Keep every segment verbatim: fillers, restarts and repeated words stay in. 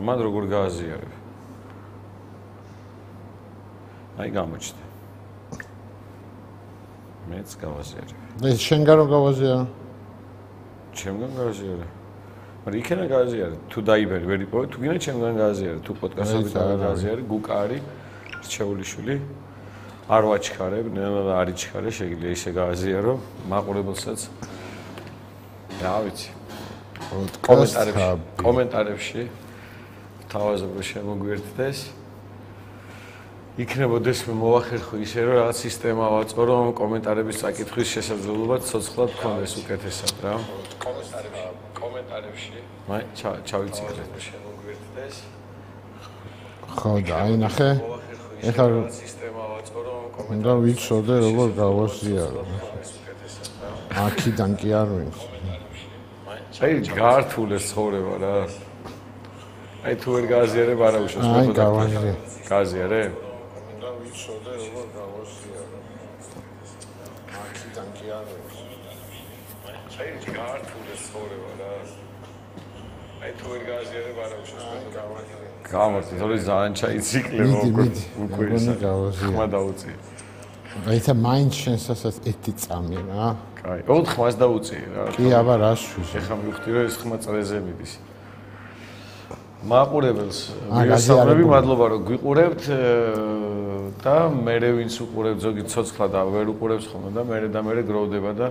მან როგორ გააზიარებ? აი გამოჩნდა. მეც გავაზიარებ. ეს შენგან რო გავაზიარო? ჩემგან გავაზიარებ. მაგრამ იქენა გააზიარებ. თუ დაიბერი ვერ იპოვე, თუ გინდა ჩემგან გააზიარებ. თუ პოდკასტებით გააზიარებ, გუკა არის რჩეულიშვილი. არ ვაჩქარებ, ნელა არ იჩქარე, შეიძლება ისე გააზიარო, მაყურებელსაც. რა ვიცი. კომენტარებში, კომენტარებში თავაზობ შემოგვიერთდეს. იქნებოდეს მოვახერხო ისე რომ რაღაც სისტემა ვაწყო რომ კომენტარების წაკითხვის შესაძლებლობა ცოცხლად გქონდეს უკეთესად რა. კომენტარებში, კომენტარებში. მაი ჩავიცილეთ შემოგვიერთდეს. ხო და აი ნახე. ეხლა სისტემა ვაწყო რომ უნდა ვიცოდე როგორ გავაზიარო. აქიდან კი არ ვინს. აი გართულეს ცხოვრება რა. აი თუ ვერ გააზიარებ არა უშავს აი გავაზიარე. გააზიარე? უნდა ვიცოდე როგორ გავაზიარო. აქიდან კი არ ვინს. აი გართულეს ცხოვრება რა. აი თუ ვერ გააზიარებ არა უშავს გავაზიარე. გამორთი, თორე ძალიან ჩაიციკლე უკვე უკვე ხმა დაუწია. აი თა მაინც შენსაც ერთი წამი რა. კაი, ოთხ ხმას დაუწია რა. კი, აბა რა შუშ. ეხლა მივხვდი რომ ეს ხმა წრეზე მიდის. მაყურებელს ვიასწავლები, მადლობა რომ გვიყურებთ და მერე ვინც უყურებთ ზოგი ცოცხლა და ვერ უყურებს ხოლმე და მერე და მერე გროვდება და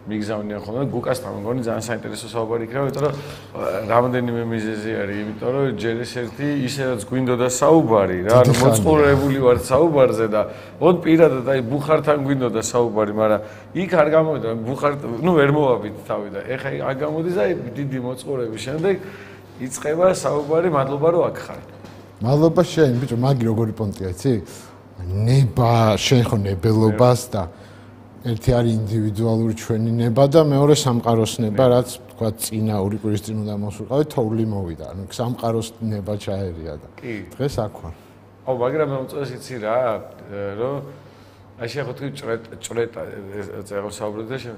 მიგზავნიან ხოლმე გუკასთან მგონი ძალიან საინტერესო საუბარი იქნება, იმიტომ რომ რამდენიმე მიზეზი არის, იმიტომ რომ ჯერ ეს ერთი ისე რაც გვინდოდა საუბარი რა, ანუ მოწყურებული ვარ საუბარზე და ოდ პირადად აი ბუხართან გვინდოდა საუბარი, მაგრამ იქ არ გამოვიდა, ბუხარ, ნუ ვერ მოვაბით თავი და ეხა აქ გამოდის აი დიდი მოწყურების შემდეგ იწყება საუბარი, მადლობა რომ აქ ხარ. მადლობა შენ, ბიჭო, მაგი როგორი პონტია, იცი? ნება, შენ ხო ნებელობას და ერთი არის ინდივიდუალური ჩვენი ნება და მეორე სამყაროს ნება, რაც თქვა წინა ორი კვირის წინ უნდა მოსულყავი, თოვლი მოვიდა. ანუ სამყაროს ნება ჩაერია და დღეს აქ ვარ. აუ, მაგრამ მე მომწონს იცი რა, რომ აი შეხო თქვი ჭრეტა წერო საუბრობ და შენ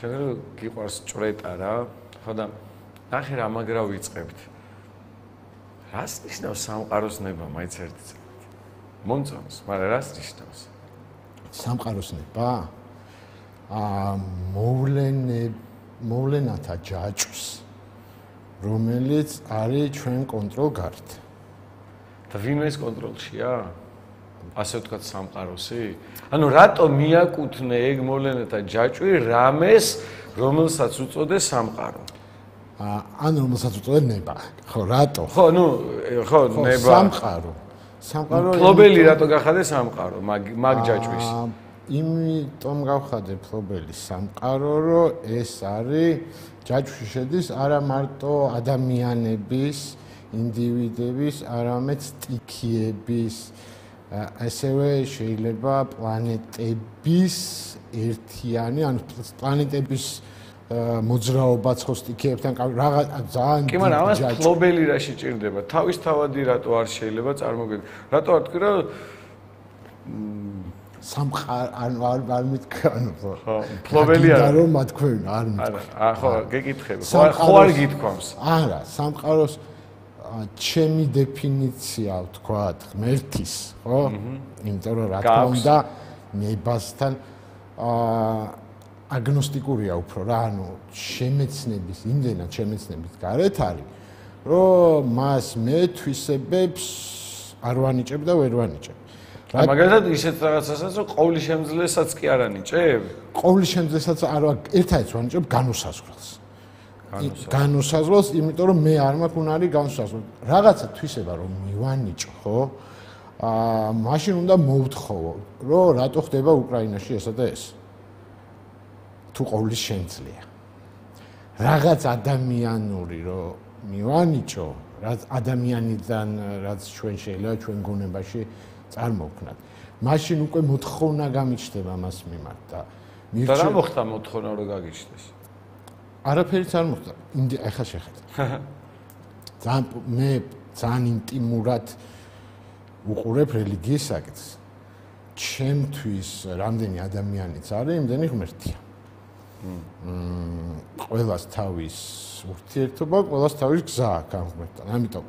შენ გიყვარს ჭრეტა რა, ხო და ნახე რა მაგრა ვიწყებთ. რას ნიშნავს სამყაროს ნება, მაინც ერთი წელი. მომწონს, მაგრამ რას ნიშნავს? სამყაროს ნება? აა მოვლენე მოვლენათა ჯაჭვს, რომელიც არის ჩვენ კონტროლგარეთ. და ვინმე ეს კონტროლშია? ასე ვთქვათ სამყაროსი? ანუ რატო მიაკუთვნე ეგ მოვლენათა ჯაჭვი რამეს, რომელსაც უწოდეს სამყარო? აა ანუ რომელსაც უწოდეს ნება. ხო, რატო? ხო, ნუ ხო, ნება. სამყარო. სამყარო ფლობელი რატო გახადეს სამყარო მაგ მაგ ჯაჭვის? იმიტომ გავხადე ფლობელი სამყარო, რომ ეს არის ჯაჭვში შედის არა მარტო ადამიანების, ინდივიდების, არამედ სტიქიების, ასევე შეიძლება პლანეტების ერთიანი, ანუ პლანეტების მოძრაობაც ხო სტიქიებთან რაღაც ძალიან კი, მაგრამ ამას ფლობელი რა შეჭირდება? თავისთავადი რატო არ შეიძლება წარმოგიდგენთ? რატო არ თქვი რომ სამყარო არ არ მითქვა, ანუ ხო, ფლობელი არა. და რომ მათქვენ არ მითქვა. არა, ხო, გეკითხები. ხო, ხო არ გითქვამს. არა, სამყაროს ჩემი დეფინიცია ვთქვათ, ღმერთის, ხო? იმიტომ რომ რა თქმა უნდა ნებასთან აა აგნოსტიკურია უფრო რა, ანუ შემეცნების, იმდენად შემეცნების გარეთ არის, რომ მას მე თვისებებს არ ვანიჭებ და ვერ ვანიჭებ. მაგალითად ისეთ რაღაცასაც რომ ყოვლის შემძლესაც კი არ ანიჭებ? ყოვლის შემძლესაც არ ერთადერთს ვანიჭებ განუსაზღვრელს. განუსაზღვრელს, იმიტომ რომ მე არ მაქვს უნარი განუსაზღვრელ. რაღაცა თვისება რომ მივანიჭო, ხო? აა მაშინ უნდა მოვთხოვო, რომ რატო ხდება უკრაინაში ესა და ეს. თუ ყოვლის შემძლეა. რაღაც ადამიანური რომ მივანიჭო, რაც ადამიანიდან რაც ჩვენ შეიძლება ჩვენ გონებაში წარმოვქნათ. მაშინ უკვე მოთხოვნა გამიჩნდება მას მიმართ და და რა მოხდა მოთხოვნა რომ გაგიჩნდეს? არაფერიც არ მოხდა. ეხლა შეხედე. ძალიან მე ძალიან ინტიმურად უყურებ რელიგიის საკითხს. ჩემთვის რამდენი ადამიანიც არის, იმდენი ღმერთია. მმ ყველას თავის ურთიერთობა, ყველას თავის გზა აქვს ამ ღმერთთან. ამიტომ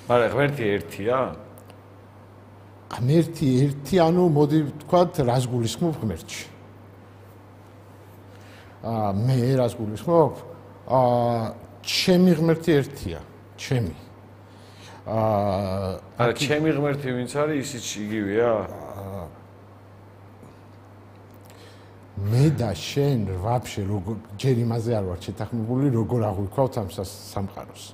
მაგრამ ღმერთი ერთია? ღმერთი ერთი, ანუ მოდი ვთქვათ, რას გულისხმობ ღმერთში? აა მე რას გულისხმობ? აა ჩემი ღმერთი ერთია, ჩემი. აა არა, ჩემი ღმერთი ვინც არის, ისიც იგივეა? მე და შენ ვაფშე როგორ ჯერ იმაზე არ ვარ შეთანხმებული, როგორ აღვიქვავთ ამ სამყაროს.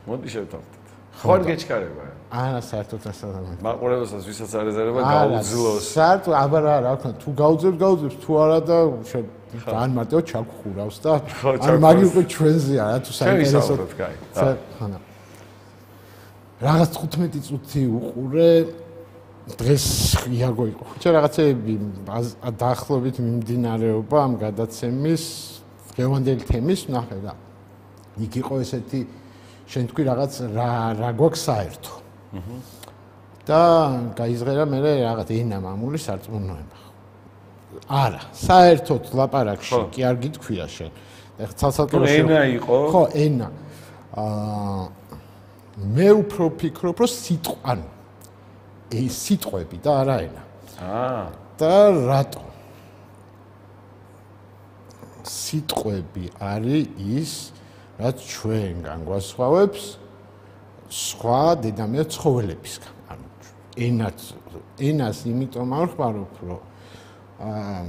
მოდი შევთანხმდეთ. ხო არ გეჩქარება? არა, საერთოდ ასაა. მაყურებელსაც ვისაც არ ეზარება გაუძლოს. საერთოდ აბა რა რა ვქნა, თუ გაუძლებს, გაუძლებს, თუ არა და ან მარტო ჩაგხურავს და ან მაგი უკვე ჩვენზეა რა თუ საინტერესო. ხანა. რაღაც თხუთმეტი წუთი უყურე დღეს იაგო იყო. ხუჩა რაღაცეები დაახლოებით მიმდინარეობა ამ გადაცემის დღევანდელი თემის ნახე და იქ იყო ესეთი შენ თქვი რაღაც რა რა გვაქვს საერთო. აჰა. და გაიზღერა მე რაღაც ენა მამული სარწმუნოება. არა, საერთოდ ლაპარაკში კი არ გითქვია შენ. ეხლა ცალ-ცალკე ენა იყო? ხო, ენა. აა მე უფრო ვფიქრობ, რომ სიტყვა, ანუ ეს სიტყვები და არა ენა. აა. და რატო? სიტყვები არის ის, რაც ჩვენგან გვასხვავებს სხვა დედამიწა ცხოველებისგან. ანუ ენაც ენას იმიტომ არ ხმარობ, რომ აა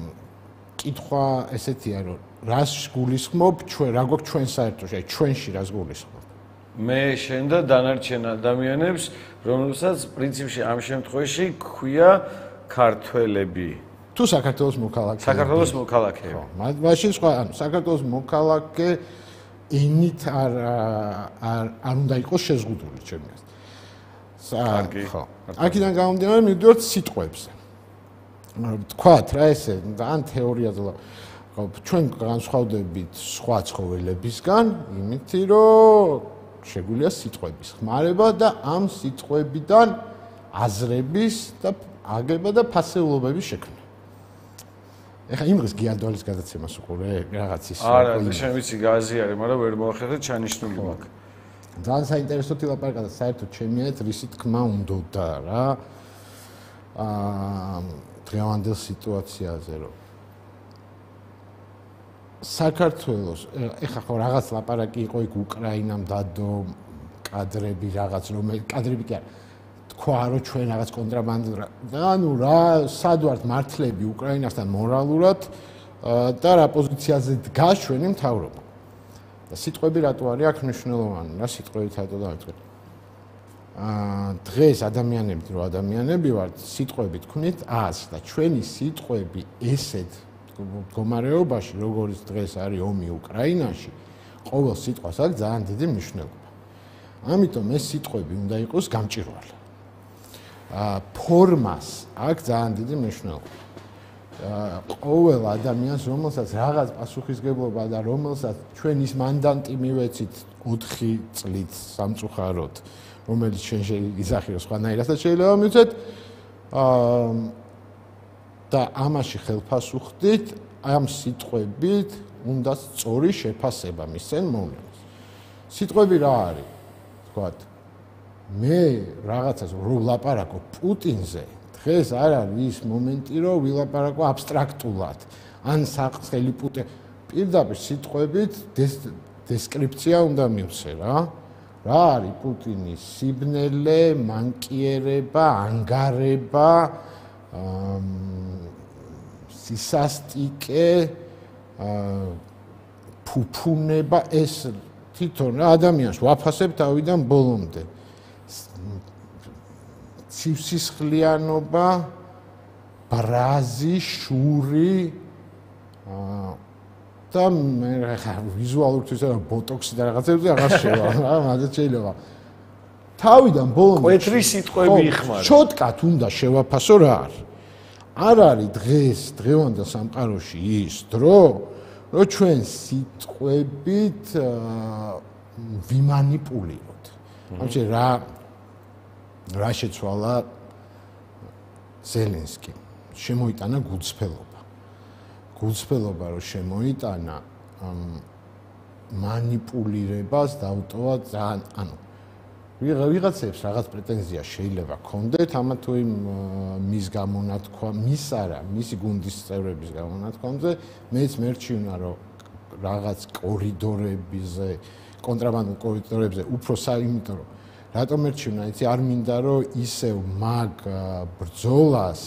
კითხვა ესეთია, რომ რას გულისხმობ ჩვენ, რა გვაქვს ჩვენ საერთოდ, აი ჩვენში რას გულისხმობ? მე შენ და დანარჩენ ადამიანებს, რომელსაც პრინციპში ამ შემთხვევაში ქვია ქართველები. თუ საქართველოს მოქალაქე. საქართველოს მოქალაქეები. ხო, მაშინ სხვა, ანუ საქართველოს მოქალაქე ენით არ არ არ უნდა იყოს შეზღუდული ჩემი აზრით. კარგი. ხო. აქედან გამომდინარე მივდივართ სიტყვებზე. თქვათ რა ესე, ან თეორიაზე ჩვენ განსხვავდებით სხვა ცხოველებისგან, იმითი რომ შეგვიძლია სიტყვების ხმარება და ამ სიტყვებიდან აზრების და აგება და ფასეულობების შექმნა. ეხა იმ დღეს გიადვალის გადაცემას უყურე რაღაც ის. არა, შენ ვიცი გააზიარე, მაგრამ ვერ მოახერხე ჩანიშნული მაქვს. ძალიან საინტერესო ლაპარაკია და საერთოდ ჩემი აზრით რისი თქმა უნდოდა რა. აა დღევანდელ სიტუაციაზე რომ საქართველოს ეხა ხო რაღაც ლაპარაკი იყო იქ უკრაინამ დადო კადრები რაღაც რომ კადრები კი არა თქვა რომ ჩვენ რაღაც კონტრაბანდა და ანუ რა სად ვართ მართლები უკრაინასთან მორალურად და რა პოზიციაზე დგას ჩვენი მთავრობა და სიტყვები რატო არის აქ მნიშვნელოვანი რა სიტყვებით რატო დავიწყეთ აა დღეს ადამიანები რო ადამიანები ვართ სიტყვები თქვით ას და ჩვენი სიტყვები ესეთ მდგომარეობაში როგორც დღეს არის ომი უკრაინაში ყოველ სიტყვას აქვს ძალიან დიდი მნიშვნელობა ამიტომ ეს სიტყვები უნდა იყოს გამჭირვალე აა ფორმას აქვს ძალიან დიდი მნიშვნელობა აა ყოველ ადამიანს რომელსაც რაღაც პასუხისგებლობა და რომელსაც ჩვენ ის მანდანტი მივეცით ოთხი წლით სამწუხაროდ რომელიც ჩვენ შეგვიზახიოს სხვანაირადაც შეიძლება მივცეთ აა და ამაში ხელფასუხდით ამ სიტყვებით უნდა სწორი შეფასება მისცენ მოვლენას. სიტყვები რა არის? თქვათ მე რაღაცას რო ვლაპარაკო პუტინზე დღეს არ არის ის მომენტი რომ ვილაპარაკო აბსტრაქტულად ან საყრელი პუტე პირდაპირ სიტყვებით დესკრიფცია უნდა მივცე რა რა არის პუტინის სიბნელე, მანკიერება, ანგარება სისასტიკე ფუფუნება ეს თვითონ რა ადამიანს ვაფასებ თავიდან ბოლომდე ცივსისხლიანობა ბრაზი შური და მე ხა ვიზუალურთვის რა ბოტოქსი და რაღაცებზე აღარ შევა რა მაგაც შეიძლება თავიდან ბოლომდე კვეთრი სიტყვები იხმარა შოტკათ უნდა შევაფასო რა არის არ არის დღეს დღევანდელ სამყაროში ის დრო რომ ჩვენ სიტყვებით ვიმანიპულიროთ ამჩე რა რა შეცვალა ზელენსკი შემოიტანა გულწრფელობა გულწრფელობა რომ შემოიტანა მანიპულირებას დაუტოვა ძალიან ანუ ვიღაცებს რაღაც პრეტენზია შეიძლება ქონდეთ ამა თუ იმ მის გამონათქვა, მის არა, მისი გუნდის წევრების გამონათქვამზე, მეც მერჩივნა რომ რაღაც კორიდორებზე, კონტრაბანდულ კორიდორებზე უფრო საიმიტო რომ რატომ მერჩივნა, იცი, არ მინდა რომ ისევ მაგ ბრძოლას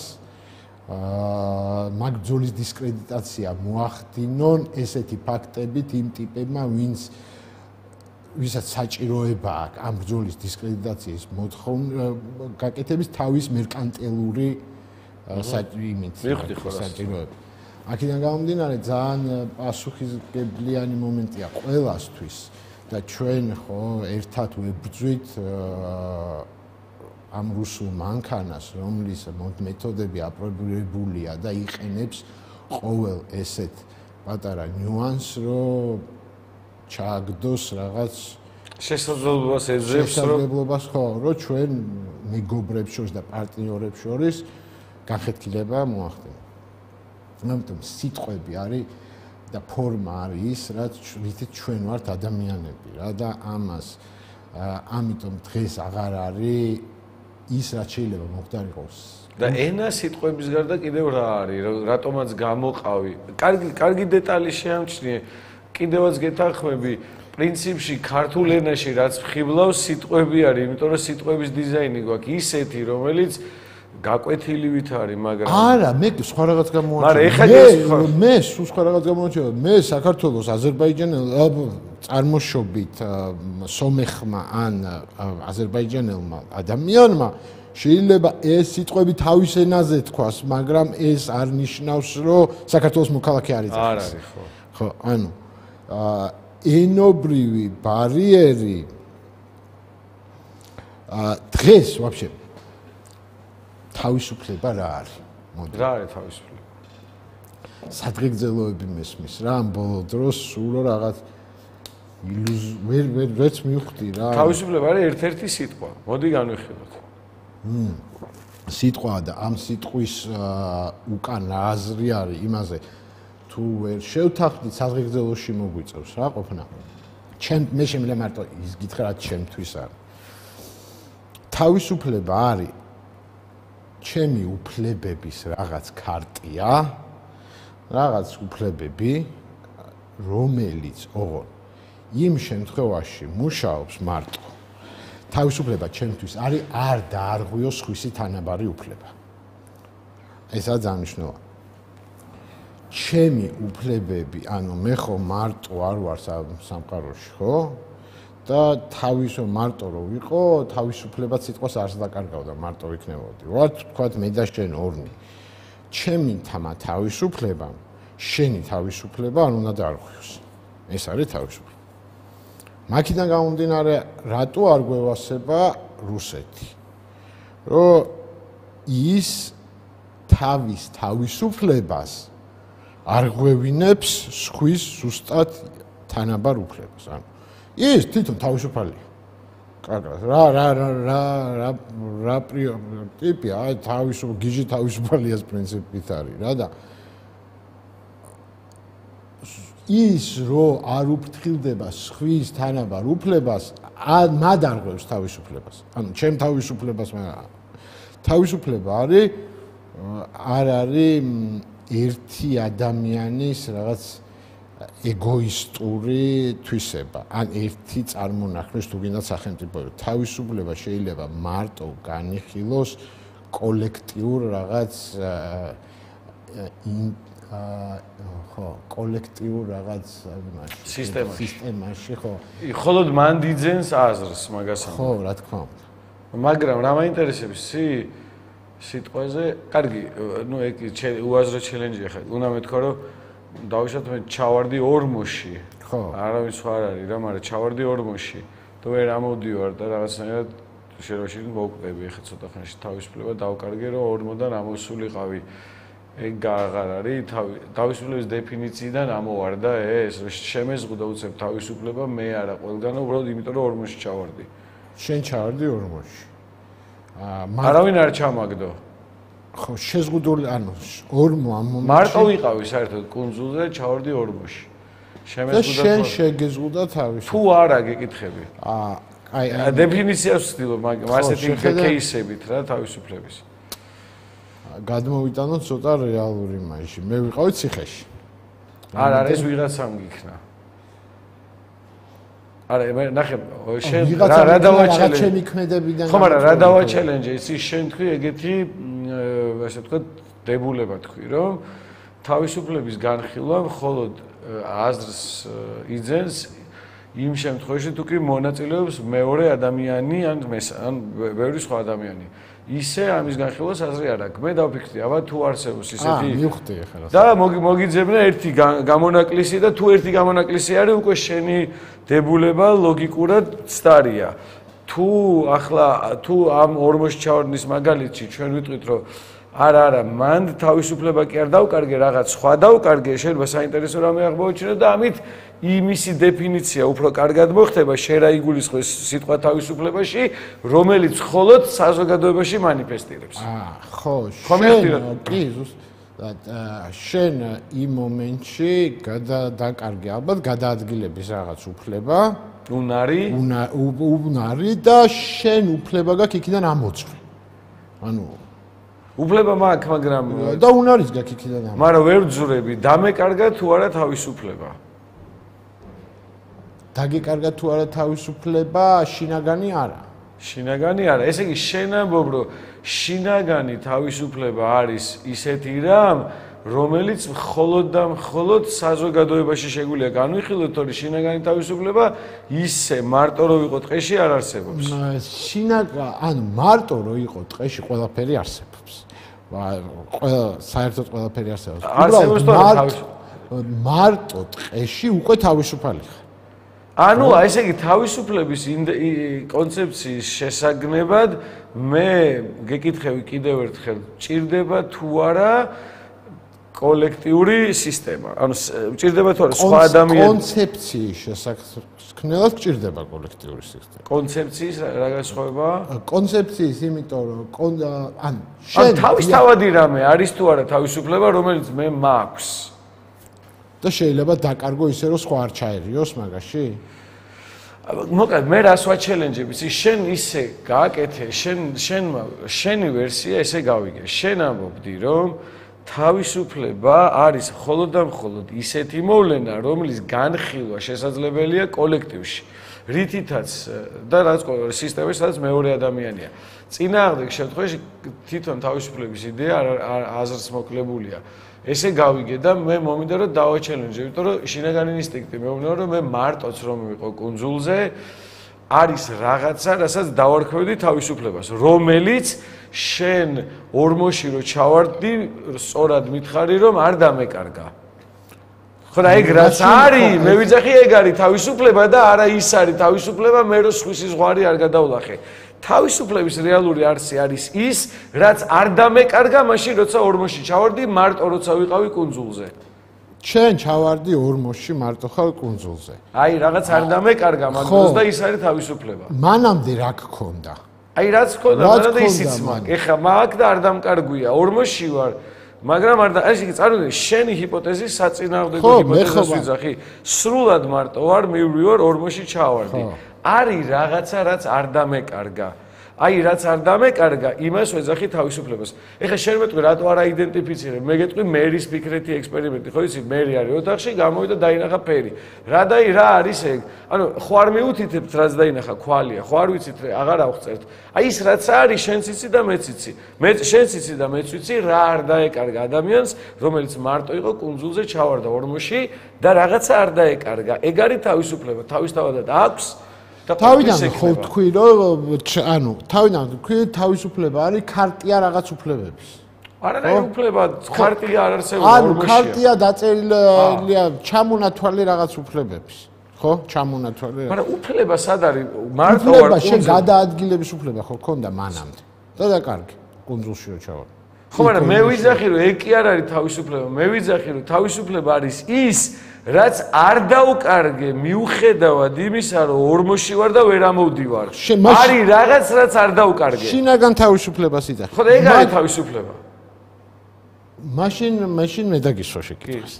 მაგ ბრძოლის დისკრედიტაცია მოახდინონ ესეთი ფაქტებით იმ ტიპებმა, ვინც ვისაც საჭიროება აქვს ამ ბრძოლის დისკრედიტაციის მოთხოვნა გაკეთების თავის მერკანტილური საჭიროებით საჭიროება. აქედან გამომდინარე ძალიან პასუხისმგებლიანი მომენტია ყველასთვის და ჩვენ ხო ერთად ვებრძვით ამ რუსულ მანქანას, რომლის მეთოდები აპრობირებულია და იყენებს ყოველ ესეთ პატარა ნიუანსს, რომ ჩააგდოს რაღაც შესაძლებლობას ეძებს, რომ შესაძლებლობას ხო, რომ ჩვენ მეგობრებს შორის და პარტნიორებს შორის განხეთქილება მოახდინოს. ამიტომ სიტყვები არის და ფორმა არის ის, რაც რითიც ჩვენ ვართ ადამიანები რა და ამას ამიტომ დღეს აღარ არის ის რაც შეიძლება მოხდარიყოს. და ენა სიტყვების გარდა კიდევ რა არის, რატომაც გამოყავი. კარგი, კარგი დეტალი შეამჩნიე. კიდევაც გეთანხმები, პრინციპში ქართულ ენაში რაც ხიბლავს სიტყვები არის, იმიტომ რომ სიტყვების დიზაინი გვაქვს ისეთი, რომელიც გაკვეთილივით არის, მაგრამ არა, მე სხვა რაღაც გამოვაჩინე. მაგრამ ეხლა მე სულ სხვა რაღაც გამოვაჩინე. მე საქართველოს აზერბაიჯანელ წარმოშობით სომეხმა ან აზერბაიჯანელმა ადამიანმა შეიძლება ეს სიტყვები თავის ენაზე თქვას, მაგრამ ეს არ ნიშნავს, რომ საქართველოს მოქალაქე არის. არ არის, ხო. ხო, ანუ ენობრივი ბარიერი დღეს ვაფშე თავისუფლება რა არის? მოდი. რა არის თავისუფლება? სადღეგრძელოები მესმის რა, ამ ბოლო დროს სულ რაღაც ილუზ ვერ ვერ ვერც მივხვდი რა. თავისუფლება არის ერთ-ერთი სიტყვა. მოდი განვიხილოთ. მ სიტყვა და ამ სიტყვის უკან აზრი არის იმაზე თუ ვერ შევთანხმდით საზღეგრძელოში მოგვიწევს რა ყოფნა. ჩემ მე შემიძლია მარტო ის გითხრა რაც ჩემთვის არის. თავისუფლება არის ჩემი უფლებების რაღაც ქარტია, რაღაც უფლებები, რომელიც ოღონ იმ შემთხვევაში მუშაობს მარტო. თავისუფლება ჩემთვის არის არ დაარღვიოს სხვისი თანაბარი უფლება. ესაა ძალიან მნიშვნელოვანი. ჩემი უფლებები, ანუ მე ხო მარტო არ ვარ სამყაროში, ხო? და თავისო მარტო რო ვიყო, თავისუფლება სიტყვას არს დაკარგავდა, მარტო ვიქნებოდი. ვართ თქვათ მე და შენ ორნი. ჩემი თამა თავისუფლება, შენი თავისუფლება არ უნდა დაარღვიოს. ეს არის თავისუფლება. მაქედან გამომდინარე, რატო არ გვევასება რუსეთი? რომ ის თავის თავისუფლებას არ ღვევინებს სხვის ზუსტად თანაბარ უფლებას. ანუ ის თვითონ თავისუფალია. კარგად. რა რა რა რა რა რა პრინციპია, აი თავისუფ გიჟი თავისუფალიას პრინციპით არის რა და ის რო არ უფრთხილდება სხვის თანაბარ უფლებას, მად არ ღვევს თავისუფლებას. ანუ ჩემ თავისუფლებას მე თავისუფლება არის არ არის ერთი ადამიანის რაღაც ეგოისტური თვისება. ან ერთი წარმონაქმნის თუ გინდათ სახელმწიფო. თავისუფლება შეიძლება მარტო განიხილოს კოლექტიურ რაღაც ხო, კოლექტიურ რაღაც სისტემაში. სისტემაში, ხო. მხოლოდ მან დიძენს აზრს მაგას. ხო, რა თქმა უნდა. მაგრამ რა მაინტერესებს სი სიტყვაზე, კარგი, ნუ ეგ უაზრო ჩელენჯია ხა. უნდა მეთქვა რომ დავიშოთ მე ჩავარდი ორმოში. ხო. არავის სხვა არ არის რა, მაგრამ ჩავარდი ორმოში. თუ ვერ ამოდივარ და რაღაცნაირად შეროში მოვკვდები ხა ცოტა ხანში თავისუფლება დავკარგე რომ ორმოდან ამოსულიყავი. ეგ აღარ არის თავისუფლების დეფინიციიდან ამოვარდა ეს რომ შემეზღუდა უცებ თავისუფლება მე არა ყველგან უბრალოდ იმიტომ რომ ორმოში ჩავარდი. შენ ჩავარდი ორმოში. აა არავინ არ ჩამაგდო. ხო, შეზღუდული, ანუ ორმო ამ მომენტში მარტო ვიყავი საერთოდ კუნძულზე, ჩავარდი ორმოში. შემეზღუდა შენ შეგეზღუდა თავისუფლება. თუ არა გეკითხები. აა აი დეფინიციას ვცდილობ, მაგრამ ასეთი кейსებით რა თავისუფლების. გადმოვიტანოთ ცოტა რეალური მაიში. მე ვიყავი ციხეში. არა, არა, ეს ვიღაცამ გიქნა. არა, მე ნახე, შენ რა რა დავაჩელენჯე? ჩემი ქმედებიდან. ხო, მაგრამ რა დავაჩელენჯე? იცი, შენ თქვი ეგეთი, ასე ვთქვათ, დებულება თქვი, რომ თავისუფლების განხილვა მხოლოდ აზრს იძენს იმ შემთხვევაში თუ კი მონაწილეობს მეორე ადამიანი ან ან ბევრი სხვა ადამიანი. ისე ამის განხილვას აზრი არ აქვს. მე დავფიქრდი, აბა თუ არსებობს ისეთი აა, მივხვდი ახლა. და მოგიძებნა ერთი გამონაკლისი და თუ ერთი გამონაკლისი არის, უკვე შენი დებულება ლოგიკურად ცდარია. თუ ახლა თუ ამ ორმოში ჩავარდნის მაგალითში ჩვენ ვიტყვით, რომ არა, არა, მან თავისუფლება კი არ დაუკარგე, რაღაც სხვა დაუკარგე, შეიძლება საინტერესო რამე აღმოაჩინო და ამით იმისი დეფინიცია უფრო კარგად მოხდება, შენ რა იგულისხმეს სიტყვა თავისუფლებაში, რომელიც მხოლოდ საზოგადოებაში მანიფესტირებს. აა, ხო, შენ კი ზუსტად შენ იმ მომენტში გადადაკარგე ალბათ გადაადგილების რაღაც უფლება, უნარი, უნარი და შენ უფლება გაქვს იქიდან ამოწვი. ანუ უფლება მაქვს, მაგრამ და უნარიც გაქვს იქიდან ამოწვი. მაგრამ ვერ ვძურები, დამეკარგა თუ არა თავისუფლება. დაგეკარგა თუ არა თავისუფლება, შინაგანი არა. შინაგანი არა. ესე იგი შენ ამბობ, რომ შინაგანი თავისუფლება არის ისეთი რამ, რომელიც მხოლოდ და მხოლოდ საზოგადოებაში შეგვიძლია განვიხილოთ, თორე შინაგანი თავისუფლება ისე მარტო რო იყო ტყეში არ არსებობს. შინაგა, ანუ მარტო რო იყო ტყეში ყველაფერი არსებობს. ყველა საერთოდ ყველაფერი არსებობს. არსებობს თორე თავისუფლება. მარტო ტყეში უკვე თავისუფალი ხარ. ანუ ესე იგი თავისუფლების კონცეფციის შესაგნებად მე გეკითხები კიდევ ერთხელ, ჭირდება თუ არა კოლექტიური სისტემა? ანუ ჭირდება თუ არა სხვა ადამიანის კონცეფციის შესაქმნელად ჭირდება კოლექტიური სისტემა. კონცეფციის რა განსხვავებაა? კონცეფციის, იმიტომ რომ ან შენ თავისთავადი რამე არის თუ არა თავისუფლება, რომელიც მე მაქვს? და შეიძლება დაკარგო ისე რომ სხვა არ ჩაერიოს მაგაში? მოკლედ მე რას ვაჩელენჯებ, იცი, შენ ისე გააკეთე, შენ შენ შენი ვერსია ესე გავიგე. შენ ამბობდი, რომ თავისუფლება არის მხოლოდ და მხოლოდ ისეთი მოვლენა, რომლის განხილვა შესაძლებელია კოლექტივში. რითითაც და რაც სისტემაში სადაც მეორე ადამიანია. წინააღმდეგ შემთხვევაში თვითონ თავისუფლების იდეა აზრს მოკლებულია. ესე გავიგე და მე მომიდა რომ დავაჩელენჯე, იმიტომ რომ შინაგანი ინსტინქტი მეუბნება რომ მე მარტოც რომ ვიყო კუნძულზე არის რაღაცა, რასაც დავარქვევდი თავისუფლებას, რომელიც შენ ორმოში რო ჩავარდი, სწორად მითხარი რომ არ დამეკარგა. ხო და ეგ რაც არის, მე ვიძახი ეგ არის თავისუფლება და არა ის არის თავისუფლება, მე რო სხვისი ზღვარი არ გადავლახე. თავისუფლების რეალური არსი არის ის, რაც არ დამეკარგა მაშინ, როცა ორმოში ჩავარდი, მარტო როცა ვიყავი კუნძულზე. შენ ჩავარდი ორმოში, მარტო ხარ კუნძულზე. აი, რაღაც არ დამეკარგა მაგდროს და ის არის თავისუფლება. მანამდე რა გქონდა? აი, რაც გქონდა, მანამდე ისიც მაქვს. ეხლა მაქვს და არ დამკარგვია, ორმოში ვარ. მაგრამ არ და ესე იგი წარმოგიდგენ, შენი ჰიპოთეზი საწინააღმდეგო ჰიპოთეზას ვიძახი. სრულად მარტო ვარ, მივრივარ, ორმოში ჩავარდი. არის რაღაცა, რაც არ დამეკარგა. აი, რაც არ დამეკარგა, იმას ვეძახი თავისუფლებას. ეხლა შენ მეტყვი, რატო არ აიდენტიფიცირებ? მე გეტყვი მერის ფიქრეთი ექსპერიმენტი, ხო იცი, მერი არის ოთახში, გამოვიდა დაინახა ფერი. რა დაი რა არის ეგ? ანუ ხო არ მიუთითებთ, რაც დაინახა, ქვალია, ხო არ ვიცით, აღარ აღწერთ. აი ის რაც არის, შენც იცი და მეც იცი. მე შენც იცი და მეც ვიცი, რა არ დაეკარგა ადამიანს, რომელიც მარტო იყო კუნძულზე ჩავარდა ორმოში და რაღაცა არ დაეკარგა. ეგ არის თავისუფლება, თავისთავადად აქვს. თავიდან ხო თქვი რომ ანუ თავიდან თქვი თავისუფლება არის ქარტია რაღაც უფლებების. არა, რა უფლება, ქარტია არ არსებობს ორმოშია. ანუ ქარტია დაწერილია ჩამონათვალი რაღაც უფლებების. ხო? ჩამონათვალი. მაგრამ უფლება სად არის? მარტო არ უფლება შენ გადაადგილების უფლება ხო ქონდა მანამდე. და დაკარგი კუნძულში რო ჩავარ. ხო, მაგრამ მე ვიძახი რომ ეგ კი არ არის თავისუფლება. მე ვიძახი რომ თავისუფლება არის ის რაც არ დაუკარგე მიუხედავად იმისა, რომ ორმოში ვარ და ვერ ამოვდივარ. არის რაღაც, რაც არ დაუკარგე. შინაგან თავისუფლებას იძახი. ხო, ეგ არის თავისუფლება. მაშინ, მაშინ მე დაგისვა შეკითხვის.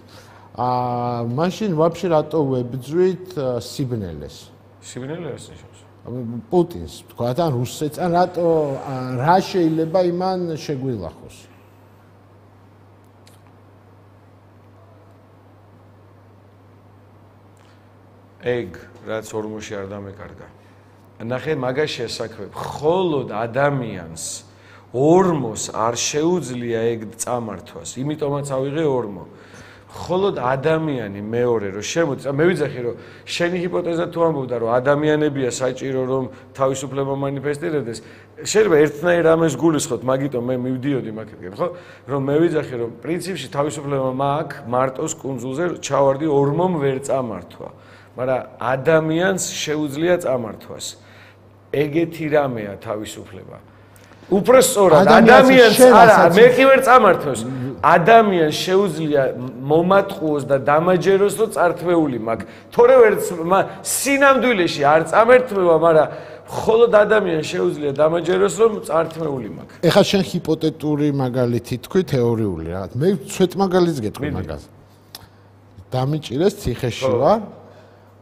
აა, მაშინ ვაფშე რატო ვებძვით სიბნელეს? სიბნელე არის ნიშნავს. პუტინს თქვა და რუსეთს ან რატო რა შეიძლება იმან შეგვილახოს ეგ რაც ორმოში არ დამეკარგა ნახე მაგაშია საქმე მხოლოდ ადამიანს ორმოს არ შეუძლია ეგ წამართვას იმიტომაც ავიღე ორმო მხოლოდ ადამიანი მეორე რომ შემოწა მე ვიძახი რომ შენი ჰიპოთეზა თუ ამბობდა რომ ადამიანებია საჭირო რომ თავისუფლება მანიფესტირებდეს შეიძლება ერთნაირ ამას გულისხმოთ მაგიტომ მე მივდიოდი მაგეთკენ ხო რომ მე ვიძახი რომ პრინციპში თავისუფლება მაქვს მარტოს კუნძულზე ჩავარდი ორმომ ვერ წამართვა მაგრამ ადამიანს შეუძლია წამართვას ეგეთი რამეა თავისუფლება უფრო სწორად ადამიანს არა მე კი ვერ წამართვას ადამიანს შეუძლია მომატყუოს და დამაჯეროს რომ წართმეული მაქვს თორე ვერ სინამდვილეში არ წამერთვება მაგრამ მხოლოდ ადამიანს შეუძლია დამაჯეროს რომ წართმეული მაქვს ეხლა შენ ჰიპოთეტური მაგალითი თქვი თეორიული რაღაც მე ცვეთ მაგალითს გეტყვი მაგას დამიჭირეს ციხეში ვარ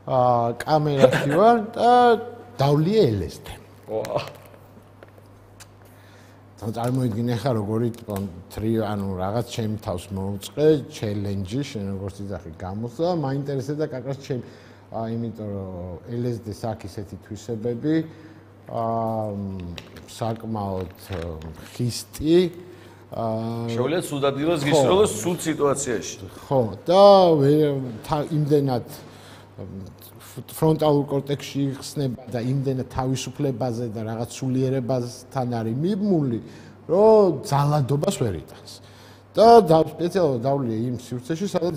აა კამერაში ვარ და დავლიე ელესთან ვა თან წარმოიდგინე ხა როგორი თრი ანუ რაღაც ჩემი თავს მოუწყე ჩელენჯი შენ როგორც იძახი გამოსა მაინტერესებდა კაკას ჩემ აა იმიტომ რომ ელ ეს დი-ს აქვს ისეთი თვისებები აა საკმაოდ ხისტი აა შეუძლია სუდად დილოს გისროლოს სულ სიტუაციაში ხო და იმდენად ფრონტალურ კორტექსში იხსნება და იმდენად თავისუფლებაზე და რაღაც სულიერებასთან არის მიბმული, რომ ძალადობას ვერ იტანს. და სპეციალურად დავლია იმ სივრცეში, სადაც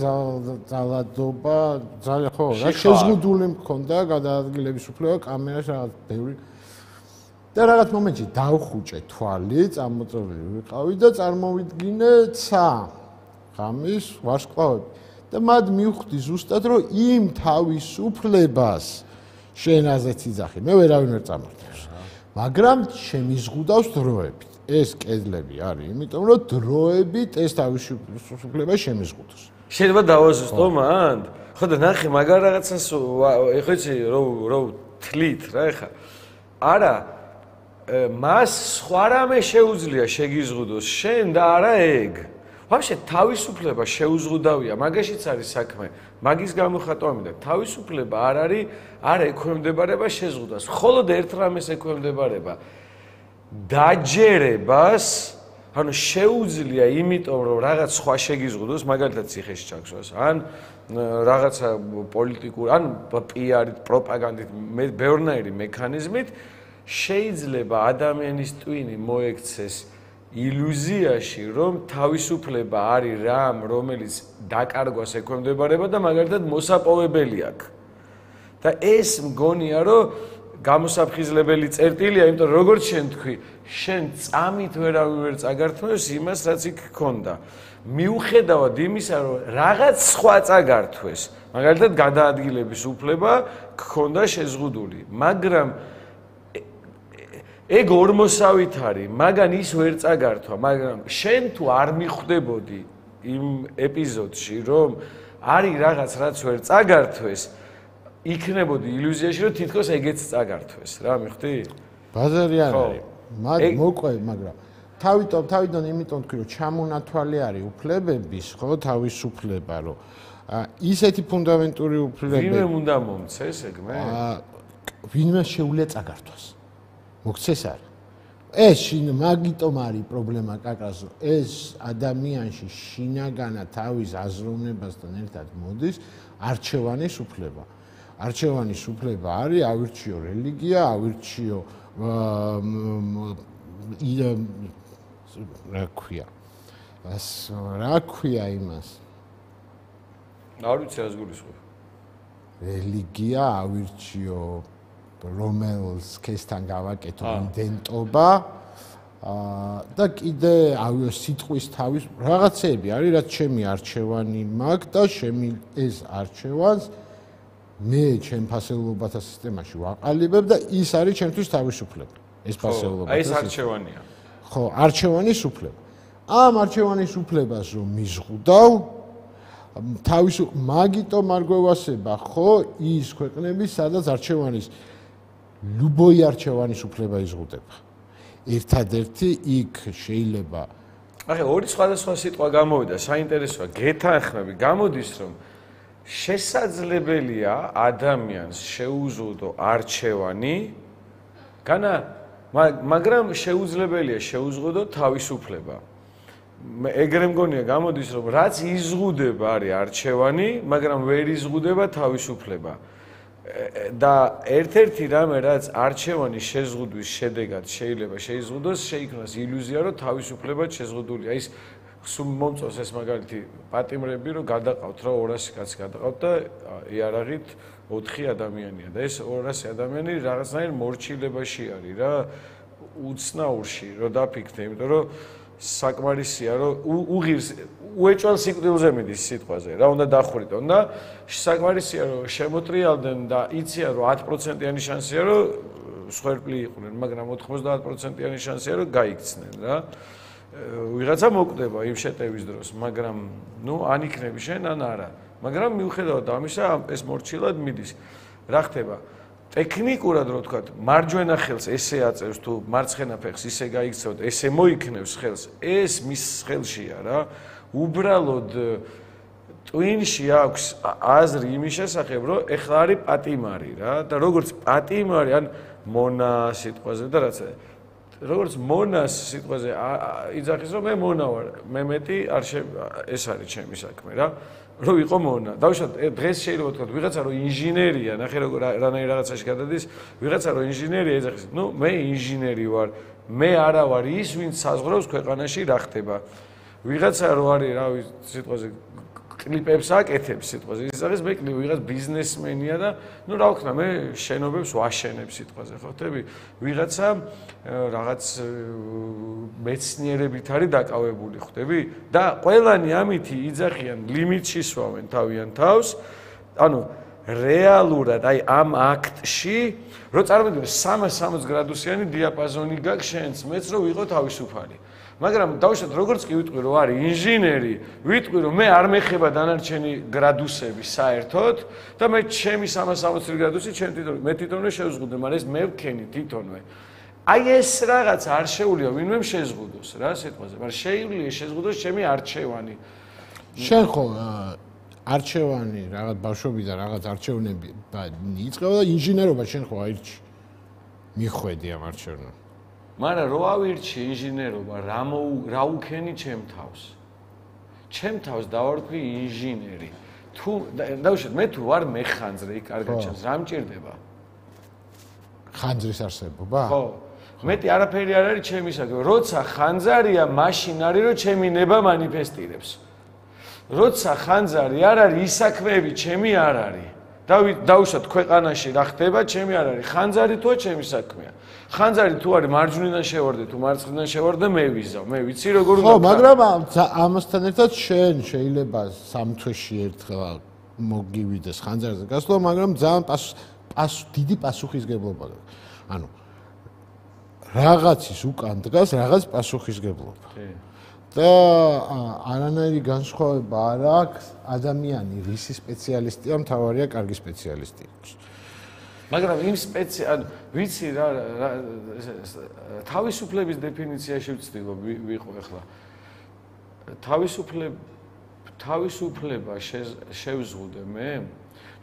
ძალადობა, ძალიან ხო, რა შეზღუდული მქონდა გადაადგილების უფლება, კამერაში რაღაც ბევრი და რაღაც მომენტში დავხუჭე თვალი, წამოწოლილი ვიყავი და წარმოვიდგინე ცა ღამის ვარსკვლავები. და მად მივხვდი ზუსტად რომ იმ თავისუფლებას შენ ასეც იძახი მე ვერავინ ვერ წამართავს მაგრამ შემიზღუდავს დროებით ეს კედლები არის იმიტომ რომ დროებით ეს თავისუფლება შემიზღუდოს შეიძლება დავაზუსტო მანდ ხო და ნახე მაგარ რაღაცას ეხლა იცი რო რო თლით რა ეხა არა მას სხვა რამე შეუძლია შეგიზღუდოს შენ და არა ეგ ვაფშე თავისუფლება შეუზღუდავია, მაგაშიც არის საქმე. მაგის გამოხატვა მინდა. თავისუფლება არ არის, არ ექვემდებარება შეზღუდვას. მხოლოდ ერთ რამეს ექვემდებარება. დაჯერებას, ანუ შეუძლია იმიტომ, რომ რაღაც სხვა შეგიზღუდოს, მაგალითად ციხეში ჩაგსვას, ან რაღაცა პოლიტიკურ, ან პიარით, პროპაგანდით, ბევრნაირი მექანიზმით შეიძლება ადამიანის ტვინი მოექცეს ილუზიაში რომ თავისუფლება არის რამ რომელიც დაკარგვას ექვემდებარება და მაგალითად მოსაპოვებელი აქვს და ეს მგონია რომ გამოსაფხიზლებელი წერტილია იმიტომ რომ როგორც შენ თქვი შენ წამით ვერავინ ვერ წაგართმევს იმას რაც იქ ქონდა მიუხედავად იმისა რომ რაღაც სხვა წაგართვეს მაგალითად გადაადგილების უფლება ქონდა შეზღუდული მაგრამ ეგ ორმოსავით არის, მაგან ის ვერ წაგართვა, მაგრამ შენ თუ არ მიხვდებოდი იმ ეპიზოდში, რომ არის რაღაც რაც ვერ წაგართვეს, იქნებოდი ილუზიაში, რომ თითქოს ეგეც წაგართვეს, რა მიხვდი? ბაზარი არ არის. მაგ მოყვე, მაგრამ თავიდან თავიდან იმიტომ თქვი, რომ ჩამონათვალი არის უფლებების, ხო, თავისუფლება, რომ ისეთი ფუნდამენტური უფლებები. ვინმე უნდა მომცეს ეგ მე? ვინმე შეუძლია წაგართვას. მოგცეს არა. ეს შინ მაგიტომ არის პრობლემა კაკას, ეს ადამიანში შინაგანა თავის აზროვნებასთან ერთად მოდის არჩევანის უფლება. არჩევანის უფლება არის ავირჩიო რელიგია, ავირჩიო რა ქვია. რა ქვია იმას? არ ვიცი რას გულისხმობ. რელიგია, ავირჩიო რომელს ქესთან გავაკეთო იდენტობა და კიდე სიტყვის თავის რაღაცები არის რაც ჩემი არჩევანი მაქვს და ჩემი ეს არჩევანს მე ჩემ ფასეულობათა სისტემაში ვაყალიბებ და ის არის ჩემთვის თავისუფლება ეს ფასეულობათა აი ეს არჩევანია ხო არჩევანის უფლება ამ არჩევანის უფლებას რომ მიზღუდავ თავისუფ მაგიტომ არ გვევასება ხო ის ქვეყნები სადაც არჩევანის любой არჩევანის უფლება იზღუდება. ერთადერთი იქ შეიძლება ახლა ორი სხვადასხვა სიტყვა გამოვიდა, საინტერესოა, გეთანხმები, გამოდის რომ შესაძლებელია ადამიანს შეუზღუდო არჩევანი, განა მაგრამ შეუძლებელია შეუზღუდო თავისუფლება. ეგრე მგონია გამოდის რომ რაც იზღუდება არის არჩევანი, მაგრამ ვერ იზღუდება თავისუფლება. და ერთ-ერთი რამე რაც არჩევანის შეზღუდვის შედეგად შეიძლება შეიზღუდოს, შეიქმნას ილუზია, რომ თავისუფლება შეზღუდულია. ის სულ მომწონს ეს მაგალითი პატიმრები, რომ გადაყავთ რა ორასი კაცი გადაყავთ და იარაღით ოთხი ადამიანია და ეს ორასი ადამიანი რაღაცნაირ მორჩილებაში არის რა, უცნაურში რომ დაფიქრდე, იმიტომ რომ საკმარისია რომ უღირს უეჭვალ სიკვდილზე მიდის სიტყვაზე რა უნდა დახვრიტონ და საკმარისია რომ შემოტრიალდნენ და იციან რომ ათი პროცენტიანი შანსია რომ სვერპლი იყვნენ, მაგრამ ოთხმოცდაათ პროცენტიანი შანსია რომ გაიქცნენ რა. ვიღაცა მოკვდება იმ შეტევის დროს, მაგრამ ნუ ან იქნები შენ ან არა. მაგრამ მიუხედავად ამისა ეს მორჩილად მიდის. რა ხდება? ტექნიკურად რო ვთქვათ, მარჯვენა ხელს ესე აწევს თუ მარცხენა ფეხს ისე გაიქცევთ, ესე მოიქნევს ხელს. ეს მის ხელშია რა. უბრალოდ ტვინში აქვს აზრი იმის შესახებ, რომ ეხლა არის პატიმარი რა და როგორც პატიმარი ან მონა სიტყვაზე და რაც როგორც მონას სიტყვაზე იძახის რომ მე მონა ვარ, მე მეტი არ ეს არის ჩემი საქმე რა. რო ვიყო მონა. დავუშვათ დღეს შეიძლება ვთქვათ ვიღაცა რომ ინჟინერია, ნახე როგორ რანაირ რაღაცაში გადადის, ვიღაცა რომ ინჟინერია ეძახის, ნუ მე ინჟინერი ვარ, მე არა ვარ ის, ვინც საზღვრავს ქვეყანაში რა ხდება. ვიღაცა რო არის, რა ვიცი, სიტყვაზე კლიპებს აკეთებს სიტყვაზე. იძახის მე კლიპ ვიღაც ბიზნესმენია და ნუ რა ვქნა, მე შენობებს ვაშენებ სიტყვაზე, ხო ხტები? ვიღაცა რაღაც მეცნიერებით არის დაკავებული, ხვდები? და ყველანი ამითი იძახიან ლიმიტში სვავენ თავიანთ თავს. ანუ რეალურად აი ამ აქტში რო წარმოგიდგენთ სამას სამოცი გრადუსიანი დიაპაზონი გაქვს შენც მეც რო ვიყო თავისუფალი. მაგრამ დავუშვათ როგორც კი ვიტყვი რომ არის ინჟინერი, ვიტყვი რომ მე არ მეხება დანარჩენი გრადუსები საერთოდ და მე ჩემი სამას სამოცი გრადუსი ჩემ თვითონ მე თვითონვე შევზღუდე, მაგრამ ეს მე ვქენი თვითონვე. აი ეს რაღაც არ შეუძლია ვინმე შეზღუდოს რა სიტყვაზე, მაგრამ შეუძლია შეზღუდოს ჩემი არჩევანი. შენ ხო არჩევანი რაღაც ბავშვობიდან რაღაც არჩევნები იწყება და ინჟინერობა შენ ხო აირჩი. მიხვედი ამ არჩევნებს. მაგრამ რო ავირჩი ინჟინერობა, რა რა უქენი ჩემ თავს? ჩემ თავს დავარქვი ინჟინერი. თუ დავუშვათ მე თუ ვარ მეხანძრე, იქ კარგად ჩანს, რა მჭირდება? ხანძრის არსებობა? ხო. მეტი არაფერი არ არის ჩემი საქმე. როცა ხანძარია, მაშინ არის რომ ჩემი ნება მანიფესტირებს. როცა ხანძარი არ არის, ის საქმეები ჩემი არ არის. დავუშვათ ქვეყანაში რა ხდება, ჩემი არ არის. ხანძარი თუა ჩემი საქმეა. ხანძარი თუ არის მარჯვნიდან შევარდე თუ მარცხნიდან შევარდე მე ვიზავ. მე ვიცი როგორ უნდა. ხო, მაგრამ ამასთან ერთად შენ შეიძლება სამ თვეში ერთხელ მოგივიდეს ხანძარზე გასვლა, მაგრამ ძალიან პას დიდი პასუხისგებლობა გაქვს. ანუ რაღაცის უკან დგას რაღაც პასუხისგებლობა. და არანაირი განსხვავება არ აქვს ადამიანი რისი სპეციალისტია, მთავარია კარგი სპეციალისტი იყოს. მაგრამ იმ სპეციალ ვიცი რა თავისუფლების დეფინიციაში ვცდილობ ვიყო ახლა. თავისუფლება თავისუფლება შევზღუდე მე.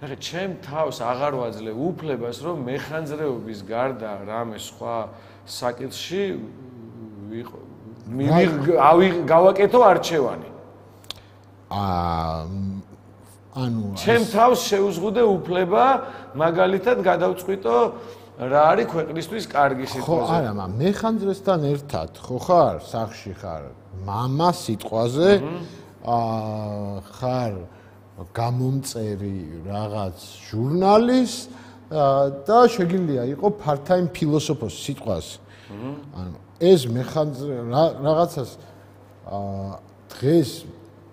ნახე, ჩემ თავს აღარ ვაძლევ უფლებას, რომ მეხანძრეობის გარდა რამე სხვა საკითხში ვიყო გავაკეთო არჩევანი. აა ანუ ჩემ თავს შევზღუდე უფლება მაგალითად გადავწყვიტო რა არის ქვეყნისთვის კარგი სიტყვაზე. ხო, არა, მაგრამ მეხანძრესთან ერთად ხო ხარ, სახში ხარ, მამა სიტყვაზე, აა ხარ გამომწერი რაღაც ჟურნალის და შეგიძლია იყო part-time ფილოსოფოს სიტყვაზე. ანუ ეს მეხანძრე რაღაცას აა დღეს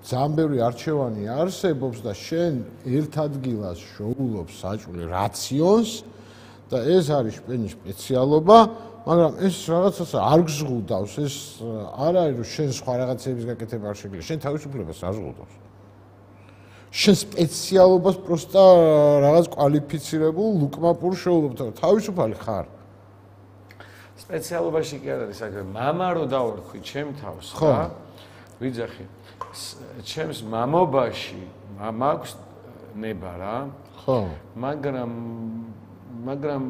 ძალიან ბევრი არჩევანი არსებობს და შენ ერთ ადგილას შოულობს საჭმელი რაციონს და ეს არის შენი სპეციალობა, მაგრამ ეს რაღაცას არ გზღუდავს, ეს არ არის რომ შენ სხვა რაღაცების გაკეთება არ შეგიძლია, შენ თავისუფლებას არ ზღუდავს. შენ სპეციალობას პროსტა რაღაც კვალიფიცირებულ ლუკმაპურ შეულობ თავისუფალი ხარ სპეციალობაში კი არ არის საქმე მამა რო დავარქვი ჩემ თავს რა ვიძახი ჩემს მამობაში მაქვს ნება რა ხო მაგრამ მაგრამ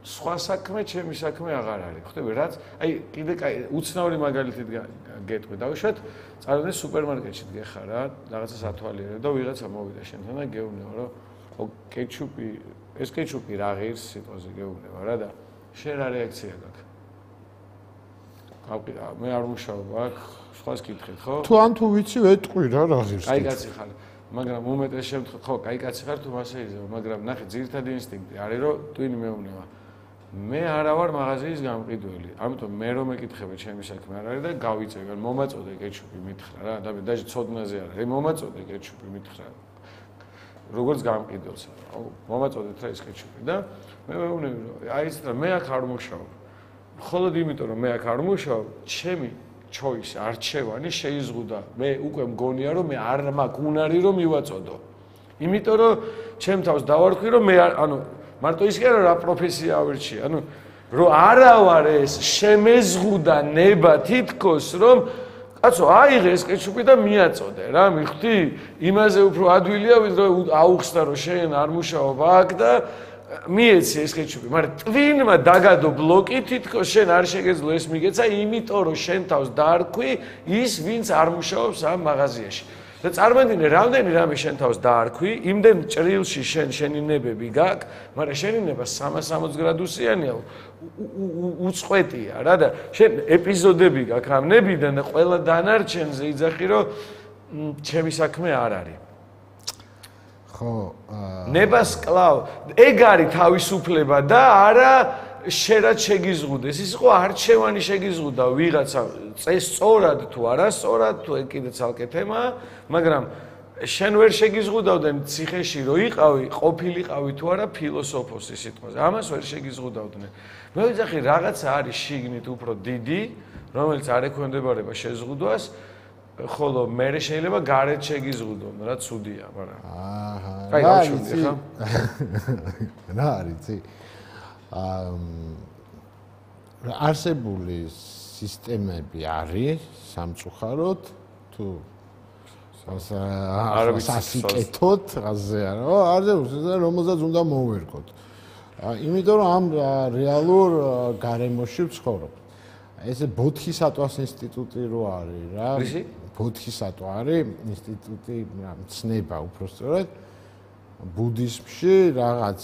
სხვა საქმე ჩემი საქმე აღარ არის ხვდები რაც აი კიდე კაი უცნაური მაგალითით გეტყვი დავუშვათ წარადგენ სუპერმარკეტში დგეხარ რა რაღაცას ათვალიერებ და ვიღაცა მოვიდა შენთან და გეუბნება რომ კეჩუპი ეს კეჩუპი რა ღირს სიტყვაზე გეუბნება რა და შენ რა რეაქცია გაქვს გავყიდა მე არ მუშაობ აქ სხვას კითხეთ ხო თუ ან თუ ვიცი ვეტყვი რა რა ღირს კაი კაცი ხარ მაგრამ უმეტეს შემთხვევაში ხო კაი კაცი ხარ თუ მასე იზრდება მაგრამ ნახე ძირითადი ინსტინქტი არის რომ ტვინი მეუბნება მე არა ვარ მაღაზიის გამყიდველი ამიტომ მე რომ მეკითხები ჩემი საქმე არ არის და გავიწევი ან მომაწოდე კეჩუპი მითხრა რა და დაჟე ცოდნაზე არ არის მომაწოდე კეჩუპი მითხრა როგორც გამყიდველს მომაწოდეთ რა ეს კეჩუპი და მე მეუბნები რომ აი ეს რა მე აქ არ მუშაობ მხოლოდ იმიტომ რომ მე აქ არ მუშაობ ჩემი choice არჩევანი შეიზღუდა მე უკვე მგონია რომ მე არ მაქვს უნარი რომ მივაწოდო იმიტომ რომ ჩემ თავს დავარქვი რომ მე ანუ მარტო ის კი არა რა პროფესია ავირჩიე ანუ რომ არა ვარ ეს შემეზღუდა ნება თითქოს რომ კაცო აიღე ეს კეჩუპი და მიაწოდე რა მიხდი იმაზე უფრო ადვილია ვიდრე აუხსნა რომ შენ არ მუშაობ აქ და მიეცი ეს კეჩუპი მაგრამ ტვინმა დაგადო ბლოკი თითქოს შენ არ შეგეძლო ეს მიგეცა იმიტომ რომ შენ თავს დაარქვი ის ვინც არ მუშაობს ამ მაღაზიაში და წარმოიდგინე რამდენი რამე შენ თავს დაარქვი იმდენ ჭრილში შენ შენი ნებები გაქვს მაგრამ შენი ნება სამას სამოცი გრადუსიანია უწყვეტია რა და შენ ეპიზოდები გაქვს ამ ნებიდან და ყველა დანარჩენზე იძახი რომ ჩემი საქმე არ არის ხო ნებას კლავ ეგ არის თავისუფლება და არა შერად შეგიზღუდეს ის იყო არჩევანი შეგიზღუდა ვიღაცა სწორად თუ არასწორად თუ ეგ კიდე ცალკე თემაა მაგრამ შენ ვერ შეგიზღუდავდნენ ციხეში რო იყავი ყოფილიყავი თუ არა ფილოსოფოსის სიტყვაზე ამას ვერ შეგიზღუდავდნენ მე ვიძახი რაღაცა არის შიგნით უფრო დიდი რომელიც არ ექვემდებარება შეზღუდვას ხოლო მე შეიძლება გარეთ შეგიზღუდონ რა ცუდია მაგრამ აჰა კაი გავშვი ხა რა არის აა არსებული სისტემები არის სამწუხაროდ თუ სასიკეთოთ ასე არა არზე რომელსაც უნდა მოვერგოთ იმიტომ რომ ამ რეალურ გარემოში ვცხოვრობ ესე ბოთქისატვას ინსტიტუტი რო არის რა ბოთქისატვა არის ინსტიტუტი ცნება უბრალოდ ბუდიზმში რაღაც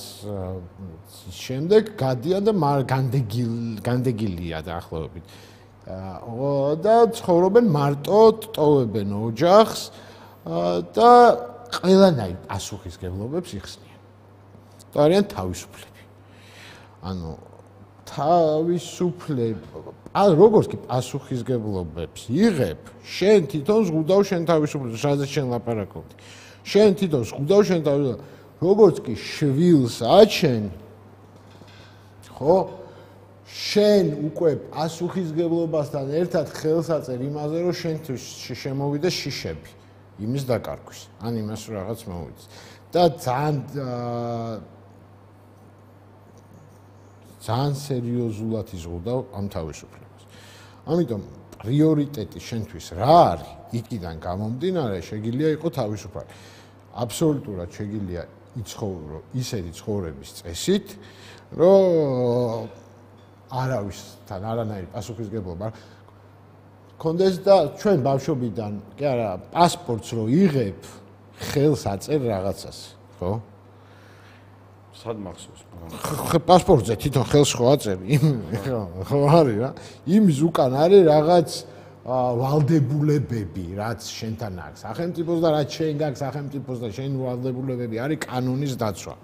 შემდეგ გადიან და განდეგილია დაახლოებით და ცხოვრობენ მარტო ტოვებენ ოჯახს და ყველანაირ პასუხისგებლობებს იხსნიან და არიან თავისუფლები ანუ თავისუფლება როგორც კი პასუხისგებლობებს იღებ შენ თვითონ ზღუდავ შენ თავისუფლებას რაზეც შენ ლაპარაკობდი შენ თვითონ ზღუდავ შენ თავისუფლებას როგორც კი შვილს აჩენ ხო შენ უკვე პასუხისგებლობასთან ერთად ხელს აწერ იმაზე რომ შენთვის შემოვიდეს შიშები იმის დაკარგვის ან იმას რაღაც მოვიდეს და ძალიან ძალიან სერიოზულად იზღუდავ ამ თავისუფლებას. ამიტომ პრიორიტეტი შენთვის რა არის? იქიდან გამომდინარე შეგიძლია იყოს თავისუფალი. აბსოლუტურად შეგიძლია იცხოვრო ისეთი ცხოვრების წესით, რომ არავისთან არანაირი პასუხისგებლობა კონდეს და ჩვენ ბავშვობიდან, კი არა, პასპორტს რო იღებ, ხელს აწერ რაღაცას, ხო? სად მახსოვს? პასპორტზე თვითონ ხელს ხო აწერ? ხო არის რა. იმის უკან არის რაღაც ვალდებულებები, რაც შენთან აქვს. სახელმწიფოს და რაც შენ გაქვს სახელმწიფოს და შენ ვალდებულებები არის კანონის დაცვა.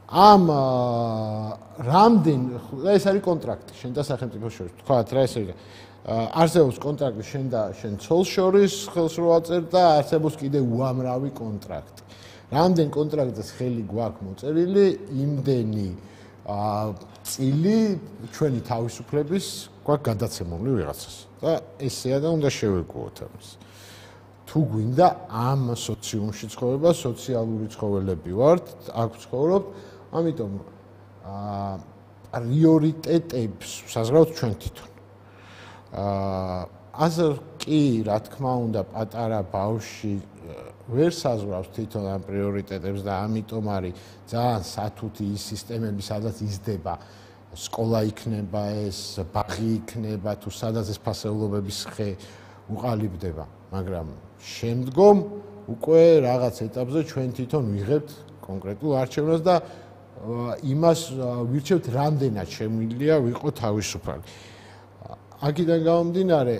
ამ რამდენ ეს არის კონტრაქტი შენ და სახელმწიფოს შორის. თქვათ რა ეს არის? არსებობს კონტრაქტი შენ და შენ ცოლს შორის ხელს რო აწერ და არსებობს კიდე უამრავი კონტრაქტი. რამდენ კონტრაქტს ხელი გვაქვს მოწერილი, იმდენი წილი ჩვენი თავისუფლების გვაქვს გადაცემული ვიღაცას. და ესეა და უნდა შევეგუოთ ამას. თუ გვინდა ამ სოციუმში ცხოვრება, სოციალური ცხოველები ვართ, აქ ვცხოვრობ, ამიტომ აა პრიორიტეტებს საზღვრავთ ჩვენ თვითონ. აა ასე კი, რა თქმა უნდა, პატარა ბავშვი ვერ საზღვრავს თვითონ ამ პრიორიტეტებს და ამიტომ არის ძალიან სათუთი ის სისტემები, სადაც იზრდება სკოლა იქნება ეს, ბაღი იქნება, თუ სადაც ეს ფასეულობების ხე უყალიბდება, მაგრამ შემდგომ უკვე რაღაც ეტაპზე ჩვენ თვითონ ვიღებთ კონკრეტულ არჩევნას და იმას ვირჩევთ, რამდენად შემიძლია ვიყო თავისუფალი. აქედან გამომდინარე,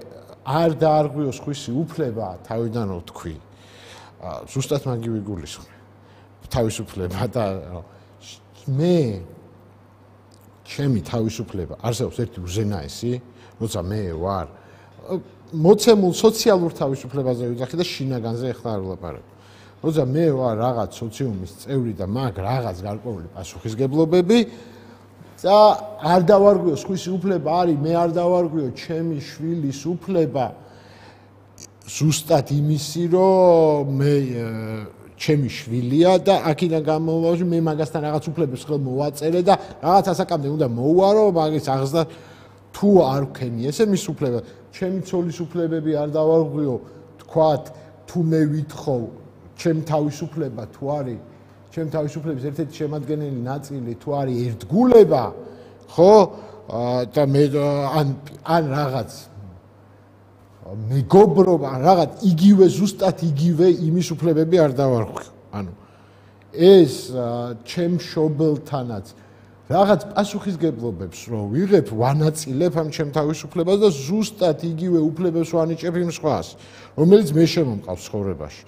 არ დაარღვიოს ხვისი უფლება, თავიდან ვთქვი. ზუსტად მაგივე გულისხმობ. თავისუფლება და მე ჩემი თავისუფლება არსებობს ერთი უზენაესი, როცა მე ვარ მოცემულ სოციალურ თავისუფლებაზე ვიძახი და შინაგანზე ახლა არ ვლაპარაკ. როცა მე ვარ რაღაც სოციუმის წევრი და მაგ რაღაც გარკვეული პასუხისგებლობები და არ დავარღვიოს ხვისი უფლება არის, მე არ დავარღვიო ჩემი შვილის უფლება ზუსტად იმისი, რომ მე ჩემი შვილია და აქედან გამომავალი მე მაგასთან რაღაც უფლებებს ხელ მოვაწერე და რაღაც ასაკამდე უნდა მოვუარო, მაგის აღზრდა თუ არ ვქენი ესე მის უფლება. ჩემი ცოლის უფლებები არ დავარღვიო, თქვათ, თუ მე ვითხოვ, ჩემ თავისუფლება თუ არის, ჩემ თავისუფლების ერთ-ერთი შემადგენელი ნაწილი თუ არის ერთგულება, ხო? და მე ან ან რაღაც მეგობრობა, რაღაც იგივე ზუსტად იგივე იმის უფლებები არ დავარღვიო. ანუ ეს ჩემ მშობელთანაც რაღაც პასუხისგებლობებს რო ვიღებ, ვანაწილებ ამ ჩემ თავისუფლებას და ზუსტად იგივე უფლებებს ვანიჭებ იმ სხვას, რომელიც მე შემომყავს ცხოვრებაში.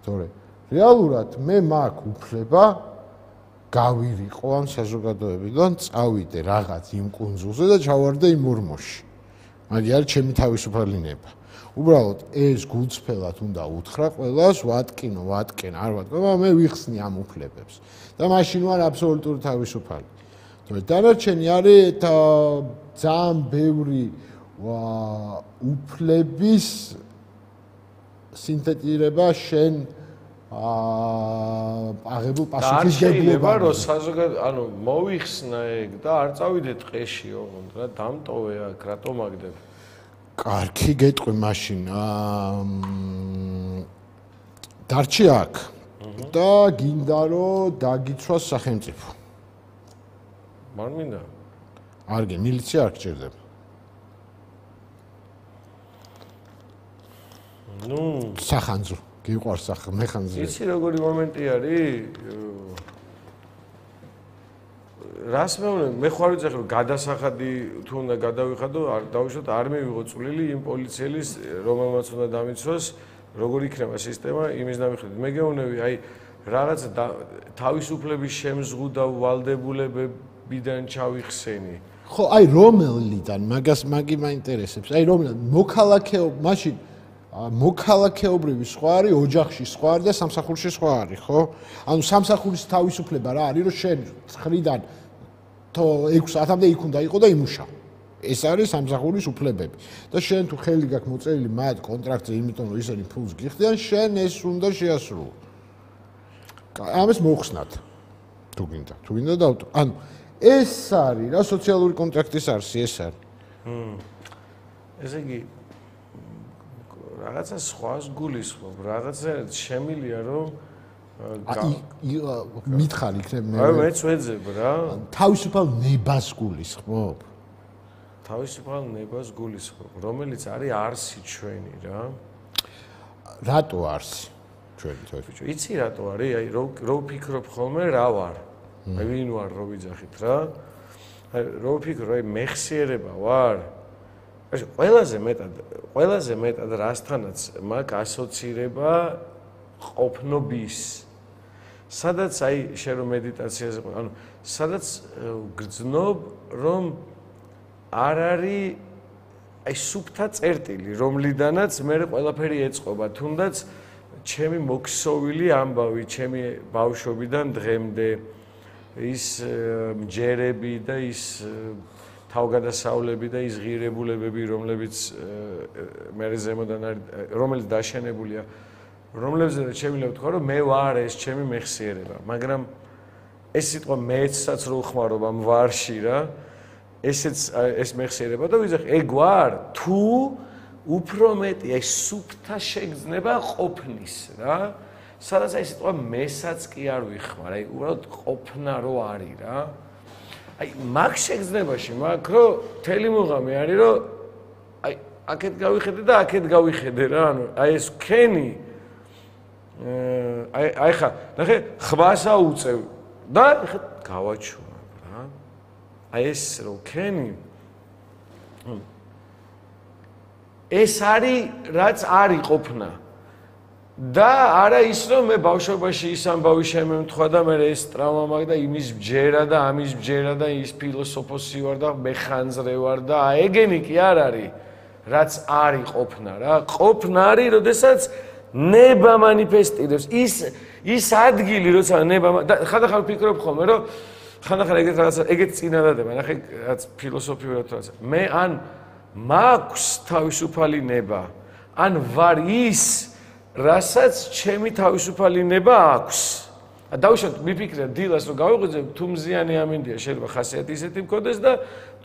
თორე რეალურად მე მაქვს უფლება გავირიყო ამ საზოგადოებიდან, წავიდე რაღაც იმ კუნძულზე და ჩავარდე იმ ორმოში. მაგ არის ჩემი თავისუფალი ნება. უბრალოდ ეს გულწრფელად უნდა უთხრა ყველას, ვატკინო, ვატკენ, არ ვატკინო, მე ვიხსნი ამ უფლებებს და მაშინ ვარ აბსოლუტური თავისუფალი. დანარჩენი არის ძალიან ბევრი უფლების სინთეზირება შენ აღებულ პასუხისგებლობა, რომ საზოგადო, ანუ მოიხსნა ეგ და არ წავიდე ტყეში, ოღონდ რა დამტოვე აქ, რატომ აგდებ? კარგი, გეტყვი მაშინ. დარჩი აქ და გინდა რომ დაგიცვას სახელმწიფო. მარ მინდა. არგი, მილიცია არ გჭირდება. ნუ, სახანძრო, გიყვარს სახ მეხანძრო. იცი როგორი მომენტი არის? რას მეუბნები, მე ხარ ვიცი რომ გადასახადი თუ უნდა გადავიხადო, არ დავუშვათ, არ მივიღო წვლილი იმ პოლიციელის, რომელმაც უნდა დამიცვას, როგორ იქნება სისტემა იმის დამიხედვით. მე გეუბნები, აი რაღაც თავისუფლების შემზღუდვა ვალდებულებებიდან ჩავიხსენი. ხო, აი რომელიდან, მაგას მაგი მაინტერესებს. აი რომელიდან მოქალაქეო, მაშინ მოქალაქეობრივი სხვა არის, ოჯახში სხვა არის და სამსახურში სხვა არის, ხო? ანუ სამსახურის თავისუფლება რა არის, რომ შენ ცხრიდან თო ექვს საათამდე იქ უნდა იყო და იმუშაო. ეს არის სამსახურის უფლებები. და შენ თუ ხელი გაქვს მოწერილი მათ კონტრაქტზე, იმიტომ რომ ისინი ფულს გიხდიან, შენ ეს უნდა შეასრულო. ამას მოხსნათ. თუ გინდა, თუ გინდა დავტო. ანუ ეს არის რა სოციალური კონტრაქტის არსი ეს არის. ჰმ. ესე იგი რაღაცა სხვას გულისხმობ, რაღაცა შემილია რომ მითხარ იქნებ მე. აი მეც ვეძებ რა. თავისუფალ ნებას გულისხმობ. თავისუფალ ნებას გულისხმობ, რომელიც არის არსი ჩვენი რა. რატო არსი ჩვენი თვითონ? იცი რატო არის? აი რო ვფიქრობ ხოლმე რა ვარ? აი ვინ ვარ რო ვიძახით რა? აი რო ვფიქრობ, აი მეხსიერება ვარ? ეს ყველაზე მეტად, ყველაზე მეტად რასთანაც მაგ ასოცირება ყოფნობის. სადაც აი შენ რომ მედიტაციაზე ყო, ანუ სადაც გრძნობ რომ არ არის აი სუფთა წერტილი, რომლიდანაც მე ყველაფერი ეწყობა, თუნდაც ჩემი მოქსოვილი ამბავი, ჩემი ბავშვობიდან დღემდე ის მჯერები და ის თავგადასავლები და ის ღირებულებები, რომლებიც მე ზემოდან არის, რომელიც დაშენებულია, რომლებზეც შემიძლია ვთქვა, რომ მე ვარ ეს ჩემი მეხსიერება, მაგრამ ეს სიტყვა მეცსაც რო ხმარობ ამ ვარში რა, ესეც ეს მეხსიერება და ვიზახ, ეგ ვარ თუ უფრო მეტი ეს სუფთა შეგრძნება ყოფნის რა, სადაც ეს სიტყვა მესაც კი არ ვიხმარ, აი უბრალოდ ყოფნა რო არის რა. აი მაგ შეგრძნებაში მაგ რო თელი მუღამი არის რომ აი აქეთ გავიხედე და აქეთ გავიხედე რა ანუ აი ეს ქენი აი აი ხა ნახე ხვას აუწევ და გავაჩუმა რა აი ეს რო ქენი ეს არის რაც არის ყოფნა და არა ის რომ მე ბავშვობაში ის ამბავი შემემთხვა და მე ეს ტრავმა მაგ და იმის ბჯერა და ამის ბჯერა და ის ფილოსოფოსი ვარ და მეხანძრე ვარ და ეგენი კი არ არის რაც არის ყოფნა რა ყოფნა არის როდესაც ნება მანიფესტირებს ის ის ადგილი როცა ნება ხანდახან ვფიქრობ ხოლმე რომ ხანდახან ეგეთ რაღაცა ეგეთ წინადადება ნახე რაც ფილოსოფიურად რაღაცა მე ან მაქვს თავისუფალი ნება ან ვარ ის რასაც ჩემი თავისუფალი ნება აქვს. დავუშვათ მიფიქრე დილას რომ გავიღვიძებ თუ მზიანი ამინდია შეიძლება ხასიათი ისეთი მქონდეს და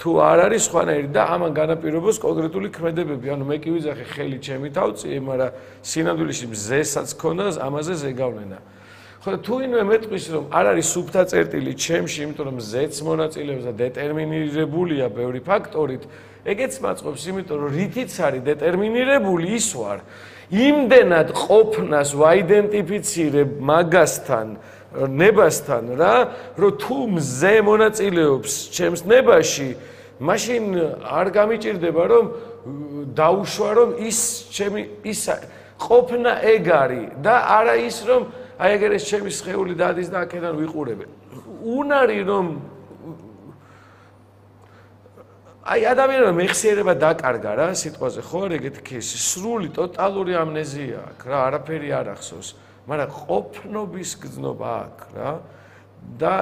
თუ არ არის სხვანაირი და ამან განაპირობოს კონკრეტული ქმედებები. ანუ მე კი ვიძახე ხელი ჩემი თავწიე, მაგრამ სინამდვილეში მზესაც ქონდა ამაზე ზეგავლენა. ხო და თუ ინვე მეტყვის რომ არ არის სუფთა წერტილი ჩემში, იმიტომ რომ მზეც მონაწილეობს და დეტერმინირებულია ბევრი ფაქტორით, ეგეც მაწყობს, იმიტომ რომ რითიც არის დეტერმინირებული ის ვარ. იმდენად ყოფნას ვაიდენტიფიცირებ მაგასთან, ნებასთან რა, რომ თუ მზე მონაწილეობს ჩემს ნებაში, მაშინ არ გამიჭირდება რომ დაუშვა რომ ის ჩემი ის ყოფნა ეგ არის და არა ის რომ აი ეგერ ეს ჩემი სხეული დადის და აქედან ვიყურებ. უნარი რომ აი ადამიანმა მეხსიერება დაკარგა რა სიტყვაზე ხო არ ეგეთი кейსი სრული ტოტალური ამნეზია აქვს რა არაფერი არ ახსოვს მაგრამ ყოფნობის გრძნობა აქვს რა და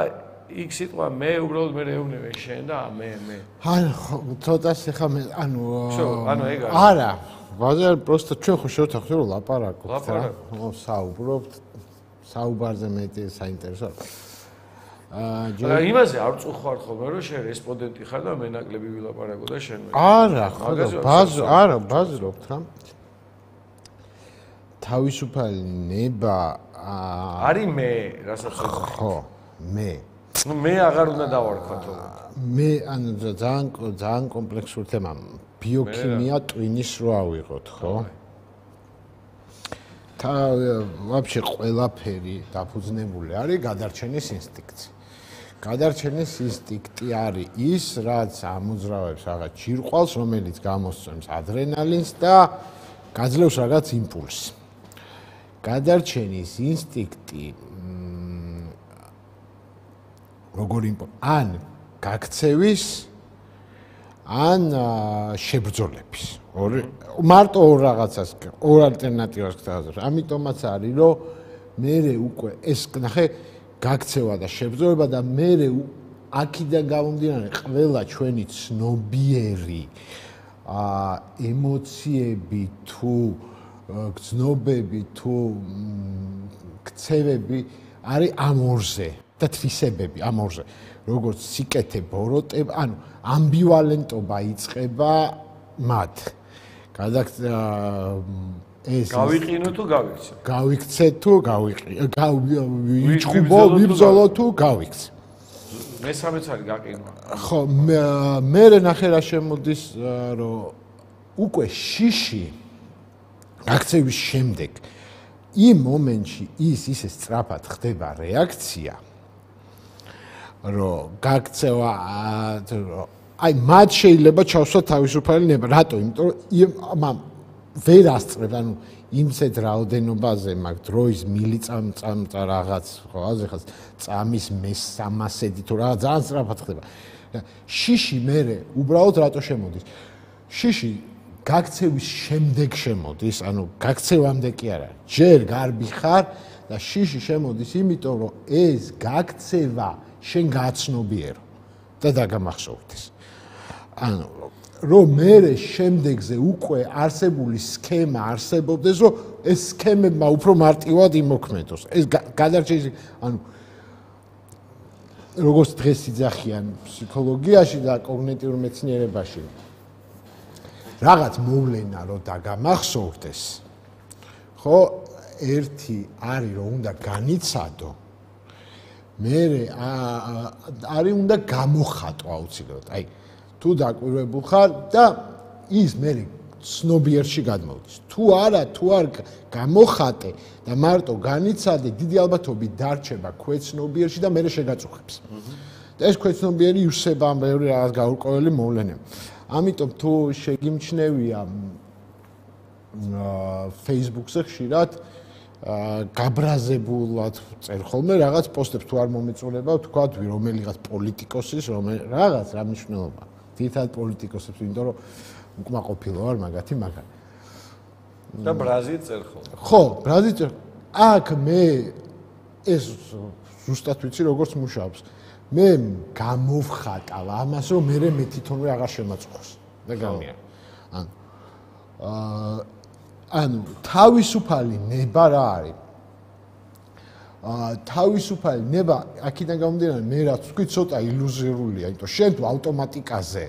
იქ სიტყვა მე უბრალოდ მე ეუბნები შენ და მე მე ანუ ცოტას ეხა მე ანუ ანუ ეგ არის არა ბაზარ პროსტა ჩვენ ხო შევთანხმდით რომ ლაპარაკობთ რა საუბრობთ საუბარზე მეტი საინტერესო აა იმაზე არ წუხარ ხოლმე რომ შენ რესპონდენტი ხარ და მე ნაკლები ვილაპარაკო და შენ მე არა ხო ბაზ არა ბაზრობთ რა თავისუფალი ნება არის მე რასაც ხო მე ნუ მე აღარ უნდა დავარქვათო მე ანუ ძალიან ძალიან კომპლექსური თემა ბიოქიმია ტვინის რო ავიღოთ ხო და ვაფშე ყველაფერი დაფუძნებული არის გადარჩენის ინსტინქტზე გადარჩენის ინსტინქტი არის ის, რაც ამოძრავებს რაღაც ჯირყვალს, რომელიც გამოსცემს ადრენალინს და გაძლევს რაღაც იმპულსს. გადარჩენის ინსტინქტი როგორ იმპულსი? ან გაქცევის, ან შებრძოლების. ორი მარტო ორ რაღაცას, ორ ალტერნატივას გთავაზობ. ამიტომაც არის, რომ მე უკვე ეს ნახე გაქცევა და შებრძოლება და მე აქიდან გამომდინარე ყველა ჩვენი ცნობიერი აა ემოციები თუ გრძნობები თუ ქცევები არის ამ ორზე და თვისებები ამ ორზე როგორც სიკეთე ბოროტება ანუ ამბივალენტობა იწყება მათ გადაქცა ეს გავიყინო თუ გავიქცე გავიქცე თუ გავიყი გავიჭუბო ვიბრძოლო თუ გავიქცე მესამეც არის გაყინვა ხო მე ნახე რა შემოდის რომ უკვე შიში აქცევის შემდეგ იმ მომენტში ის ისე სწრაფად ხდება რეაქცია რომ გაქცევა აი მათ შეიძლება ჩავსვა თავისუფალი ნება რატო იმიტომ რომ ვერ ასწრებ, ანუ იმცეთ რაოდენობაზე მაგ დროის მილიწამწამწა რაღაც, ხო, აზეხას წამის მესამასედი თუ რაღაც ძალიან სწრაფად ხდება. შიში მერე უბრალოდ რატო შემოდის? შიში გაქცევის შემდეგ შემოდის, ანუ გაქცევამდე კი არა. ჯერ გარბი ხარ და შიში შემოდის, იმიტომ რომ ეს გაქცევა შენ გააცნობიერო და დაგამახსოვრდეს. ანუ რომ მე შემდეგზე უკვე არსებული სქემა არსებობდეს, რომ ეს სქემებმა უფრო მარტივად იმოქმედოს. ეს გადარჩენის, ანუ როგორც დღეს იძახიან ფსიქოლოგიაში და კოგნიტიურ მეცნიერებაში, რაღაც მოვლენა რომ დაგამახსოვრდეს, ხო, ერთი არის რომ უნდა განიცადო, მერე არის უნდა გამოხატო აუცილებლად. აი, თუ დაკვირვებულ ხარ და ის მერე ცნობიერში გადმოვდის. თუ არა, თუ არ გამოხატე და მარტო განიცადე, დიდი ალბათობით დარჩება ქვეცნობიერში და მერე შეგაწუხებს. და ეს ქვეცნობიერი ივსება ამ ბევრი რაღაც გაურკვეველი მოვლენები. ამიტომ თუ შეგიმჩნევია Facebook-ზე ხშირად გაბრაზებულად წერ ხოლმე რაღაც პოსტებს თუ არ მომეწონება, თქვათ რომელიღაც პოლიტიკოსის, რაღაც რა მნიშვნელობა. თითქოს პოლიტიკოსებს, იმიტომ რომ უკმაყოფილო არ მაგათი მაგარი. და ბრაზი წერ ხოლმე. ხო, ბრაზი წერ. აქ მე ეს ზუსტად ვიცი როგორც მუშაობს. მე გამოვხატავ ამას, რომ მე მე თვითონვე აღარ შემაწუხოს. და გამია. ანუ აა ანუ თავისუფალი ნება რა არის? აა თავისუფალი ნება აქედან გამომდინარე მე რაც ვთქვი ცოტა ილუზორულია, იმიტომ შენ თუ ავტომატიკაზე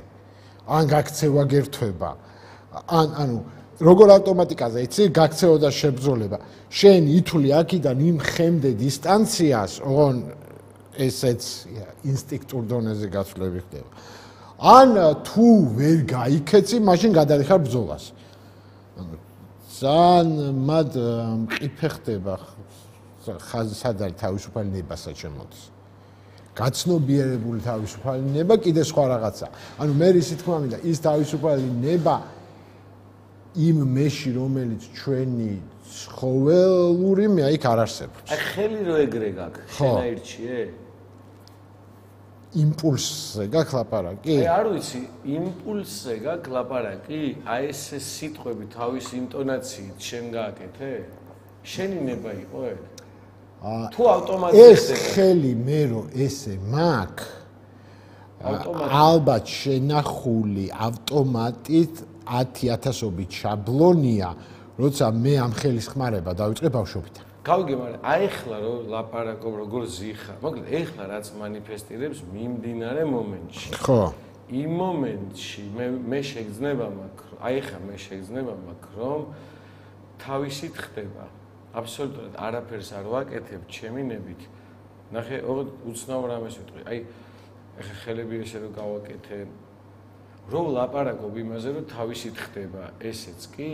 ან გაქცევა გერთვება, ან ანუ როგორ ავტომატიკაზე იცი გაქცევა და შებრძოლება, შენ ითვლი აქედან იმ ხემდე დისტანციას, ოღონ ესეც ინსტინქტურ დონეზე გაცვლები ხდება. ან თუ ვერ გაიქეცი, მაშინ გადადიხარ ბრძოლას. ანუ ძალიან მად მყიფე ხდება ხაზი სად არის თავისუფალი ნება საჩემოდის. გაცნობიერებული თავისუფალი ნება კიდე სხვა რაღაცა. ანუ მე ისი თქმა მინდა ის თავისუფალი ნება იმ მეში რომელიც ჩვენი ცხოველური მე იქ არ არსებობს. აი ხელი რო ეგრე გაქვს, შენ აირჩიე? იმპულსზე გაქვს ლაპარაკი? აი არ ვიცი, იმპულსზე გაქვს ლაპარაკი? აი ეს სიტყვები თავის ინტონაციით შენ გააკეთე? შენი ნება იყო ეგ? თუ ავტომატურად ეს ხელი მე რო ესე მაქვს, ალბათ შენახული ავტომატით ათი ათასობით შაბლონია, როცა მე ამ ხელის ხმარება დავიწყე ბავშვობიდან. გავიგე, მაგრამ აი ახლა რო ლაპარაკობ როგორ ზიხარ, მოკლედ ახლა რაც მანიფესტირებს მიმდინარე მომენტში. ხო. იმ მომენტში მე მე შეგძნება მაქვს, აი ახლა მე შეგძნება მაქვს, რომ თავისით ხდება. აბსოლუტურად არაფერს არ ვაკეთებ ჩემი ნებით. ნახე, უცნაურ ამას ვიტყვი. აი ახლა ხელები ესე რომ გავაკეთე, რომ ლაპარაკობ იმაზე, რომ თავისით ხდება, ესეც კი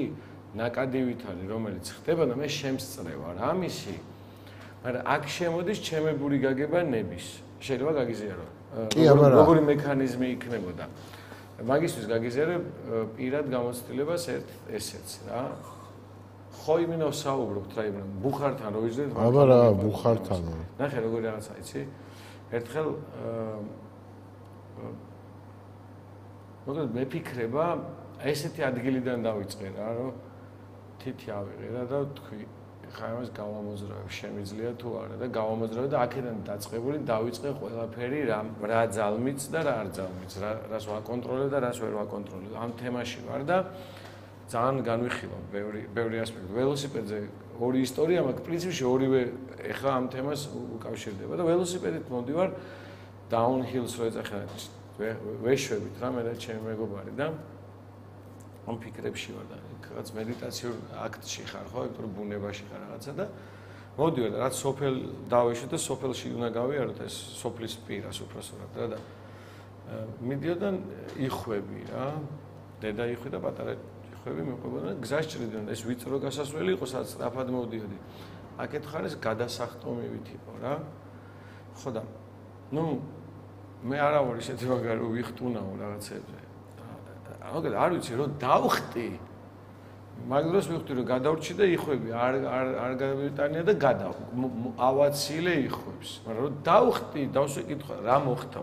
ნაკადივით არის, რომელიც ხდება და მე შემსწრევა რა მისი. მაგრამ აქ შემოდის ჩემებური გაგება ნების. შეიძლება გაგიზიარო? როგორი მექანიზმი იქნებოდა. მაგისთვის გაგიზიარებ პირად გამოცდილებას ერთ ესეც რა. ხო იმინო საუბრობთ რა იმენ ბუხართან რო იზრდეთ აბა რა ბუხართან ნახე როგორი რაღაცა იცი ერთხელ მოკლედ მეფიქრება ესეთი ადგილიდან დავიწყე რა რომ თითი ავიღე რა და თქვი ხა იმას გავამოძრავებ შემიძლია თუ არა და გავამოძრავე და აქედან დაწყებული დავიწყე ყველაფერი რა რა ძალმიც და რა არ ძალმიც რა რას ვაკონტროლებ და რას ვერ ვაკონტროლებ ამ თემაში ვარ და ძალიან განვიხილავ ბევრი ბევრი ასპექტი. ველოსიპედზე ორი ისტორია მაქვს, პრინციპში ორივე ეხა ამ თემას უკავშირდება და ველოსიპედით მოდივარ downhill-ს რო ეძახა ვეშვებით რა მე და ჩემი მეგობარი და ამ ფიქრებში ვარ და რაღაც მედიტაციურ აქტში ხარ ხო, იმიტომ რომ ბუნებაში ხარ რაღაცა და მოდივარ და რაც სოფელ დავეშვი და სოფელში უნდა გავიაროთ ეს სოფლის პირას უბრალოდ რა და მიდიოდა იხვები რა, დედა იხვი და პატარა მიყვებოდა გზას ჭრიდნენ ეს ვიწრო გასასვლელი იყო სადაც სწრაფად მოვდიოდი. აქეთ ხარ ეს გადასახტომივით იყო რა. ხო და ნუ მე არა ვარ ისეთი მაგარი რომ ვიხტუნაო რაღაცებზე. მოგეთ არ ვიცი რომ დავხტი. მაგ დროს ვიხტი რომ გადავრჩი და იხვები არ არ არ გადავიტანია და გადა ავაცილე იხვებს. მაგრამ რომ დავხტი დავსვეკითხა რა მოხდა?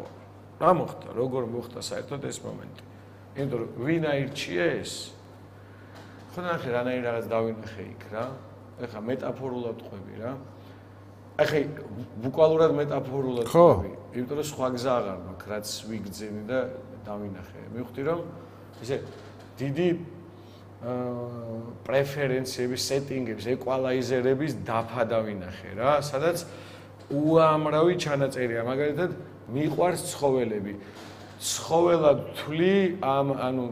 რა მოხდა? როგორ მოხდა საერთოდ ეს მომენტი? იმიტომ რომ ვინ აირჩია ეს? ხო ნახე რანაირ რაღაც დავინახე იქ რა. ეხლა მეტაფორულად ყვები რა. ახლა ბუკვალურად მეტაფორულად ხო, იმიტომ რომ სხვა გზა აღარ მაქვს, რაც ვიგძინი და დავინახე. მივხვდი რომ ესე დიდი პრეფერენციების, სეტინგების, ეკვალაიზერების დაფა დავინახე რა, სადაც უამრავი ჩანაწერია, მაგალითად, მიყვარს ცხოველები. ცხოველად თვლი ამ ანუ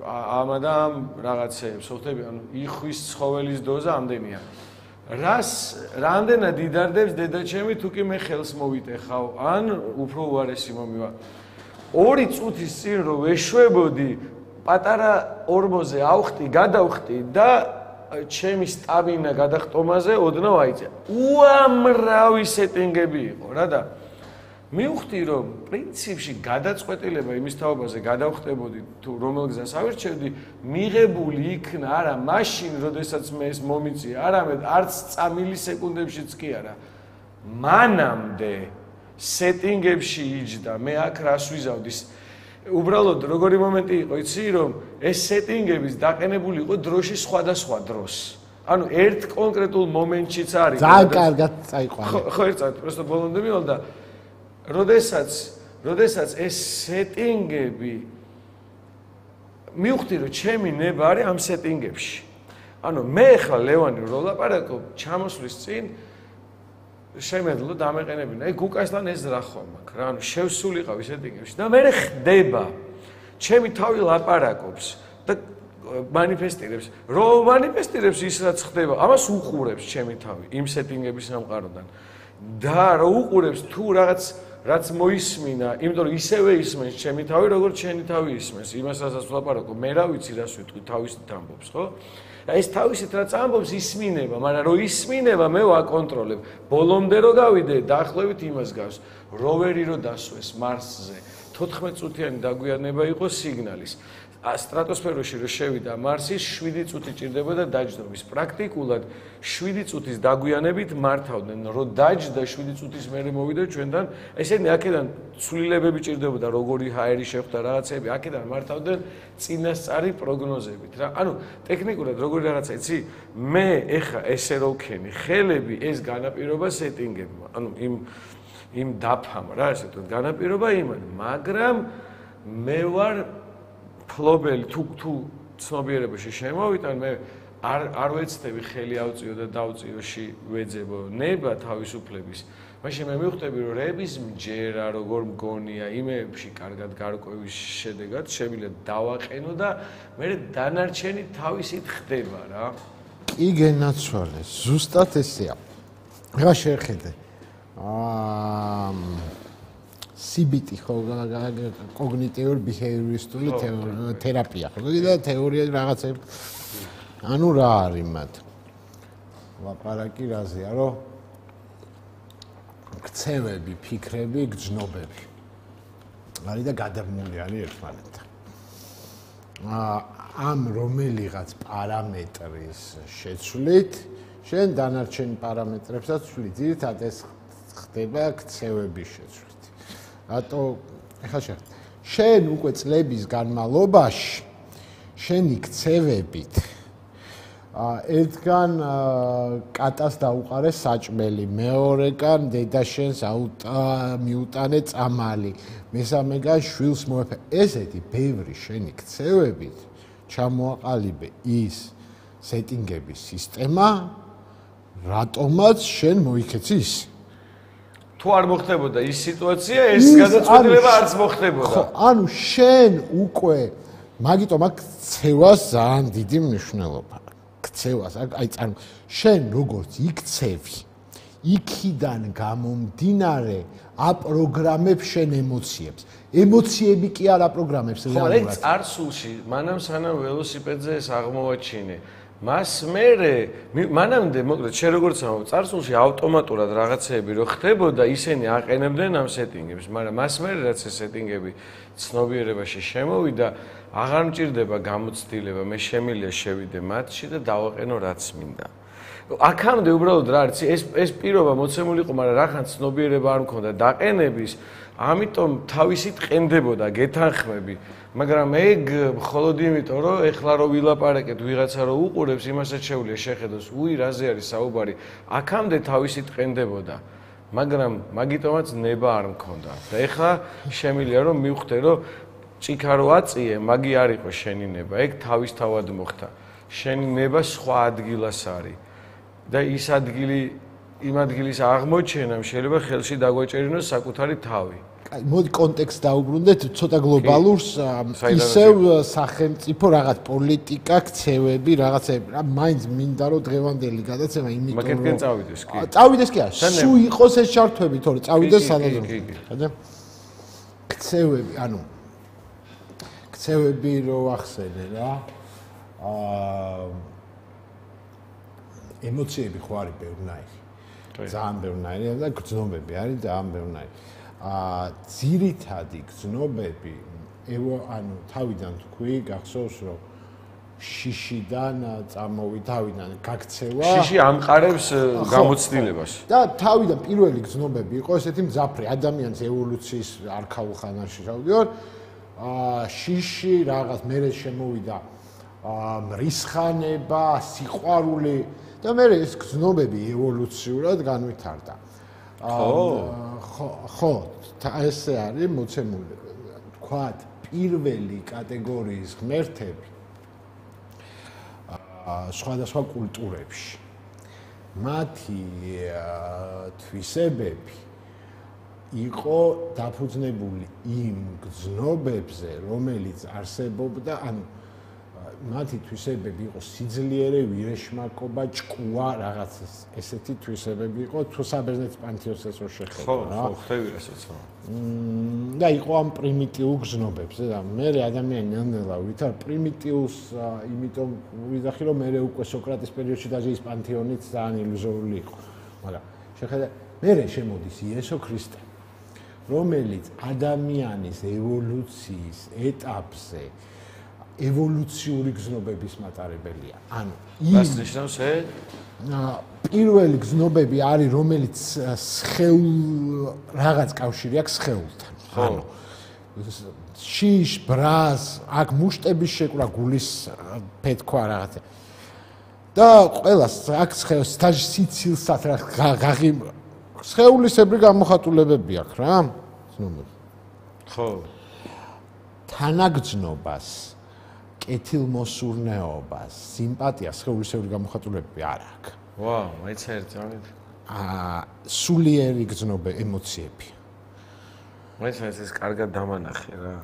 ამ და ამ რაღაცეებს, ხოთები, ანუ იხვის ცხოველის დოზა ამდენია. რას რამდენად იდარდებს დედაჩემი თუ კი მე ხელს მოვიტეხავ, ან უფრო უარესი მომივა. ორი წუთის წინ რომ ვეშვებოდი, პატარა ორმოზე ავხტი, გადავხტი და ჩემი სტაბინა გადახტომაზე ოდნავ აიწია. უამრავი სეტინგები იყო რა და მივხვდი რომ პრინციპში გადაწყვეტილება იმის თაობაზე გადავხტებოდი თუ რომელ გზას ავირჩევდი, მიღებული იქნა არა მაშინ, როდესაც მე ეს მომიწია, არამედ არც მილისეკუნდებშიც კი არა. მანამდე სეტინგებში იჯდა, მე აქ რას ვიზავდი? უბრალოდ როგორი მომენტი იყო, იცი რომ ეს სეტინგების დაყენებული იყო დროში სხვადასხვა დროს. ანუ ერთ კონკრეტულ მომენტშიც არის. ძალიან კარგად წაიყვანე. ხო, ერთად, просто ბოლომდე მივალ და როდესაც, როდესაც ეს სეტინგები მივხვდი რომ ჩემი ნება არის ამ სეტინგებში. ანუ მე ხა ლევანი რო ლაპარაკობ, ჩამოსვლის წინ შემეძლო დამეყენებინა. აი გუკასთან ეს რა ხომ აქ რა, ანუ შევსულიყავი სეტინგებში და მე ხდება. ჩემი თავი ლაპარაკობს და მანიფესტირებს. რომ მანიფესტირებს ის რაც ხდება, ამას უყურებს ჩემი თავი იმ სეტინგების სამყაროდან. და რო უყურებს თუ რაღაც რაც მოისმინა, იმიტომ რომ ისევე ისმენს ჩემი თავი, როგორც ჩემი თავი ისმენს. იმას რასაც ვლაპარაკობ, მე რა ვიცი რას ვიტყვი, თავისით ამბობს, ხო? ეს თავისით რაც ამბობს ისმინება, მაგრამ რო ისმინება, მე ვაკონტროლებ. ბოლომდე რო გავიდე, დაახლოებით იმას გავს. როვერი რო დასვეს მარსზე, თოთხმეტ წუთიანი დაგვიანება იყო სიგნალის. სტრატოსფეროში რო შევიდა მარსის, შვიდი წუთი ჭირდება და დაჯდომის. პრაქტიკულად შვიდი წუთის დაგვიანებით მართავდნენ. რო დაჯდა შვიდი წუთის მერე მოვიდა ჩვენთან, ესენი აქედან ცვლილებები ჭირდებოდა, როგორი ჰაერი შეხვდა რაღაცები, აქედან მართავდნენ წინასწარი პროგნოზებით რა. ანუ ტექნიკურად როგორი რაღაცა, იცი? მე ეხა ესე რო ვქენი, ხელები ეს განაპირობა სეტინგებმა. ანუ იმ იმ დაფამ რა, ესე ვთქვათ, განაპირობა იმან, მაგრამ მე ვარ ფლობელი თუ თუ ცნობიერებაში შემოვიტან, მე არ არ ვეცდები ხელი ავწიო და დავწიოში ვეძებო ნება თავისუფლების. მაშინ მე მივხვდები რომ რების მჯერა როგორ მგონია იმეებში კარგად გარკვევის შედეგად შემიძლია დავაყენო და მე დანარჩენი თავისით ხდება რა. კი გენაცვალე, ზუსტად ესეა. რა შეხედე? აა C B T ხო კოგნიტიურ ბიჰევიორისტული თერაპია ხო და თეორია რაღაცები ანუ რა არის მათ ლაპარაკი რაზეა რომ ქცევები, ფიქრები, გრძნობები არის და გადაბმული არის ერთმანეთთან ამ რომელიღაც პარამეტრის შეცვლით შენ დანარჩენ პარამეტრებსაც ცვლი ძირითადად ეს ხდება ქცევების შეცვლით რატო ეხლა შენ შენ უკვე წლების განმავლობაში შენი ქცევებით ერთგან კატას დაუყარე საჭმელი, მეორეგან დედაშენს მიუტანე წამალი, მესამეგან შვილს მოეფე. ესეთი ბევრი შენი ქცევებით ჩამოაყალიბე ის სეტინგების სისტემა, რატომაც შენ მოიქეცი ის. თუ არ მოხდებოდა ის სიტუაცია, ეს გადაწყვეტილება არც მოხდებოდა. ხო, ანუ შენ უკვე მაგიტომ აქ ქცევას ძალიან დიდი მნიშვნელობა. ქცევას, აი წამ შენ როგორც იქცევი, იქიდან გამომდინარე აპროგრამებ შენ ემოციებს. ემოციები კი არ აპროგრამებს რეალურად. ხო, წარსულში, მანამ სანამ ველოსიპედზე ეს აღმოვაჩინე. მას მერე მანამდე მოკლედ შე როგორც ამბობ წარსულში ავტომატურად რაღაცეები რო ხდებოდა ისინი აყენებდნენ ამ სეტინგებს მაგრამ მას მერე რაც ეს სეტინგები ცნობიერებაში შემოვიდა აღარ მჭირდება გამოცდილება მე შემიძლია შევიდე მათში და დავაყენო რაც მინდა აქამდე უბრალოდ რა არის ეს ეს პირობა მოცემული იყო მაგრამ რახან ცნობიერება არ მქონდა დაყენების ამიტომ თავისით ყენდებოდა, გეთანხმები, მაგრამ ეგ მხოლოდ იმიტომ, რომ ეხლა რო ვილაპარაკეთ, ვიღაცა რო უყურებს, იმასაც შეუძლია შეხედოს, უი, რაზე არის საუბარი. აქამდე თავისით ყენდებოდა, მაგრამ მაგიტომაც ნება არ მქონდა. და ეხლა შემიძლია რომ მივხვდე, რომ ჭიქა რო აწიე, მაგი არ იყო შენი ნება, ეგ თავისთავად მოხდა. შენი ნება სხვა ადგილას არის. და ის ადგილი იმ ადგილის აღმოჩენამ შეიძლება ხელში დაგვეჭერინოს საკუთარი თავი. აი, მოდი კონტექსტ დაუბრუნდეთ ცოტა გლობალურს, ისევ სახელმწიფო რაღაც პოლიტიკა, ქცევები, რაღაცები. რა მაინც მინდა რომ დღევანდელი გადაცემა იმიტომ რომ მაგეთკენ წავიდეს კი. წავიდეს კი არა, სულ იყოს ეს ჩართვები, თორე წავიდეს სადაზო. ხადა? ქცევები, ანუ ქცევები რო ახსენე რა. აა ემოციები ხო არის ბევრნაირი. ძალიან ბევრნაირი და გრძნობები არის ძალიან ბევრნაირი. აა ძირითადი გრძნობები ანუ თავიდან თქვი, გახსოვს რომ შიშიდან წამოვიდავიდან გაქცევა. შიში ამყარებს გამოცდილებას. და თავიდან პირველი გრძნობები იყო ესეთი მძაფრი ადამიანის ევოლუციის არქაულ ხანაში შევდივარ. აა შიში რაღაც მერე შემოვიდა აა მრისხანება, სიყვარული და მე ეს გრძნობები ევოლუციურად განვითარდა. ხო, ხო, ესე არის მოცემული. თქვათ, პირველი კატეგორიის ღმერთები აა სხვადასხვა კულტურებში. მათი თვისებები იყო დაფუძნებული იმ გრძნობებზე, რომელიც არსებობდა, ანუ მათი თვისებები იყო სიძლიერე, ვირეშმაკობა, ჭკუა, რაღაც ესეთი თვისებები იყო, თუ საბერძნეთის პანთეონს რო შეხედო რა. ხო, ხო, ხდები რასაც. და იყო ამ პრიმიტიულ გრძნობებზე და მე ადამიანი ნელ-ნელა ვითარ პრიმიტიულს, იმიტომ ვიძახი რომ მე უკვე სოკრატეს პერიოდში და ის პანთეონიც ძალიან ილუზორული იყო. მაგრამ შეხედე, მე შემოდის იესო ქრისტე, რომელიც ადამიანის ევოლუციის ეტაპზე ევოლუციური გრძნობების მატარებელია. ანუ ის ნიშნავს ე პირველი გრძნობები არის, რომელიც სხეულ რაღაც კავშირი აქვს სხეულთან. ანუ შიშ, ბრას, აქ მუშტების შეკვრა, გულის ფეთქვა რაღაცა. და ყველას აქ სხეულს სტაჟ სიცილსაც რა ღაღი სხეულისებრი გამოხატულებები აქვს რა. გრძნობები. ხო. თანაგრძნობას კეთილმოსურნეობას, სიმპათიას, სხეულისებრი გამოხატულებები არ აქვს. ვაუ, მეცერთ ამით. აა, სულიერი გრძნობე ემოციები. მეცერთ ეს კარგად დამანახე რა.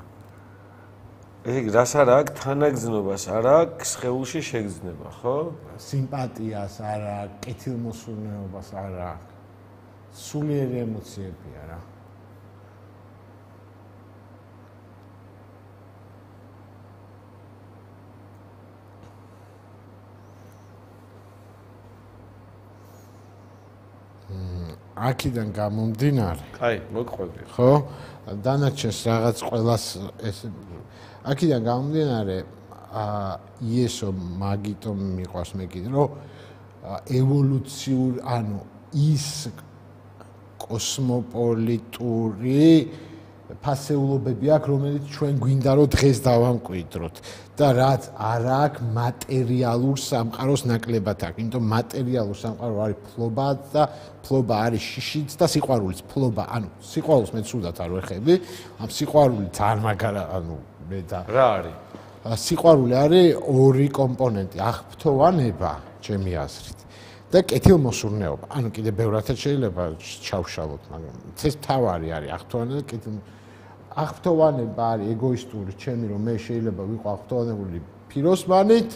ეგ რას არ აქვს თანაგრძნობას, არ აქვს სხეულში შეგრძნება, ხო? სიმპათიას არ აქვს, კეთილმოსურნეობას არ აქვს. სულიერი ემოციებია რა. აქედან გამომდინარე. აი, მოგყვები. ხო? დანარჩენს რაღაც ყველას ეს აქედან გამომდინარე, აა იესო მაგიტომ მიყვარს მე კიდე, რომ ევოლუციურ, ანუ ის კოსმოპოლიტური ფასეულობები აქვს, რომელიც ჩვენ გვინდა რომ დღეს დავამკვიდროთ და რაც არ აქვს მატერიალურ სამყაროს ნაკლებად აქვს. იმიტომ მატერიალურ სამყარო არის ფლობა და ფლობა არის შიშიც და სიყვარულიც ფლობა. ანუ სიყვარულს მე ცუდად არ ვეხები. ამ სიყვარული ძალიან მაგარა, ანუ მე და რა არის? სიყვარული არის ორი კომპონენტი, აღფრთოვანება, ჩემი აზრით. და კეთილმოსურნეობა. ანუ კიდე ბევრათაც შეიძლება ჩავშალოთ, მაგრამ ეს თავარი არის აღფრთოვანება და კეთილ აღფრთოვანება არის ეგოისტური, ჩემი რომ მე შეიძლება ვიყო აღფრთოვანებული ფიროსმანით,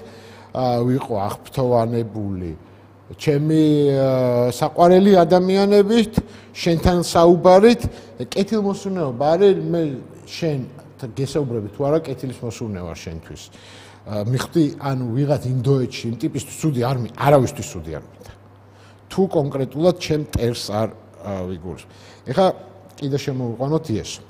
ვიყო აღფრთოვანებული ჩემი საყვარელი ადამიანებით, შენთან საუბარით, კეთილმოსურნეობა არის მე შენ გესაუბრები თუ არა კეთილმოსურნეობა შენთვის. მიხდი, ანუ ვიღაც ინდოეთში იმ ტიპისთვის ცუდი არ მინდა, არავისთვის ცუდი არ მინდა. თუ კონკრეტულად ჩემ ტერს არ ვიგულს. ეხლა კიდე შემოვიყვანოთ იესო.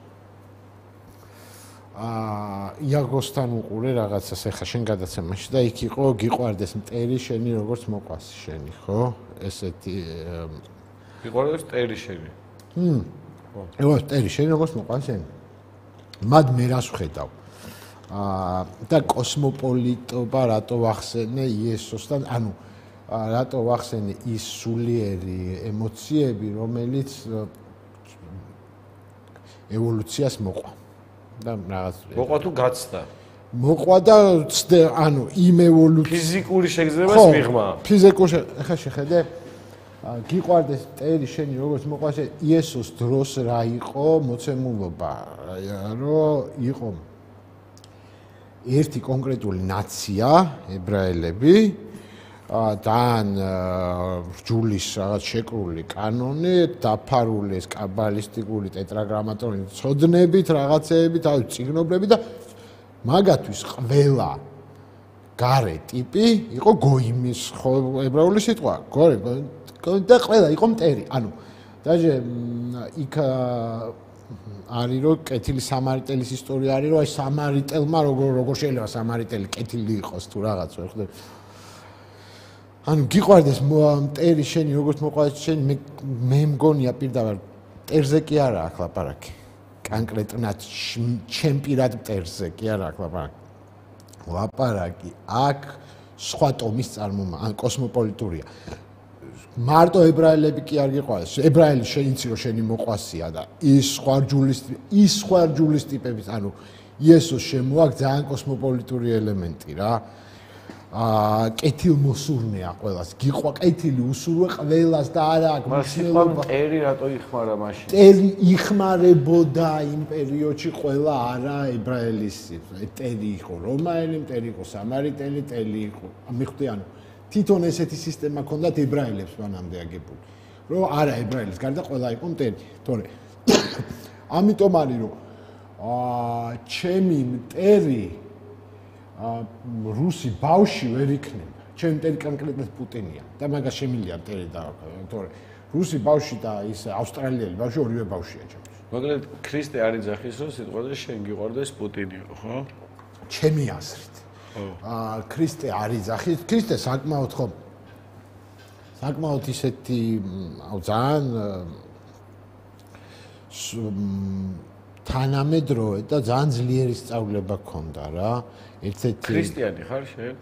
აა იაგოსთან უყურე რაღაცას ეხლა შენ გადაცემაში და იქ იყო გიყვარდეს მტერი შენი როგორც მოყვას შენი, ხო? ესეთი გიყვარდეს მტერი შენი. ჰმ. ეხლა მტერი შენ როგორც მოყავს შენ მად მე რას ვხედავ აა და კოსმოპოლიტობა რატო ვახსენე იესოსთან ანუ რატო ვახსენე ის სულიერი ემოციები რომელიც ევოლუციას მოყვა და რაღაც მოყვა თუ გაცდა მოყვა და ანუ იმ ევოლუცია ფიზიკური შეგრძნებას მიღმა ფიზიკური ახლა შეხედე გიყვარდეს მტერი შენი როგორც მოყვას იესოს დროს რა იყო მოცემულობა რომ იყო ერთი კონკრეტული ნაცია ებრაელები დან რჯულის რაღაც შეკრული კანონი დაფარული ეს კაბალისტიკური ტეტრაგრამატონი ცოდნებით რაღაცეებით თავის წიგნობრები და მაგათვის ყველა გარე ტიპი იყო გოიმის ებრაული სიტყვა გორი და ყველა იყო მტერი ანუ დაჟე იქ არის რომ კეთილი სამარიტელის ისტორია არის რომ აი სამარიტელმა როგორ როგორ შეიძლება სამარიტელი კეთილი იყოს თუ რაღაც ხო ანუ გიყვარდეს მტერი შენი როგორც მოყვარს შენ მე მე მგონია პირდაპირ მტერზე კი არა აქ ლაპარაკი კონკრეტულად ჩემ პირად მტერზე კი არა აქ ლაპარაკი ლაპარაკი აქ სხვა ტომის წარმომა ან კოსმოპოლიტურია მარტო ებრაელები კი არ გიყვარს ებრაელი შეიცი რომ შენი მოყვასია და ის სხვა რჯულის ის სხვა რჯულის ტიპების ანუ იესოს შემოაქვს ძალიან კოსმოპოლიტური ელემენტი რა აა კეთილმოსურნეა ყველას გიყვა კეთილი უსურვე ყველას და არა აქვს მნიშვნელობა მტერი რატო იხმარა მაშინ მტერი იხმარებოდა იმ პერიოდში ყველა არა ებრაელის მტერი იყო რომაელი მტერი იყო სამარიტელი მტერი იყო მიხვდი ანუ თვითონ ესეთი სისტემა ჰქონდათ ებრაელებს მანამდე აგებული რომ არა ებრაელის გარდა ყველა იყო მტერი თორე ამიტომ არის რომ აა ჩემი მტერი რუსი ბავში ვერ იქნება ჩემი მტერი კონკრეტულად პუტინია და მაგას შემილია მტერი და თორე რუსი ბავში და ის ავსტრალიელი ბავში ორივე ბავშია ჩემთვის მაგრამ ქრისტე არ იძახის რომ სიტყვაზე შენ გიყვარდეს პუტინი ხო ჩემი აზრით აა ქრისტე არ იძახის ქრისტე საკმაოდ ხო საკმაოდ ისეთი აუ ძალიან თანამედროვე და ძალიან ძლიერი სწავლება ქონდა რა ერთ-ერთი ქრისტიანი ხარ შენ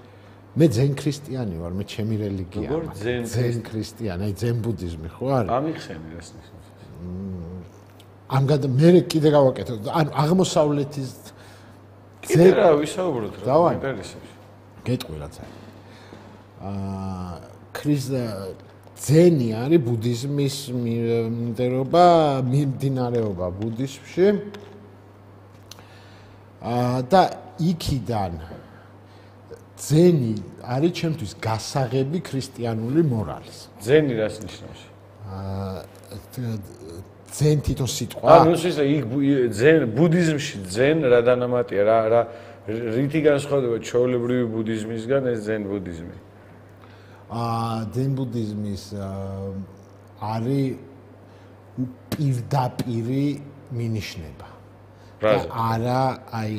მე ძენ ქრისტიანი ვარ მე ჩემი რელიგია როგორ ძენ ძენ ქრისტიანი აი ძენ ბუდიზმი ხო არის ამიხსენი რას ნიშნავს ამგან მე კიდე გავაკეთო ანუ აღმოსავლეთის კიდე რა ვისაუბროთ რა ინტერესებს გეტყვი რაც არის აა ქრისტე ძენი არის ბუდიზმის მიმდევრობა მიმდინარეობა ბუდიზმში აა და იქიდან ძენი არის ჩემთვის გასაღები ქრისტიანული მორალის ძენი რას ნიშნავს აა ძენ თვითონ სიტყვა ანუ ის იქ ძენ ბუდიზმში ძენ რა დანამატია რა რა რითი განსხვავდება ჩვეულებრივი ბუდიზმისგან ეს ძენ ბუდიზმი აა ძენ ბუდიზმის არის პირდაპირი მინიშნება და არა აი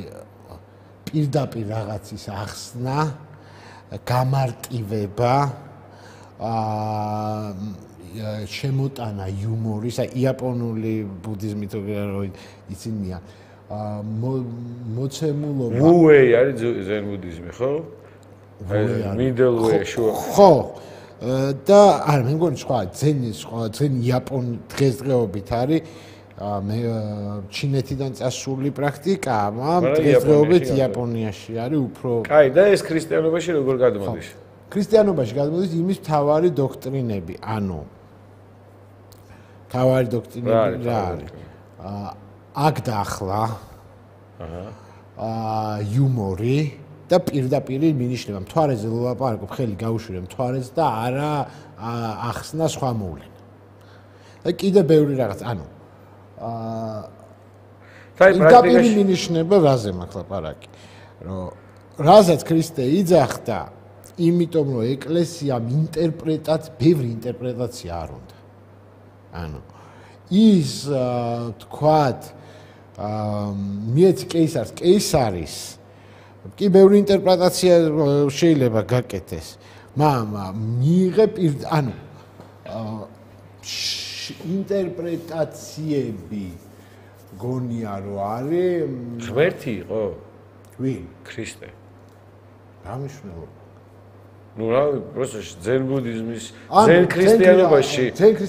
პირდაპირ რაღაცის ახსნა გამარტივება აა შემოტანა იუმორის აი იაპონური ბუდიზმი თუ რა ისინია აა მოცემულობა ვუეი არის ძენ ბუდიზმი ხო middle way შუა ხო და არა მე მგონი სხვა ძენი სხვა ძენ იაპონ დღესდღეობით არის მე ჩინეთიდან წასული პრაქტიკა მაგრამ დღესდღეობით იაპონიაში არის უფრო კაი და ეს ქრისტიანობაში როგორ გადმოდის ქრისტიანობაში გადმოდის იმის მთავარი დოქტრინები ანუ მთავარი დოქტრინები რა არის აქ და ახლა აა იუმორი და პირდაპირ მინიშნება მთვარეზე ლაპარაკობ ხელი გაუშვირე მთვარეს და არა ახსნა სხვა მოვლენა და კიდე ბევრი რაღაც ანუ აა პირდაპირ მინიშნება რაზე მაქვს ლაპარაკი რომ რაზეც ქრისტე იძახდა იმიტომ რომ ეკლესიამ ინტერპრეტაც ბევრი ინტერპრეტაცია არ უნდა ანუ ის თქვათ აა მიეც კეისარს კეისარის კი ბევრი ინტერპრეტაცია შეიძლება გაკეთდეს მაგრამ მიიღე ანუ ინტერპრეტაციები გონია რომ არის ღმერთი იყო? ვინ? ქრისტე. რა მნიშვნელობა? ну რა просто ძენ ბუდიზმის ძენ ქრისტიანობაში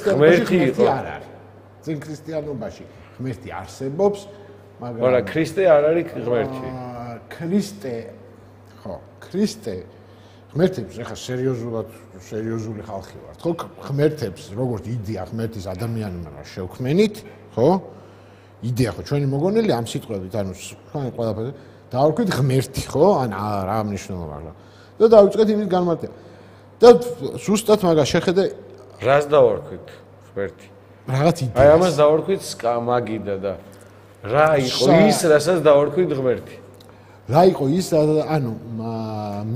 ღმერთი იყო არ არის ძენ ქრისტიანობაში ღმერთი არსებობს მაგრამ არა ქრისტე არ არის ღმერთი ქრისტე ხო ქრისტე ღმერთებს ახლა სერიოზულად სერიოზული ხალხი ვართ ხო ღმერთებს როგორც იდეა ღმერთის ადამიანმა შევქმენით ხო იდეა ხო ჩვენი მოგონილი ამ სიტყვებით ანუ თქვენ ყველაფერზე დავარქვით ღმერთი ხო ან რა მნიშვნელობა აქვს და დავიწყეთ იმის განმარტება. და ზუსტად მაგას შეხედე რას დავარქვით ღმერთი? რაღაც იდეა. აი ამას დავარქვით მაგიდა და რა იყო ის, რასაც დავარქვით ღმერთი? რა იყო ის, ანუ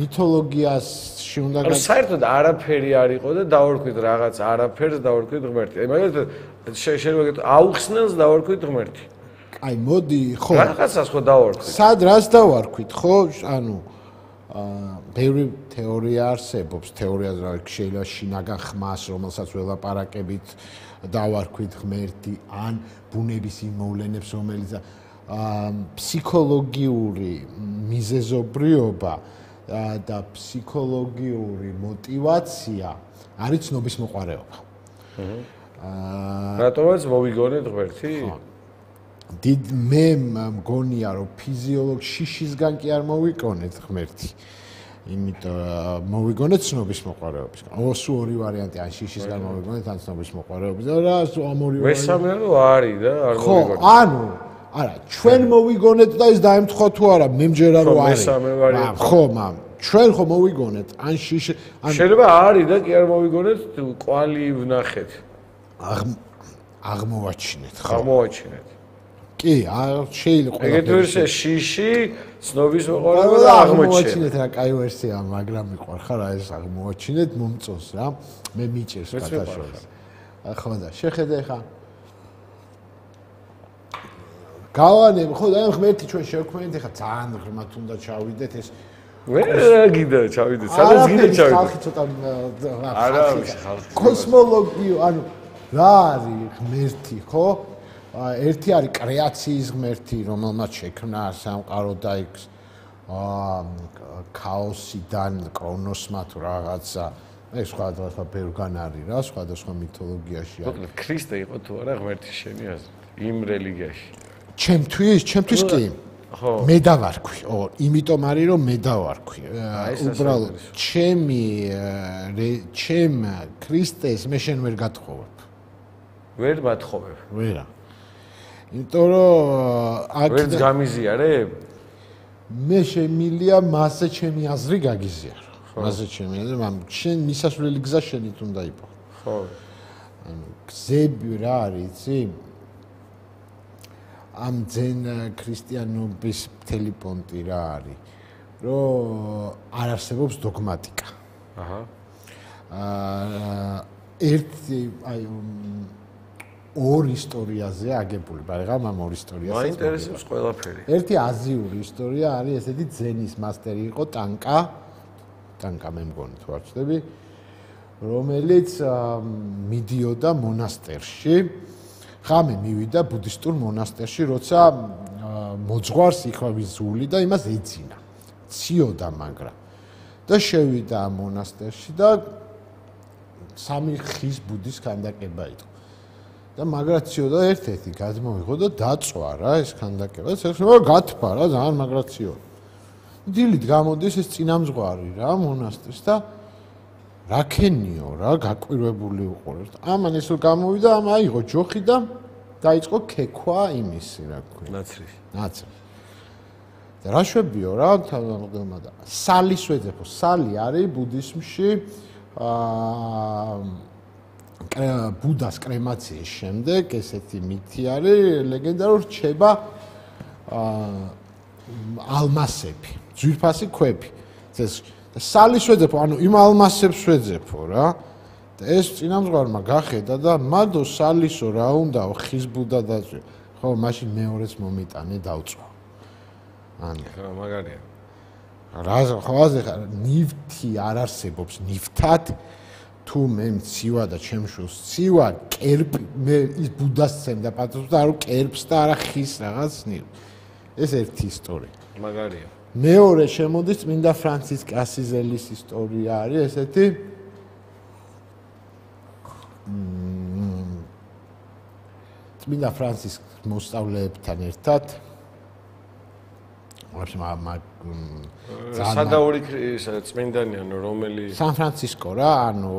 მითოლოგიაში უნდა ანუ საერთოდ არაფერი არ იყო და დავარქვით რაღაც არაფერს დავარქვით ღმერთი. აი მაგალითად შეიძლება გეტყვი აუხსნელს დავარქვით ღმერთი. აი მოდი ხო რაღაცას ხო დავარქვით. სად რას დავარქვით ხო? ანუ აა ბევრი თეორია არსებობს, თეორიაზე რა შეიძლება შინაგან ხმას, რომელსაც ველაპარაკებით, დავარქვით ღმერთი, ან ბუნების იმ მოვლენებს, რომელიც აა ფსიქოლოგიური მიზეზობრიობა და ფსიქოლოგიური мотиваცია არის ცნობის მოყარეობა. აა რატომაც მოვიგონეთ ღმერთი? დიდ მე მგონია რომ ფიზიოლოგ შიშისგან კი არ მოვიგონეთ ღმერთი. იმიტომ მოვიგონეთ ცნობის მოყარეობის. ოსუ ორი ვარიანტი ან შიშისგან მოვიგონეთ ან ცნობის მოყარეობის. და რა ამ ორი ვარიანტი მესამე რო არის და არ მოვიგონეთ. ხო, ანუ არა, ჩვენ მოვიგონეთ და ის დაემთხვა თუ არა, მე მჯერა რომ არის. მესამე ვარიანტი. ხო, მამ, ჩვენ ხო მოვიგონეთ ან შიში ან შეიძლება არის და კი არ მოვიგონეთ, კვალი ვნახეთ. აღმოვაჩინეთ, ხო. აღმოვაჩინეთ. კი, შეიძლება ყველა. ეგეთ ვერსია შიში, ცნობის მოყარეობა და აღმოჩინეთ რა კაი ვერსია, მაგრამ მიყვარ ხარ აი ეს აღმოვაჩინეთ, მომწონს რა. მე მიჭერს კათაშორს. ხო და შეხედე ხა. გავანებ, ხო და ამ ღმერთი ჩვენ შევქმნით, ხა ძალიან ღრმად უნდა ჩავიდეთ ეს. ვერ გიდა ჩავიდეთ, სადაც გიდა ჩავიდეთ. ხალხი ცოტა არა, ხალხი. კოსმოლოგიო, ანუ რა არის ღმერთი, ხო? ერთი არის კრეაციის ღმერთი, რომელმაც შექმნა სამყარო და იქ აა ქაოსიდან კრონოსმა თუ რაღაცა. ეს სხვადასხვა ბევრგან არის რა, სხვადასხვა მითოლოგიაში არის. მოკლედ ქრისტე იყო თუ არა ღმერთი შენი აზრით იმ რელიგიაში? ჩემთვის, ჩემთვის კი. ხო. მე დავარქვი. ო, იმიტომ არის რომ მე დავარქვი. უბრალოდ ჩემი ჩემ ქრისტეს მე შენ ვერ გათხოვებ. ვერ მათხოვებ. ვერა. იმიტომ რომ აქ ვერც გამიზიარებ? მე შემილია მასე ჩემი აზრი გაგიზიარო. მასე ჩემი აზრი, მაგრამ შენ მისასვლელი გზა შენით უნდა იყო. ხო. ანუ გზები რა არის, იცი? ამ ძენ ქრისტიანობის მთელი პონტი რა არის? რომ არ არსებობს დოგმატიკა. აჰა. აა ერთი აი ორ ისტორიაზე აგებული, მაგრამ ამ ორ ისტორიაზე მაინტერესებს ყველაფერი. ერთი აზიური ისტორია არის, ესეთი ძენის მასტერი იყო ტანკა, ტანკა მე მგონი თუ არ ვწდები, რომელიც მიდიოდა მონასტერში. ხამე მივიდა ბუდისტურ მონასტერში, როცა მოძღვარს იქვავი ზული და იმას ეძინა. ციოდა მაგრამ. და შევიდა ამ მონასტერში და სამი ხის ბუდის ქანდაკება იყო. და მაგრაციო და ერთ-ერთი გადმოიღო და დაწვა რა ეს ქანდაკება. შეიძლება გათფა რა ძალიან მაგრაციო. დილით გამოდის ეს წინამძღვარი რა მონასტერს და რაკენიო რა გაკვირვებული უყურებს. ამან ეს გამოვიდა, ამ აიღო ჯოხი და დაიწყო ქექვა იმისი რა ქვია. ნაცრის. ნაცრი. და რა შვებიო რა თავმოყდმა და სალის ვეძებო. სალი არის ბუდიზმში აა ბუდას კრემაციის შემდეგ ესეთი მითი არის, ლეგენდა რომ რჩება ალმასები, ძვირფასი ქვები. ეს სალის ვეძებო, ანუ იმ ალმასებს ვეძებო რა. და ეს წინამძღვარმა გახედა და მადო სალისო რა უნდაო ხის ბუდა დაწვი. ხო, მაშინ მეორეც მომიტანე დავწვა. ანუ მაგარია. რა ხო აზე ნივთი არ არსებობს ნივთად თუ მე მცივა და ჩემშულს ცივა კერპი მე ის ბუდას ცემდა პატრონს და არა კერპს და არა ხის რაღაც ნივ ეს ერთი ისტორია მაგარია მეორე შემოდის წმინდა ფრანცისკე ასიზელის ისტორია არის ესეთი წმინდა ფრანცისკეს მოსწავლეებთან ერთად სადაური წმინდანია რომელი სან ფრანცისკო რა ანუ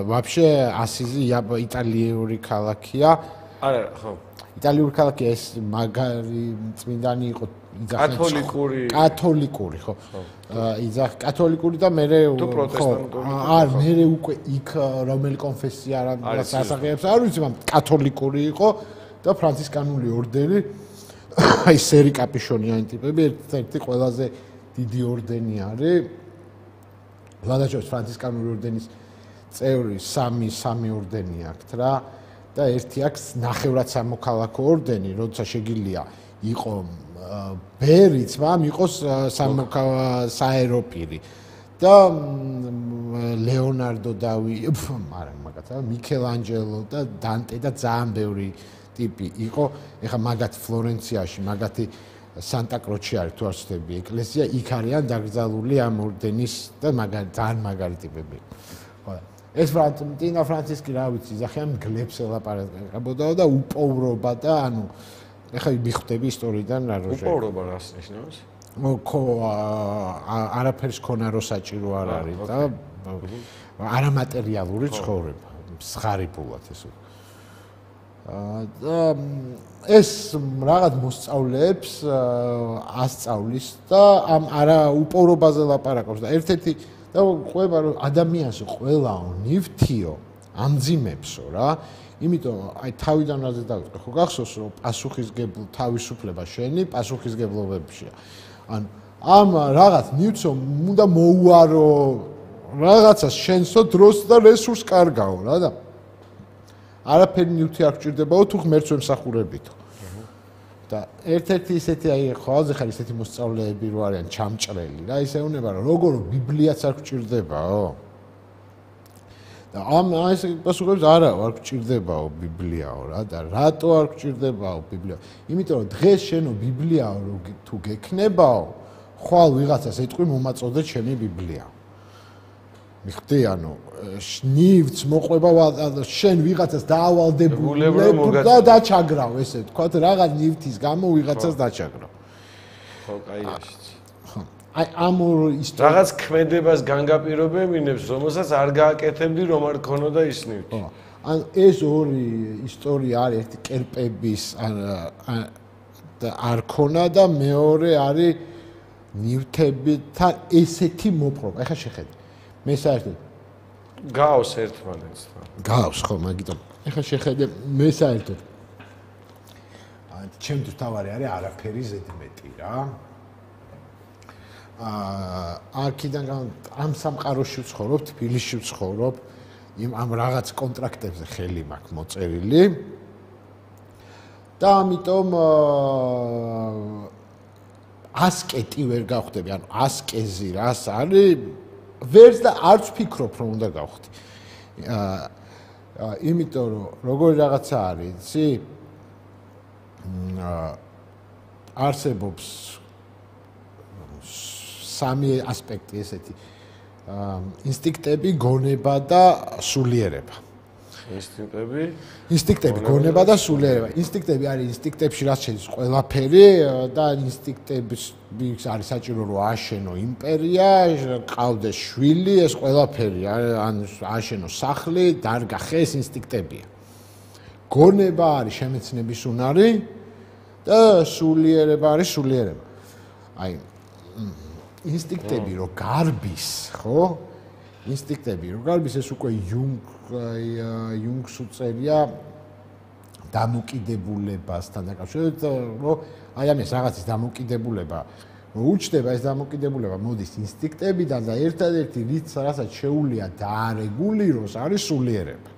вообще ასიზი იტალიური ქალაქია არა ხო იტალიური ქალაქია ეს მაგარი წმინდანი იყო კათოლიკური კათოლიკური ხო იძახ კათოლიკური და მე ხო არ მე უკვე იქ რომელი კონფესია რა სასახელებს არ ვიცი მაგრამ კათოლიკური იყო და ფრანცისკანული ორდენი აი სერი კაპიშონიანი ტიპები ერთ-ერთი ყველაზე დიდი ორდენი არის ლადაჩოს ფრანცისკანული ორდენის წევრი სამი სამი ორდენი აქვს რა და ერთი აქვს ნახევრად სამოქალაქო ორდენი როცა შეგიძლია იყო ბერიც მაგრამ იყოს საეროპირი და ლეონარდო დავი მაგრამ მაგათა მიქელანჯელო და დანტე და ძალიან ბევრი ტიპი იყო ეხა მაგათი ფლორენციაში მაგათი სანტა კროჩი არის თუ არ ვცდები ეკლესია იქ არიან დაკრძალული ამ ორდენის და მაგარი ძალიან მაგარი ტიპები ხო ეს ფრანცისკე ფრანცისკე რა ვიცი ზახიან გლებს ელაპარაკებოდა და უპოვრობა და ანუ ეხა მიხვდები ისტორიიდან რა როჟე უპოვრობა რას ნიშნავს ხო არაფერს ქონა რო საჭირო არ არის და არამატერიალური ცხოვრება მსხარიფულად ესე და ეს რაღაც მოსწავლეებს ასწავლის და ამ არა უპოვრობაზე ლაპარაკობს და ერთ-ერთი და ყვება რომ ადამიანს ყველაო ნივთიო ამძიმებსო რა იმიტომ აი თავიდან რაზე დავიწყე ხო გახსოვს რომ პასუხისგებლ თავისუფლება შენი პასუხისგებლობებშია ანუ ამ რაღაც ნივთსო უნდა მოუარო რაღაცას შენსო დროს და რესურს კარგაო რა და არაფერი ნივთი არ გჭირდებაო თუ ღმერთს ვემსახურებითო და ერთ-ერთი ისეთი აი ყველაზე ხარ ისეთი მოსწავლეები რო არიან ჩამჭრელი რა ისე უნება რომ როგორ ბიბლიაც არ გჭირდებაო და ამ ეს პასუხებს არა არ გჭირდებაო ბიბლიაო რა და რატო არ გჭირდებაო ბიბლია იმიტომ რომ დღეს შენო ბიბლიაო რო თუ გექნებაო ხვალ ვიღაცას ეთქვი მომაწოდე ჩემი ბიბლია მიხდი ანუ ნივთს მოყვება შენ ვიღაცას დაავალდებულებ და დაჩაგრავ ესე თქვა რაღაც ნივთის გამო ვიღაცას დაჩაგრავ ხო კაიაშიც აი ამ ისტორია რაღაც ქმედებას განგაპირობებინებს რომელსაც არ გააკეთებდი რომ არ ქონოდა ის ნივთი ან ეს ორი ისტორია არის ერთი კერპების და არ ქონა და მეორე არის ნივთებთან ესეთი მოპყრობა ეხა შეხედე მე საერთოდ გავს ერთმანეთსთან გავს ხო მაგიტომ ეხლა შეხედე მე საერთოდ აი ჩემთვის თავარი არის არაფერი ზედმეტი რა აა აქედან ამ სამყაროში ვცხოვრობ თბილისში ვცხოვრობ იმ ამ რაღაც კონტრაქტებზე ხელი მაქვს მოწერილი და ამიტომ ასკეტი ვერ გავხდები ანუ ასკეზი რას არის ვერც და არც ვფიქრობ რომ უნდა გავხდი. აა იმიტომ რომ როგორი რაღაცა არის, იცი? აა არსებობს სამი ასპექტი ესეთი. აა ინსტინქტები, გონება და სულიერება. ინსტინქტები? ინსტინქტები, გონება და სულიერება. ინსტინქტები არის ინსტინქტებში რაც შედის ყველაფერი და ინსტინქტების არის საჭირო რომ აშენო იმპერია, ყავდეს შვილი, ეს ყველაფერი ან აშენო სახლი, დარგა ხე ეს ინსტინქტებია. გონება არის შემეცნების უნარი და სულიერება არის სულიერება. აი ინსტინქტები რო გარბის, ხო? ინსტინქტები რო გარბის ეს უკვე იუნგ იუნგს უწერია დამოკიდებულებასთან დაკავშირებით, რომ აი ამის რაღაცის დამოკიდებულება უჩნდება ეს დამოკიდებულება მოდის ინსტინქტებიდან და ერთადერთი რიც რასაც შეუძლია დაარეგულიროს არის სულიერება.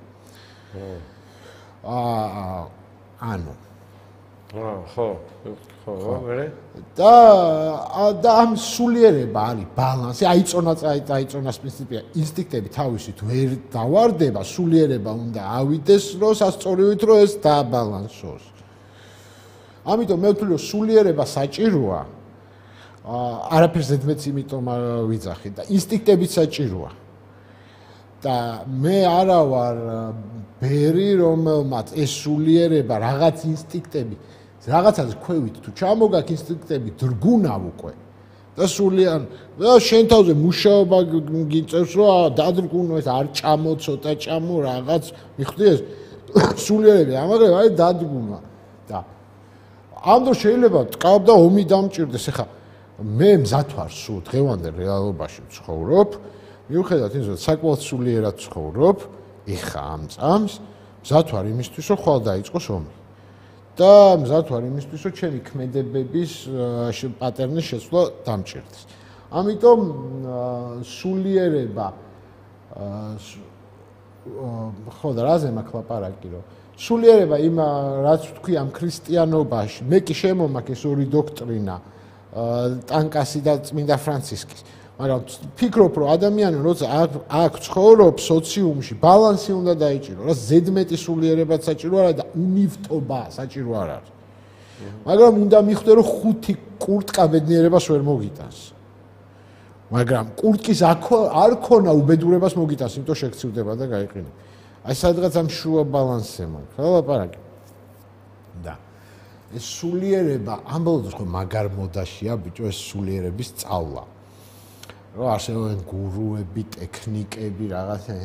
აა ანუ ხო, ხო, მერე? და და ამ სულიერება არის ბალანსი, აიწონა აიწონას პრინციპია, ინსტინქტები თავისით ვერ დავარდება, სულიერება უნდა ავიდეს, რომ სასწორივით რომ ეს დააბალანსოს. ამიტომ მე ვთვლი, რომ სულიერება საჭიროა. არაფერს ზედმეტს იმიტომ ვიძახი და ინსტინქტებიც საჭიროა. და მე არა ვარ ბერი, რომელმაც ეს სულიერება რაღაც ინსტინქტები რაღაცას ქვევით თუ ჩამოგაქ ინსტინქტები დრგუნავ უკვე და სულიან და შენ თავზე მუშაობა გიწევს რომ დადრგუნო ეს არ ჭამო ცოტა ჭამო რაღაც მიხვდი ეს სულიერები ამაგრე არის დადრგუნვა და ამ დროს შეიძლება ტკავ და ომი დამჭირდეს ეხა მე მზად ვარ სულ დღევანდელ რეალობაში ვცხოვრობ მიუხედავად იმისა რომ საკმაოდ სულიერად ვცხოვრობ ეხა ამ წამს მზად ვარ იმისთვის რომ ხვალ დაიწყოს ომი და მზად ვარ იმისთვის, რომ ჩემი ქმედებების პატერნის შეცვლა დამჭირდეს. ამიტომ სულიერება ხო და რაზე მაქვს ლაპარაკი, რომ სულიერება იმ რაც ვთქვი ამ ქრისტიანობაში, მე კი შემომაქვს ეს ორი დოქტრინა, ტანკასი და წმინდა ფრანცისკის. მაგრამ ფიქრობ, რომ ადამიანი როცა აქ ცხოვრობს სოციუმში, ბალანსი უნდა დაიჭირო, რა ზედმეტი სულიერებაც საჭირო არა და უნივტობა საჭირო არ არის. მაგრამ უნდა მიხვდე, რომ ხუთი კურტკა ბედნიერებას ვერ მოგიტანს. მაგრამ კურტკის არ ქონა უბედურებას მოგიტანს, იმიტომ შეგცივდება და გაიყინება. აი სადღაც ამ შუა ბალანსზე მაქვს, რა ლაპარაკი. და ეს სულიერება ამბობთ, რომ მაგარ მოდაშია, ბიჭო, ეს სულიერების სწავლა. რო არსებობენ გურუები, ტექნიკები, რაღაცა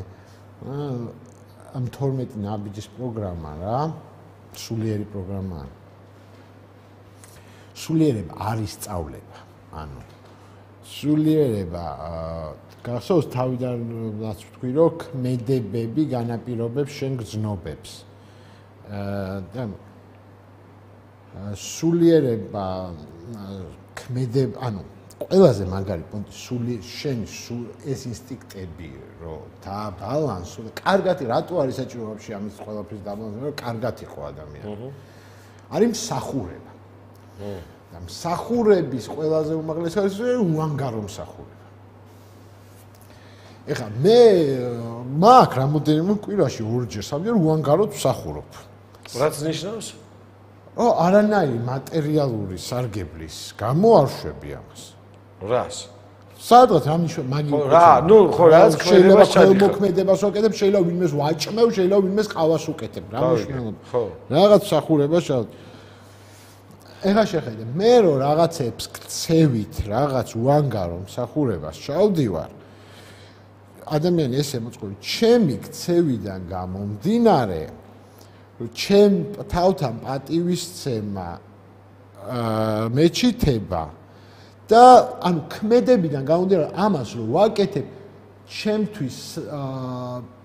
ამ თორმეტი ნაბიჯის პროგრამა რა, სულიერი პროგრამაა. სულიერება არის სწავლება, ანუ სულიერება გახსოვს თავიდანაც ვთქვი, რომ ქმედებები განაპირობებს შენ გრძნობებს. და სულიერება ქმედებ, ანუ ყველაზე მაგარი პონტი სული შენ ეს ინსტინქტები რომ დააბალანსო და კარგად რატო არის საჭირო ვაფშე ამის ყველაფრის დაბალანსება რომ კარგად იყო ადამიანი. არის მსახურება. და მსახურების ყველაზე უმაღლესი არის უანგარო მსახურება. ეხლა მე მაქვს რამოდენიმე კვირაში ორჯერ სამჯერ უანგაროდ მსახურობ. რაც ნიშნავს? ო არანაირი მატერიალური სარგებლის გამო არ შვები ამას. რას? სადღაც ამის მაგი რა, ნუ ხო რაც შეიძლება ხელმოქმედებას ვაკეთებ, შეიძლება ვინმეს ვაჭმევ, შეიძლება ვინმეს ყავას უკეთებ, რა მნიშვნელობა. ხო. რაღაც მსახურება შევ. ეხლა შეხედე, მე რო რაღაცებს ქცევით, რაღაც უანგარო მსახურებას ჩავდივარ. ადამიანი ესე მოწყობი, ჩემი ქცევიდან გამომდინარე, რომ ჩემ თავთან პატივისცემა აა მეჩითება და ანუ ქმედებიდან გამომდინარე ამას რომ ვაკეთებ ჩემთვის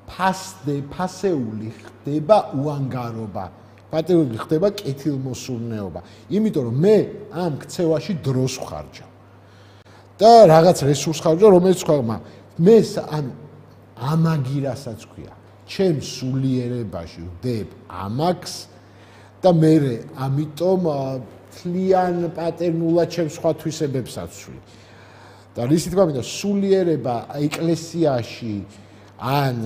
ფასდე ფასეული ხდება უანგარობა პატრიოტი ხდება კეთილმოსურნეობა იმიტომ რომ მე ამ ქცევაში დროს ვხარჯავ და რაღაც რესურს ხარჯავ რომელიც ხმა მე ანუ ამაგირასაც ქვია ჩემ სულიერებაში ვდებ ამაკს და მე ამიტომ თლიან პატერნულად ჩემ სხვა თვისებებსაც ვშვი. და რისი თქმა მინდა სულიერება ეკლესიაში ან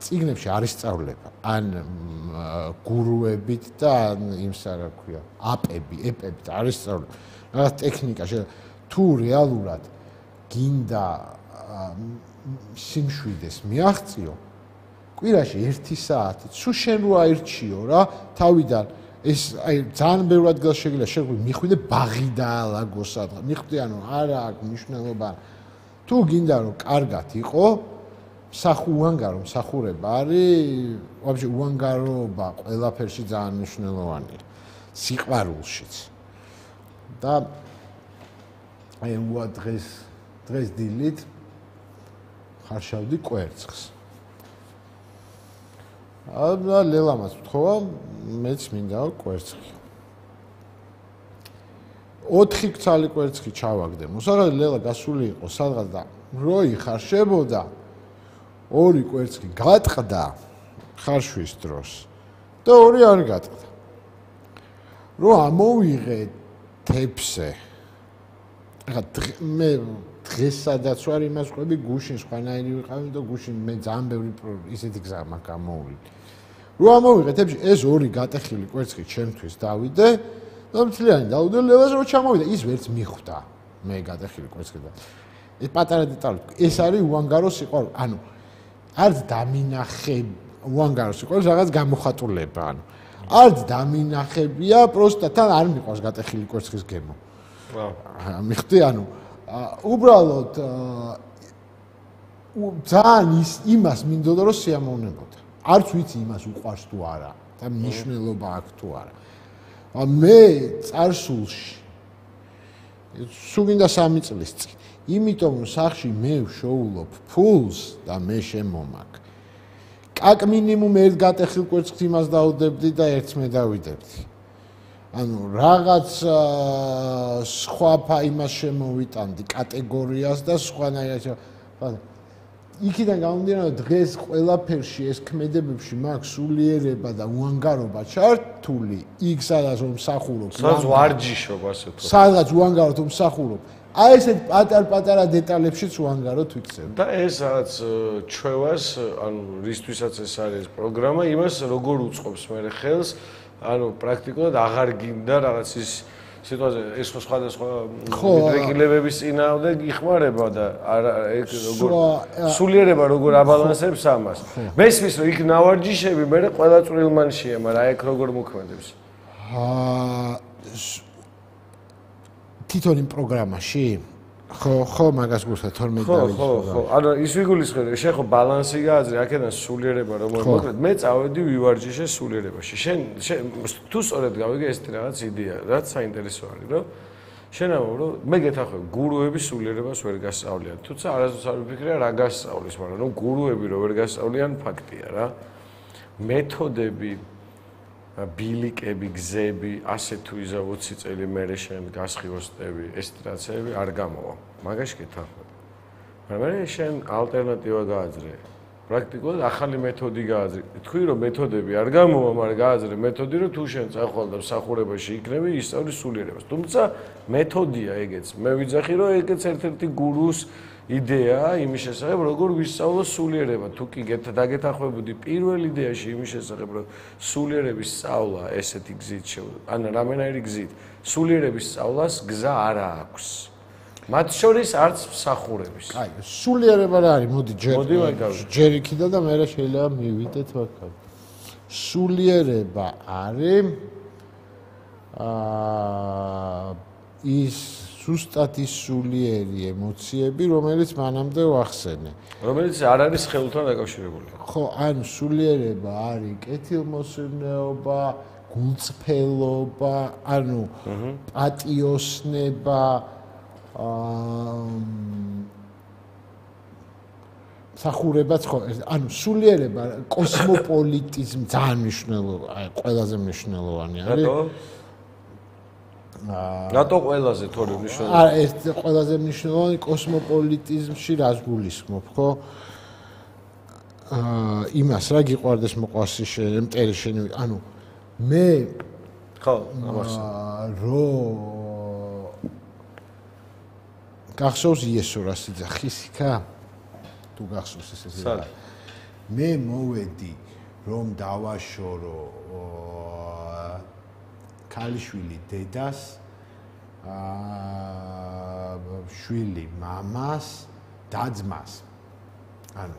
წიგნებში არის სწავლება, ან გურუებით და ან იმსა რა ქვია, აპები, ეპებით არის სწავლება. რაღაც ტექნიკა თუ რეალურად გინდა სიმშვიდეს მიაღწიო, კვირაში ერთი საათი, სულ შენ რო აირჩიო რა, თავიდან ეს აი ძალიან ბევრად გაშეგიძლია შეგვი მიხვიდე ბაღი დაალაგო სადღა მიხვდი ანუ არა აქვს მნიშვნელობა თუ გინდა რომ კარგად იყო მსახუ უანგარო მსახურება არის ვაფშე უანგაროობა ყველაფერში ძალიან მნიშვნელოვანია სიყვარულშიც და აი უა დღეს დღეს დილით ხარშავდი კვერცხს აბა ლელამას ვთხოვა მეც მინდა კვერცხი. ოთხი ქცალი კვერცხი ჩავაგდე. მოსაღად ლელა გასული იყო სადღაც და როი ხარშებოდა ორი კვერცხი გატყდა ხარშვის დროს და ორი არ გატყდა. რომ ამოვიღე თეფსე. ახლა მე დღეს სადაც ვარ იმას ყვები გუშინ სხვანაირი ვიყავი და გუშინ მე ძალიან ბევრი ისეთი გზა მაქვს გამოვიდე. რომ ამოვიღე თეფსი ეს ორი გატეხილი კვერცხი ჩემთვის დავიდე და მთლიანი დავიდე ლევას რომ ჩამოვიდა ის ვერც მიხვდა მე გატეხილი კვერცხი და ეს პატარა დეტალი ეს არის უანგარო სიყვარული ანუ არც დამინახე უანგარო სიყვარულს რაღაც გამოხატულება ანუ არც დამინახებია პროსტა თან არ მიყვარს გატეხილი კვერცხის გემო ვაუ მიხდი ანუ უბრალოდ ძალიან ის იმას მინდოდა რომ სიამოვნებოდა არც ვიცი იმას უყვარს თუ არა და მნიშვნელობა აქვს თუ არა მე წარსულში სულ გინდა სამი წლის წინ იმიტომ რომ სახში მე ვშოულობ ფულს და მე შემომაკ კაკ მინიმუმ ერთ გატეხილ კვერცხს იმას დაუდებდი და ერთს მე დავიდებდი ანუ რაღაც სხვა იმას შემოვიტანდი კატეგორიას და სხვანაირად იქიდან გამომდინარე დღეს ყველაფერში ეს ქმედებებში მაქვს სულიერება და უანგარობა ჩართული იქ სადაც რომ მსახურობ სადაც ვარჯიშობ ასე თქო სადაც უანგაროთ რომ მსახურობ აი ესეთ პატარ-პატარა დეტალებშიც უანგაროთ ვიქცევ და ეს რაღაც ჩვევას ანუ რისთვისაც ეს არის პროგრამა იმას როგორ უწყობს მე ხელს ანუ პრაქტიკულად აღარ გინდა რაღაც ის სიტუაცია ეს ხო სხვადასხვა მიდრეკილებების წინააღმდეგ იხმარება და არა ეგ როგორ სულიერება როგორ აბალანსებს ამას მესმის რომ იქ ნავარჯიშები მე ყველა წვრილმანშია მაგრამ ეგ როგორ მოქმედებს აა თვითონ იმ პროგრამაში ხო ხო მაგას გულსა თორმეტ დავიწყო ხო ხო ანუ ის ვიგულისხმე შენ ხო ბალანსი გააძრე აქედან სულიერება რომ მოკლედ მე წავედი ვივარჯიშე სულიერებაში შენ თუ სწორედ გავიგე ეს რაღაც იდეა რაც საინტერესო არის რომ შენ ამბობ რომ მე გეთახმები გურუების სულიერებას ვერ გასწავლიან თუმცა არასდროს არ ვიფიქრე რა გასწავლის მაგრამ რომ გურუები რო ვერ გასწავლიან ფაქტია რა მეთოდები ბილიკები, გზები, ასე თუ იზა ოცი წელი მერე შენ გასხივოსტები, ესტრაცები არ გამოვა. მაგაში გეთახმები. მაგრამ მე შენ ალტერნატივა გააძრე. პრაქტიკულად ახალი მეთოდი გააძრე. თქვი რომ მეთოდები არ გამოვა, მაგრამ გააძრე მეთოდი რომ თუ შენ წახვალ და მსახურებაში იქნები, ისწავლი სულიერებას. თუმცა მეთოდია ეგეც. მე ვიძახი რომ ეგეც ერთ-ერთი გურუს იდეა იმის შესახებ როგორ ვისწავლო სულიერება თუ კი დაგეთახმებოდი პირველ იდეაში იმის შესახებ რომ სულიერების სწავლა ესეთი გზით ან რამენაირი გზით სულიერების სწავლას გზა არ აქვს მათ შორის არც მსახურების აი სულიერება რა არის მოდი ჯერ ჯერ იქიდან და მე შეიძლება მივიდეთ ვაკა სულიერება არის აა ის ზუსტად ის სულიერი ემოციები, რომელიც მანამდე ვახსენე. რომელიც არ არის ხელთან დაკავშირებული. ხო, ანუ სულიერება არის კეთილმოსურნეობა, გულწრფელობა, ანუ პატიოსნება, აა მსახურებაც ხო, ანუ სულიერება, კოსმოპოლიტიზმი ძალიან მნიშვნელოვანი, აი ყველაზე მნიშვნელოვანი არის. რატო? რატო ყველაზე თორე მნიშვნელოვანი? არა, ეს ყველაზე მნიშვნელოვანი კოსმოპოლიტიზმში რას გულისხმობ, ხო? აა იმას რა გიყვარდეს მოყვასი შენ, მტერი შენ, ანუ მე ხო, ამას რო გახსოვს იესო რა სიძახისიქა? თუ გახსოვს ესე რა. მე მოვედი რომ დავაშორო ქალიშვილი დედას აა შვილი მამას და-ძმას ანუ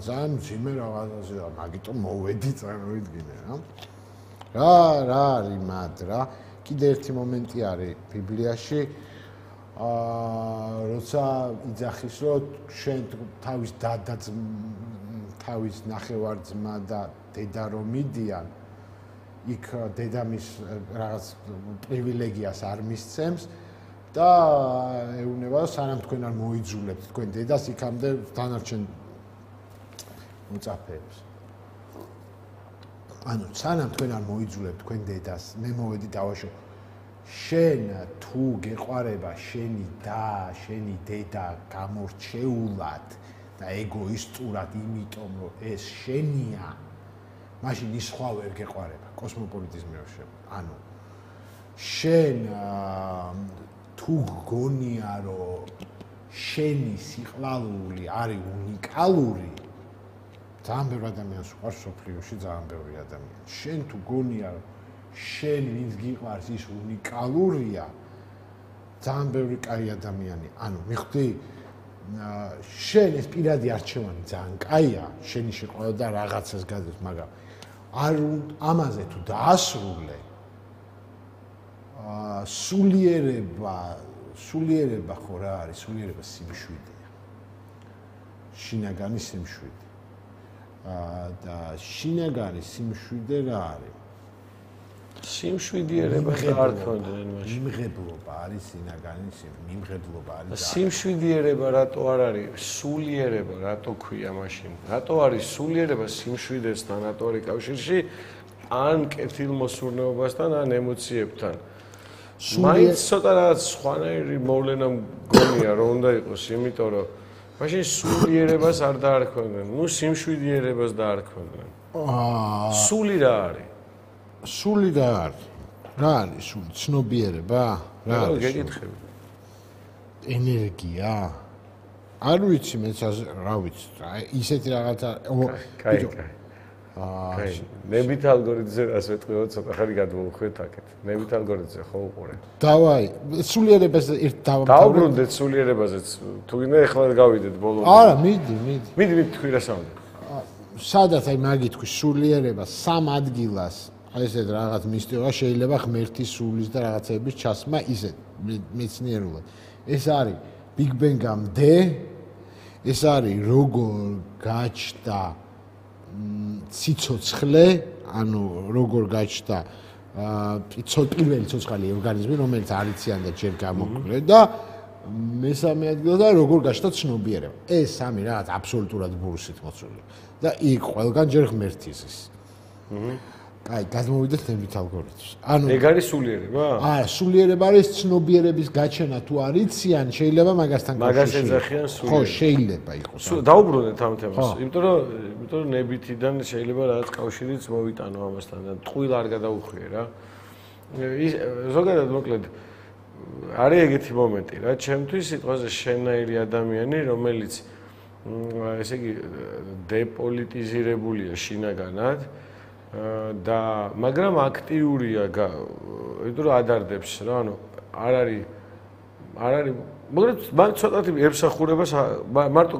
ძალიან ძიმე რაღაცაზე და მაგიტომ მოვედი წარმოვიდგინე რა რა რა არის მად რა კიდე ერთი მომენტი არის ბიბლიაში აა როცა იძახის რომ შენ თავის დადა თავის ნახევარ-ძმა და დედა რომ მიდიან იქ დედამის რაღაც პრივილეგიას არ მისცემს და ეუბნება სანამ თქვენ არ მოიძულებთ თქვენ დედას იქამდე დანარჩენ მოწაფეებს. ანუ სანამ თქვენ არ მოიძულებთ თქვენ დედას მე მოვედი დავაშო შენ თუ გეყვარება შენი და შენი დედა გამორჩეულად და ეგოისტურად იმიტომ რომ ეს შენია მაშინ ის სხვა ვერ გეყვარება კოსმოპოლიტიზმი რო შევა ანუ შენ თუ გგონია რომ შენი სიყვარული არის უნიკალური ძალიან ბევრი ადამიანს უყვარს სოფლიოში ძალიან ბევრი ადამიანი შენ თუ გგონია რომ შენ ვინც გიყვარს ის უნიკალურია ძალიან ბევრი კაი ადამიანი ანუ მიხვდი შენ ეს პირადი არჩევანი ძალიან კაია შენი შეყვარება და რაღაცას გადის მაგრამ არ ამაზე თუ დაასრულე აა სულიერება სულიერება ხო რა არის სულიერება სიმშვიდეა შინაგანი სიმშვიდე აა და შინაგანი სიმშვიდე რა არის სიმშვიდიერება არ ქონდნენ მაშინ მიმღებლობა არის შინაგანი მიმღებლობა არის სიმშვიდიერება რატო არ არის სულიერება რატო ქვია მაშინ რატო არის სულიერება სიმშვიდესთან რატო არის კავშირში ან კეთილმოსურნეობასთან ან ემოციებთან მაინც ცოტა რაღაც სხვანაირი მოვლენა მგონია რომ უნდა იყოს იმიტომ რომ მაშინ სულიერებას არ დაარქვენ ნუ სიმშვიდიერებას დაარქვენ აა სული რა არის სული რა არის რა არის სული ცნობიერება რა არის გეკითხები ენერგია არ ვიცი მეც რა ვიცი ისეთი რაღაცა კაი კაი აა ნებით ალგორითმზე რას ვეთქვიო ცოტა ხანი გადმოვხვეთ აქეთ ნებით ალგორითმზე ხო უყურე დავაი სულიერებაზე ერთ დავბრუნდეთ სულიერებაზეც თუ გინდა ეხლა გავიდეთ ბოლომდე არა მიდი მიდი მიდი მიდი თქვი რა საუნდა სადაც აი მაგი თქვი სულიერება სამ ადგილას აი ესეთ რაღაც მისტიკა შეიძლება ღმერთის სულის და რაღაცების ჩასმა ისეთ მეცნიერულად ეს არის ბიგ ბენგამდე ეს არის როგორ გაჩნდა ციცოცხლე ანუ როგორ გაჩნდა პირველი ცოცხალი ორგანიზმი რომელიც არიციან და ჯერ გამოკვდა და მესამე ადგილზე როგორ გაჩნდა ცნობიერება ეს სამი რაღაც აბსოლუტურად ბურსით მოწული და იქ ყველგან ჯერ ღმერთის აი, გადმოვიდეთ ნებით ალგორითმს. ანუ ეგ არის სულიერება? არა, სულიერება არის ცნობიერების გაჩენა თუ არიციან, შეიძლება მაგასთან კავშირი. მაგას ეძახიან სულიერება. ხო, შეიძლება იყოს. დაუბრუნდეთ ამ თემას. იმიტომ რომ, იმიტომ რომ ნებითიდან შეიძლება რაღაც კავშირიც მოვიტანო ამასთან და ტყუილ არ გადაუხვიე რა. ის ზოგადად მოკლედ არის ეგეთი მომენტი რა, ჩემთვის სიტყვაზე შენაირი ადამიანი, რომელიც ესე იგი დეპოლიტიზირებულია შინაგანად და მაგრამ აქტიურია, იმიტომ რომ ადარდებს რა, ანუ არ არის არ არის, მაგრამ მან ცოტათი ემსახურებას მარტო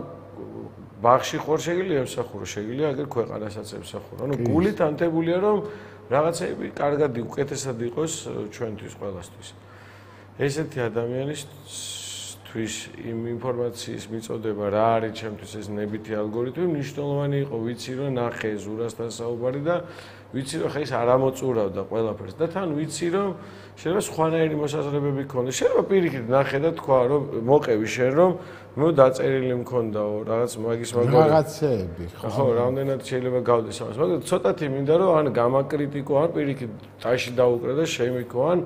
ბაღში ხوار შეგიძლია ემსახურო, შეგიძლია აგერ ქვეყანასაც ემსახურო. ანუ გულით ანთებულია რომ რაღაცები კარგად უკეთესად იყოს ჩვენთვის ყველასთვის. ესეთი ადამიანისთვის იმ ინფორმაციის მიწოდება რა არის ჩემთვის ეს ნებითი ალგორითმი მნიშვნელოვანი იყო ვიცი რომ ნახე ზურასთან საუბარი და ვიცი რომ ხა ის არ ამოწურავდა ყველაფერს და თან ვიცი რომ შეიძლება სხვანაირი მოსაზრებები ქონდეს შეიძლება პირიქით ნახე და თქვა რომ მოყევი შენ რომ მე დაწერილი მქონდაო რაღაც მაგის მაგარი რაღაცეები ხო რამდენად შეიძლება გავდეს ამას მაგრამ ცოტათი მინდა რომ ან გამაკრიტიკო ან პირიქით ტაში დაუკრა და შემიქო ან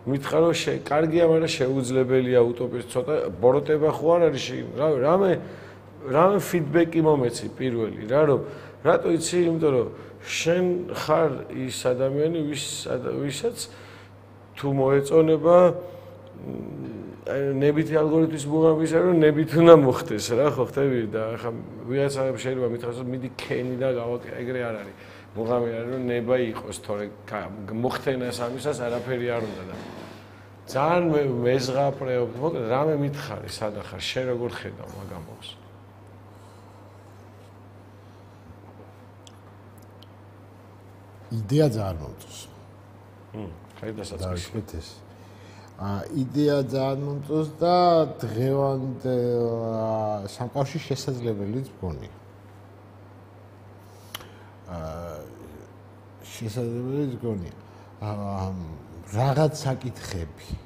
მითხრა რომ კარგია, მაგრამ შეუძლებელია უტოპიის ცოტა ბოროტება ხო არ არის რა რამე რამე ფიდბექი მომეცი პირველი რა რომ რატო იცი იმიტომ რომ შენ ხარ ის ადამიანი ვის ვისაც თუ მოეწონება ნებითი ალგორითმის მუღამისა რომ ნებით უნდა მოხდეს რა ხო ხტები და ხა ვიღაცა შეიძლება მითხრას რომ მიდი ქენი და გავაკეთე ეგრე არ არის მუღამი არის რომ ნება იყოს თორე მოხდენას ამისას არაფერი არ უნდა და ძალიან მეზღაპრეობ მოკლედ რამე მითხარი სადა ხარ შენ როგორ ხედავ მაგამოს იდეა ძალიან მომწონს მ ხაი დასაწყისი ა იდეა ძალიან მომწონს და დღევანდელ სამყაროში შესაძლებელიც მგონია შესაძლებელიც მგონია რაღაც საკითხები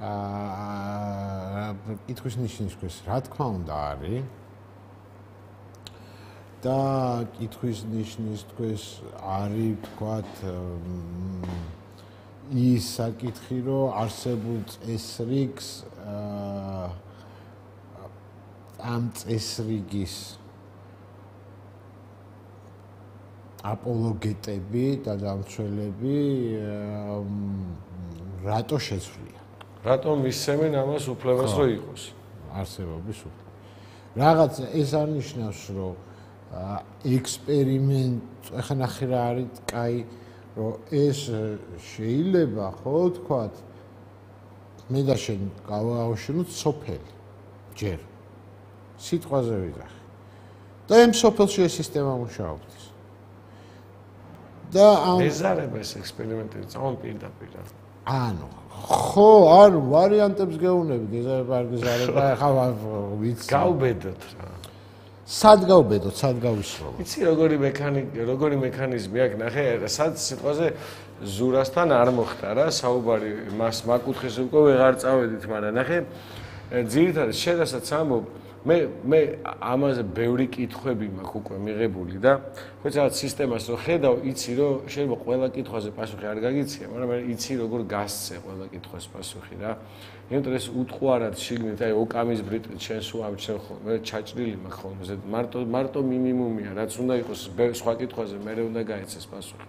აა კითხვის ნიშნის ქვეშ რა თქმა უნდა არის და კითხვის ნიშნის ქვეშ არის თქვათ ის საკითხი რომ არსებულ წესრიგს ამ წესრიგის აპოლოგეტები და დამცველები რატო შეცვლიან? რატომ მისცემენ ამას უფლებას რომ იყოს? არსებობის უფლება. რაღაც ეს არნიშნავს, რომ ექსპერიმენტ, ახლა ნახე რა არის კაი, რომ ეს შეიძლება, ხო, თქვათ, მე და შენ გავაუშენოთ სოფელი. ჯერ. სიტყვაზე ვიძახი. და ამ სოფელში ეს სისტემა მუშაობს. და ამ ეზარება ეს ექსპერიმენტები წამონ პირდაპირ. ანუ ხო, არ ვარიანტებს გეუბნებით, ეზარება არ გეზარება, ახლა ვიცი. გავბედოთ რა. სად გავბედოთ, სად გავისროლოთ? იცი როგორი მექანიკა, როგორი მექანიზმი აქვს, ნახე, სად სიტყვაზე ზურასთან არ მოხდა რა, საუბარი მას მაკუთხეს უკვე ვეღარ წავედით, მაგრამ ნახე, ძირითადად შედასაც ამბობ, მე მე ამაზე ბევრი კითხვები მაქვს უკვე მიღებული და ხოც რაღაც სისტემას რო ხედავ, იცი რომ შეიძლება ყველა კითხვაზე პასუხი არ გაგიცია, მაგრამ მე იცი როგორ გასცე ყველა კითხვას პასუხი რა. იმიტომ ეს უთყუარად შიგნით, აი ოკამის ბრიტყით შენს უამჩნევ ხოლმე, მე ჩაჭრილი მაქვს ხოლმე, მარტო მარტო მინიმუმია, რაც უნდა იყოს სხვა კითხვაზე მე უნდა გაეცეს პასუხი.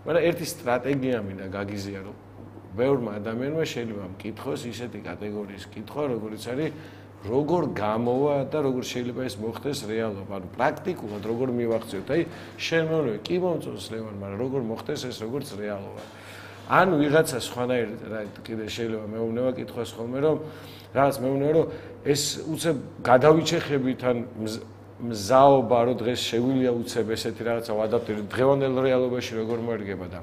მაგრამ ერთი სტრატეგია მინდა გაგიზია, რომ ბევრმა ადამიანმა შეიძლება მკითხოს ისეთი კატეგორიის კითხვა, როგორიც არის როგორ გამოვა და როგორ შეიძლება ეს მოხდეს რეალობა, ანუ პრაქტიკულად როგორ მივახციოთ. აი, შენ მეუბნები, კი მომწონს ლევან, მაგრამ როგორ მოხდეს ეს როგორც რეალობა. ანუ ვიღაცა სხვანაირ რა კიდე შეიძლება მეუბნება კითხვას ხოლმე, რომ რაღაც მეუბნება, რომ ეს უცებ გადავიჩეხებით ან მზაობა, რომ დღეს შეგვიძლია უცებ ესეთი რაღაცა ვადაპტიროთ დღევანდელ რეალობაში როგორ მოერგება და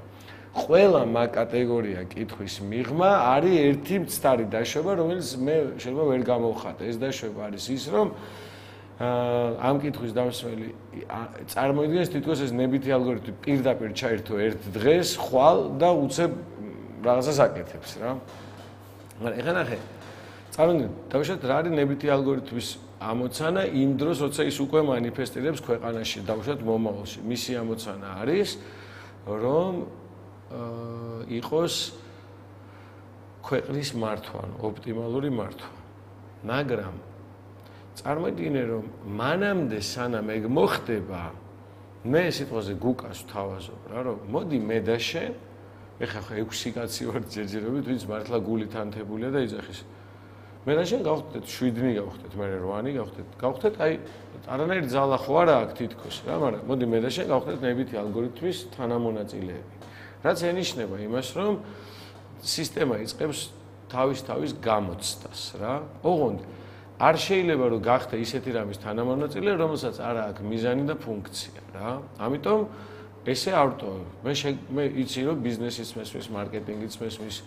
ყველა მაგ კატეგორია კითხვის მიღმა არის ერთი მცდარი დაშვება, რომელიც მე შეიძლება ვერ გამოვხატე. ეს დაშვება არის ის, რომ ამ კითხვის დამსველი წარმოიდგინეს თითქოს ეს ნებითი ალგორითმი პირდაპირ ჩაერთო ერთ დღეს, ხვალ და უცებ რაღაცას აკეთებს რა. მაგრამ ეხლა ნახე, წარმოიდგინეთ, დავუშვათ რა არის ნებითი ალგორითმის ამოცანა იმ დროს, როცა ის უკვე მანიფესტირებს ქვეყანაში, დავუშვათ მომავალში. მისი ამოცანა არის, რომ იყოს ქვეყნის მართვა, ოპტიმალური მართვა. მაგრამ წარმოიდგინე, რომ მანამდე სანამ ეგ მოხდება, მე სიტყვაზე გუკას ვთავაზობ რა, რომ მოდი მე და შენ, ეხლა ხო ექვსი კაცი ვართ ჯერჯერობით, ვინც მართლა გულით ანთებულია და იძახის. მე და შენ გავხდეთ შვიდნი გავხდეთ, მე რვანი გავხდეთ. გავხდეთ, აი არანაირი ძალა ხო არა აქ თითქოს რა, მაგრამ მოდი მე და შენ გავხდეთ ნებითი ალგორითმის თანამონაწილეები. რაც ენიშნება იმას, რომ სისტემა იწყებს თავის-თავის გამოცდას რა. ოღონდ არ შეიძლება რომ გახდე ისეთი რამის თანამონაწილე, რომელსაც არ აქვს მიზანი და ფუნქცია რა. ამიტომ ესე არ ვტოვებ. მე მე იცი რომ ბიზნესის მესმის, მარკეტინგის მესმის,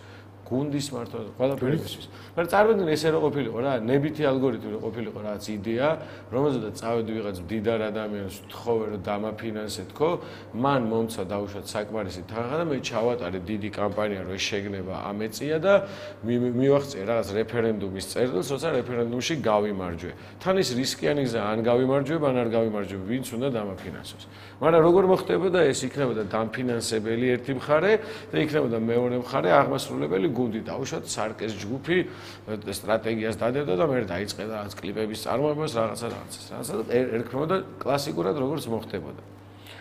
გუნდის მართვა, ყველაფერი მესმის. მაგრამ წარმოიდგინე ესე რო ყოფილიყო რა, ნებითი ალგორითმი რო ყოფილიყო რაღაც იდეა, რომელზედაც წავედი ვიღაც მდიდარ ადამიანს ვთხოვე რომ დამაფინანსეთქო, მან მომცა დაუშვათ საკმარისი თანხა და მე ჩავატარე დიდი კამპანია რომ ეს შეგნება ამეწია და მივახცე რაღაც რეფერენდუმის წერილს, როცა რეფერენდუმში გავიმარჯვე. თან ის რისკიანი გზა, ან გავიმარჯვებ, ან არ გავიმარჯვებ, ვინც უნდა დამაფინანსოს. მაგრამ როგორ მოხდებოდა ეს იქნებოდა დამფინანსებელი ერთი მხარე და იქნებოდა მეორე მხარე აღმასრულებელი გუნდი, დაუშვათ სარკეს ჯგუფი სტრატეგიას დადებდა და მე დაიწყე რაღაც კლიპების წარმოებას, რაღაცა რაღაცას. რაღაცა ერქმეოდა კლასიკურად როგორც მოხდებოდა.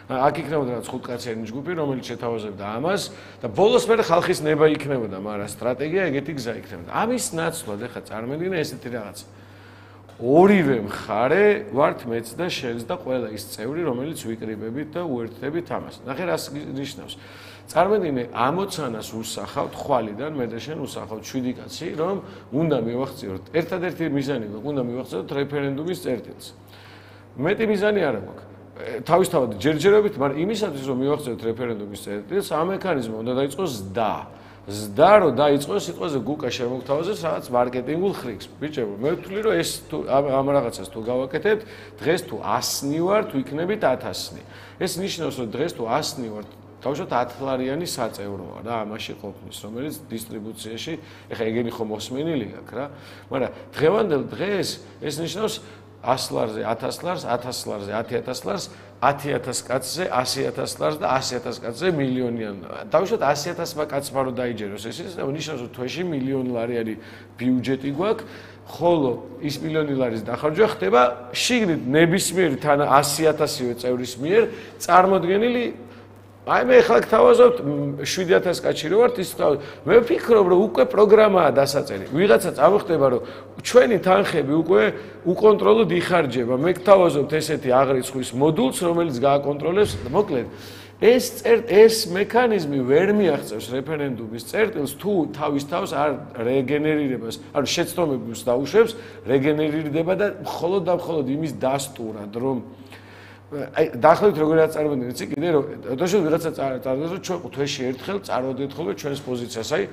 აქ იქნებოდა რაღაც ხუთკაციანი ჯგუფი, რომელიც შეთავაზებდა ამას და ბოლოს მე ხალხის ნება იქნებოდა, მაგრამ სტრატეგია ეგეთი გზა იქნებოდა. ამის ნაცვლად ახლა წარმოიდგინე ესეთი რაღაცა. ორივე მხარე ვართ მეც და შენს და ყველა ის წევრი, რომელიც ვიკრიბებით და უერთდებით ამას. ნახე რას ნიშნავს. წარმოიდგინე ამოცანას უსახავთ ხვალიდან მე და შენ უსახავთ შვიდი კაცი, რომ უნდა მივახციოთ. ერთადერთი მიზანი გვაქვს, უნდა მივახციოთ რეფერენდუმის წერტილს. მეტი მიზანი არ აქვს. თავისთავად ჯერჯერობით, მაგრამ იმისათვის რომ მივახციოთ რეფერენდუმის წერტილს, ამ მექანიზმი უნდა დაიწყოს ზდა. ზდა რო დაიწყოს სიტყვაზე გუკა შემოგთავაზეს რაღაც მარკეტინგულ ხრიქს. ბიჭებო, მე ვთვლი რომ ეს თუ ამ რაღაცას თუ გავაკეთებთ, დღეს თუ ასნი ვარ, თუ იქნებით ათასნი. ეს ნიშნავს რომ დღეს თუ ასნი ვარ, თავშოთ ათლარიანი საწევროა რა ამაში ყოფნის, რომელიც დისტრიბუციაში, ეხლა ეგენი ხომ მოსმენილი გაქვს რა. მაგრამ დღევანდელ დღეს ეს ნიშნავს ას ლარზე ათას ლარს, ათას ლარზე ათი ათას ლარს, ათი ათას კაცზე ასი ათას ლარს და ასი ათას კაცზე მილიონიან. დავუშვათ ასი ათასმა კაცმა რო დაიჯეროს ეს ის ნიშნავს რომ თვეში მილიონი ლარი არის ბიუჯეტი გვაქვს, ხოლო ის მილიონი ლარის დახარჯვა ხდება შიგნით ნებისმიერი თან ასი ათასივე წევრის მიერ წარმოდგენილი. აი მე ხალხ თავაზობთ შვიდი ათას კაცი რო ვართ ის მე ვფიქრობ რომ უკვე პროგრამაა დასაწერი. ვიღაცა წამოხდება რომ ჩვენი თანხები უკვე უკონტროლოდ იხარჯება. მე გთავაზობთ ესეთი აღრიცხვის მოდულს რომელიც გააკონტროლებს მოკლედ ეს ეს მექანიზმი ვერ მიაღწევს რეფერენდუმის წერტილს თუ თავის თავს არ რეგენერირებას, ანუ შეცდომებს დაუშვებს, რეგენერირდება და მხოლოდ და მხოლოდ იმის დასტურად რომ აი დაახლოებით როგორ წარმოგვიდგენთ იცი კიდე რომ დაშო ვიღაცა წარმოგვიდგენთ რომ ჩვენ თვეში ერთხელ წარმოვიდგენთ ხოლმე ჩვენს პოზიციას აი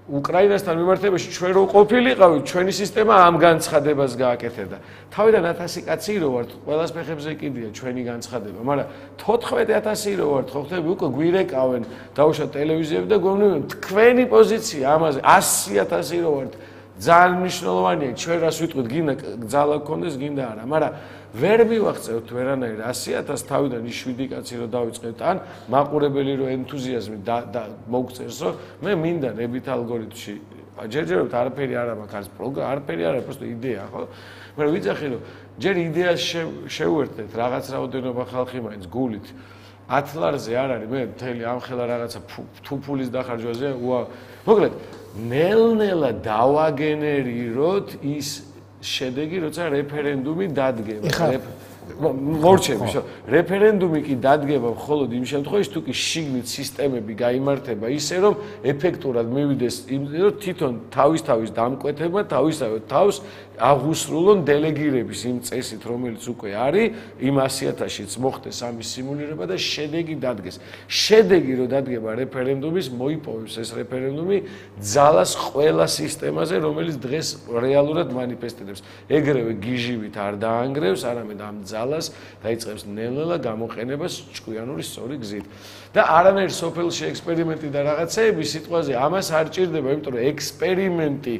უკრაინასთან მიმართებაში ჩვენ რო ყოფილიყავით ჩვენი სისტემა ამ განცხადებას გააკეთებდა თავიდან ათასი კაცი რო ვართ ყველას ფეხებზე კიდია ჩვენი განცხადება მაგრამ თოთხმეტი ათასი რო ვართ ხო ხტები უკვე გვირეკავენ დაუშვათ ტელევიზიები და გვეუბნებიან თქვენი პოზიცია ამაზე ასი ათასი რო ვართ ძალიან მნიშვნელოვანია ჩვენ რას ვიტყვით გინდა ძალა გქონდეს გინდა არა მაგრამ ვერ მივახცევთ ვერანაირ ასი ათას თავიდან ის შვიდი კაცი რო დავიწყებთ ან მაყურებელი რო ენთუზიაზმი და მოგწერს რომ მე მინდა ნებით ალგორითმში ჯერჯერობით არაფერი არ მაქვს არის პროგრამა არაფერი არა просто იდეა ხო მაგრამ ვიცახი რომ ჯერ იდეას შევუერთდეთ რაღაც რაოდენობა ხალხი მაინც გულით ათ ლარზე არ არის მე მთელი ამ ხელა რაღაცა თუ ფულის დახარჯვაზე მოკლედ ნელ-ნელა დავაგენერიროთ ის შედეგი როცა რეფერენდუმი დადგება მორჩები შო რეფერენდუმი კი დადგება მხოლოდ იმ შემთხვევაში თუ კი შიგნით სისტემები გაიმართება ისე რომ ეფექტურად მივიდეს იმ რომ თვითონ თავის თავის დამკვეთება თავისავე თავს აღუსრულონ დელეგირების იმ წესით რომელიც უკვე არის იმ ასი ათასშიც მოხდეს ამის სიმულირება და შედეგი დადგეს შედეგი რო დადგება რეფერენდუმის მოიპოვებს ეს რეფერენდუმი ძალას ყველა სისტემაზე რომელიც დღეს რეალურად манифестირებს ეგრევე გიჟივით არ დაანგრევს არამედ ამ ძალას დაიწყებს ნელ-ნელა გამოყენებას ჭკვიანური სწორი გზით და არანაირ სოფელში ექსპერიმენტი და რაღაცეები სიტყვაზე ამას არ ჭირდება იმიტომ რომ ექსპერიმენტი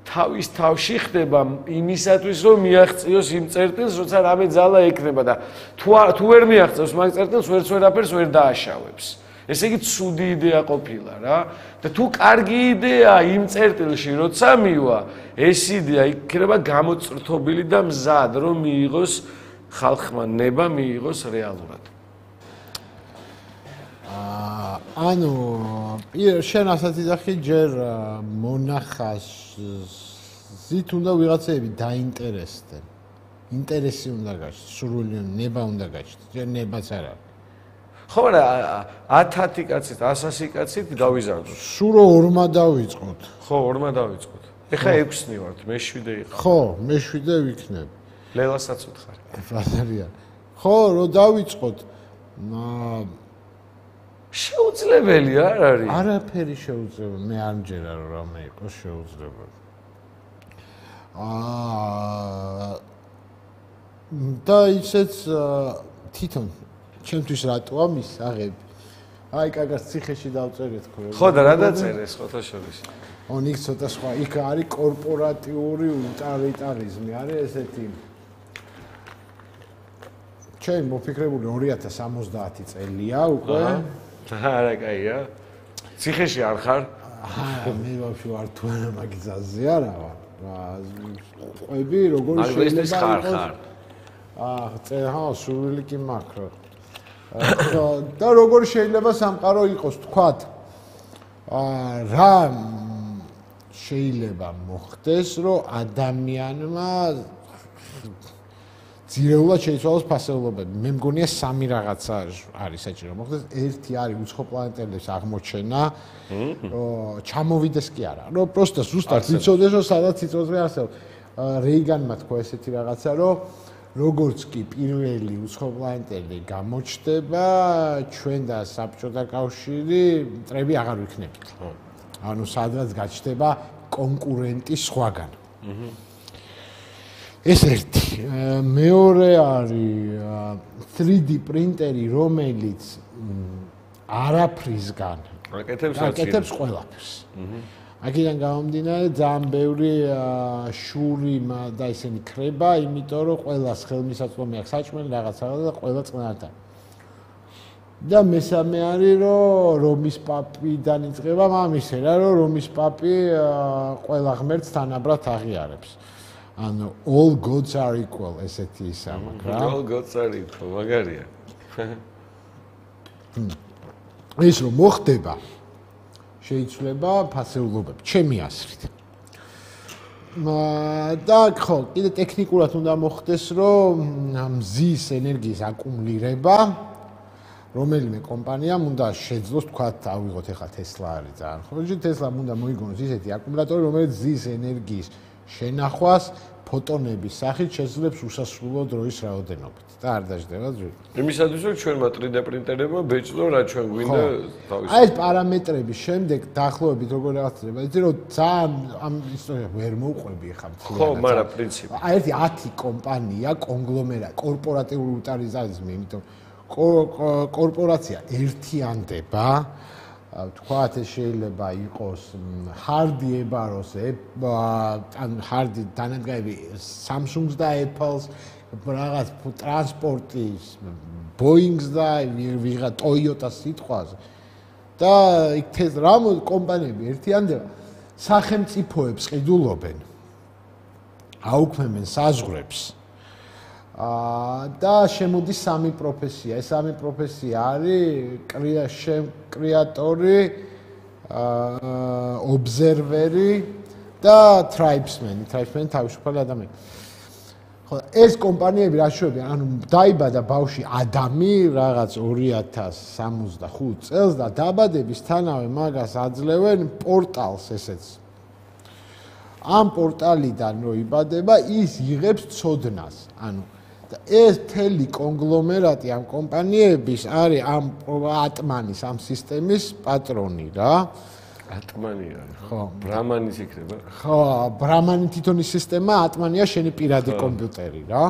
თავის თავში ხდება იმისათვის რომ მიაღწიოს იმ წერტილს როცა რამე ძალა ექნება და თუ თუ ვერ მიაღწევს მაგ წერტილს ვერც ვერაფერს ვერ დააშავებს ესე იგი ცუდი იდეა ყოფილა რა და თუ კარგი იდეა იმ წერტილში როცა მივა ეს იდეა იქნება გამოწრთობილი და მზად რომ მიიღოს ხალხმა ნება მიიღოს რეალურად ანუ შენ ასაც იძახი ჯერ მონახას ზით უნდა ვიღაცები დაინტერესდნენ ინტერესი უნდა გაჩნდეს სურვილი ნება უნდა გაჩნდეს ჯერ ნებაც არ არის ხო რა ათათი კაცით ასასი კაცით გავიზარდოთ სულ ორმა დავიწყოთ ხო ორმა დავიწყოთ ეხა ექვსნი ვართ მე შვიდე იყავ ხო მე შვიდე ვიქნებ ლელასაც უთხარ ბაზარია ხო რო დავიწყოთ შეუძლებელი არ არის არაფერი შეუძლებელი მე არ მჯერა რომ რამე იყოს შეუძლებელი აა და ისეც თვითონ ჩემთვის რატოა მის აღები აი კაკას ციხეში დავწერეთ ხო ხო და რა დაწერეს ხოთაშორის ონ იქ ცოტა სხვა იქ არის კორპორატიული უტილიტარიზმი არის ესეთი ჩვენ მოფიქრებული ორი ათას სამოცდაათი წელია უკვე არა კაია ციხეში არ ხარ აა მე ვაფშე ვარ თუ არა მაგიზაზე არა ვარ ყვები როგორ შეიძლება ხარ ხარ აა წერა სურვილი კი მაქვს და როგორ შეიძლება სამყარო იყოს თქვათ აა რა შეიძლება მოხდეს რომ ადამიანმა ძირეულად შეიცვალოს ფასეულობები. მე მგონია სამი რაღაცა არის საჭირო მოხდეს. ერთი არის უცხო პლანეტების აღმოჩენა. ჩამოვიდეს კი არა. რომ პროსტა ზუსტად იცოდეს რომ სადაც იწოძრე არსებობს. რეიგანმა თქვა ესეთი რაღაცა რომ როგორც კი პირველი უცხო პლანეტელი გამოჩნდება, ჩვენ და საბჭოთა კავშირი მტრები აღარ ვიქნებით. ანუ სადღაც გაჩნდება კონკურენტი სხვაგან. ეს ერთი მეორე არის თრი დი პრინტერი რომელიც არაფრისგან აკეთებს ყველაფერს აქედან გამომდინარე ძალიან ბევრი შური და ისინი ქრება, იმიტომ რომ ყველას ხელმისაწვდომი აქვს საჭმელი რაღაცა და ყველა წყნართან. და მესამე არის რომ რომის პაპიდან იწყება მამისე რა რომ რომის პაპი ყველა ღმერთს თანაბრად აღიარებს. ანუ all gods are equal ესეთი ისა მაქვს რა. all gods are equal მაგარია. ეს რომ მოხდება შეიძლება ფასეულობები ჩემი აზრით. და ხო, კიდე ტექნიკურად უნდა მოხდეს რომ მზის ენერგიის აკუმულირება რომელიმე კომპანიამ უნდა შეძლოს თქვა ავიღოთ ახლა Tesla არის ძალიან ხო, Tesla-მ უნდა მოიგონოს ისეთი აკუმულატორი რომელიც მზის ენერგიის შენახვას ფოტონების სახით შეძლებს უსასრულო დროის რაოდენობით და არ დაждდება ძვირი. იმისათვის რომ ჩვენმა თრი დე პრინტერებმა ბეჭდო რა ჩვენ გვინდა თავის. აი ეს პარამეტრების შემდეგ დაახლოებით როგორ რაღაცება, იცი რომ ძალიან ამ ისტორია ვერ მოვყვები ხა მთლიანად. ხო, მაგრამ პრინციპი. აი ერთი ათი კომპანია, კონგლომერატი, კორპორატიული უტილიზარიზმი, იმიტომ კორპორაცია ერთიანდება, თქვათ ეს შეიძლება იყოს ჰარდი ებაროს, ან ჰარდი დანადგარები Samsung-ს და Apple-ს, რაღაც ტრანსპორტის, Boeing-ს და ვიღა Toyota-ს სიტყვაზე. და იქ ეს რა კომპანიები ერთიანდება, სახელმწიფოებს ყიდულობენ, აუქმებენ საზღვრებს. და შემოდის სამი პროფესია. ეს სამი პროფესია არის კრეატორი, ობზერვერი და ტრაიბსმენი. ტრაიბსმენი თავისუფალი ადამიანი. ხო, ეს კომპანიები რა შეუებიან? ანუ დაიბადა ბავშვი ადამი რაღაც ორი ათას სამოცდახუთ წელს და დაბადებისთანავე მაგას აძლევენ პორტალს ესეც. ამ პორტალიდან რო იბადება, ის იღებს ცოდნას. ანუ ეს მთელი კონგლომერატი ამ კომპანიების არის ამ ატმანის ამ სისტემის პატრონი რა. ატმანი არის. ხო, ბრამანის იქნება. ხო, ბრამანი თვითონის სისტემა, ატმანია შენი პირადი კომპიუტერი რა.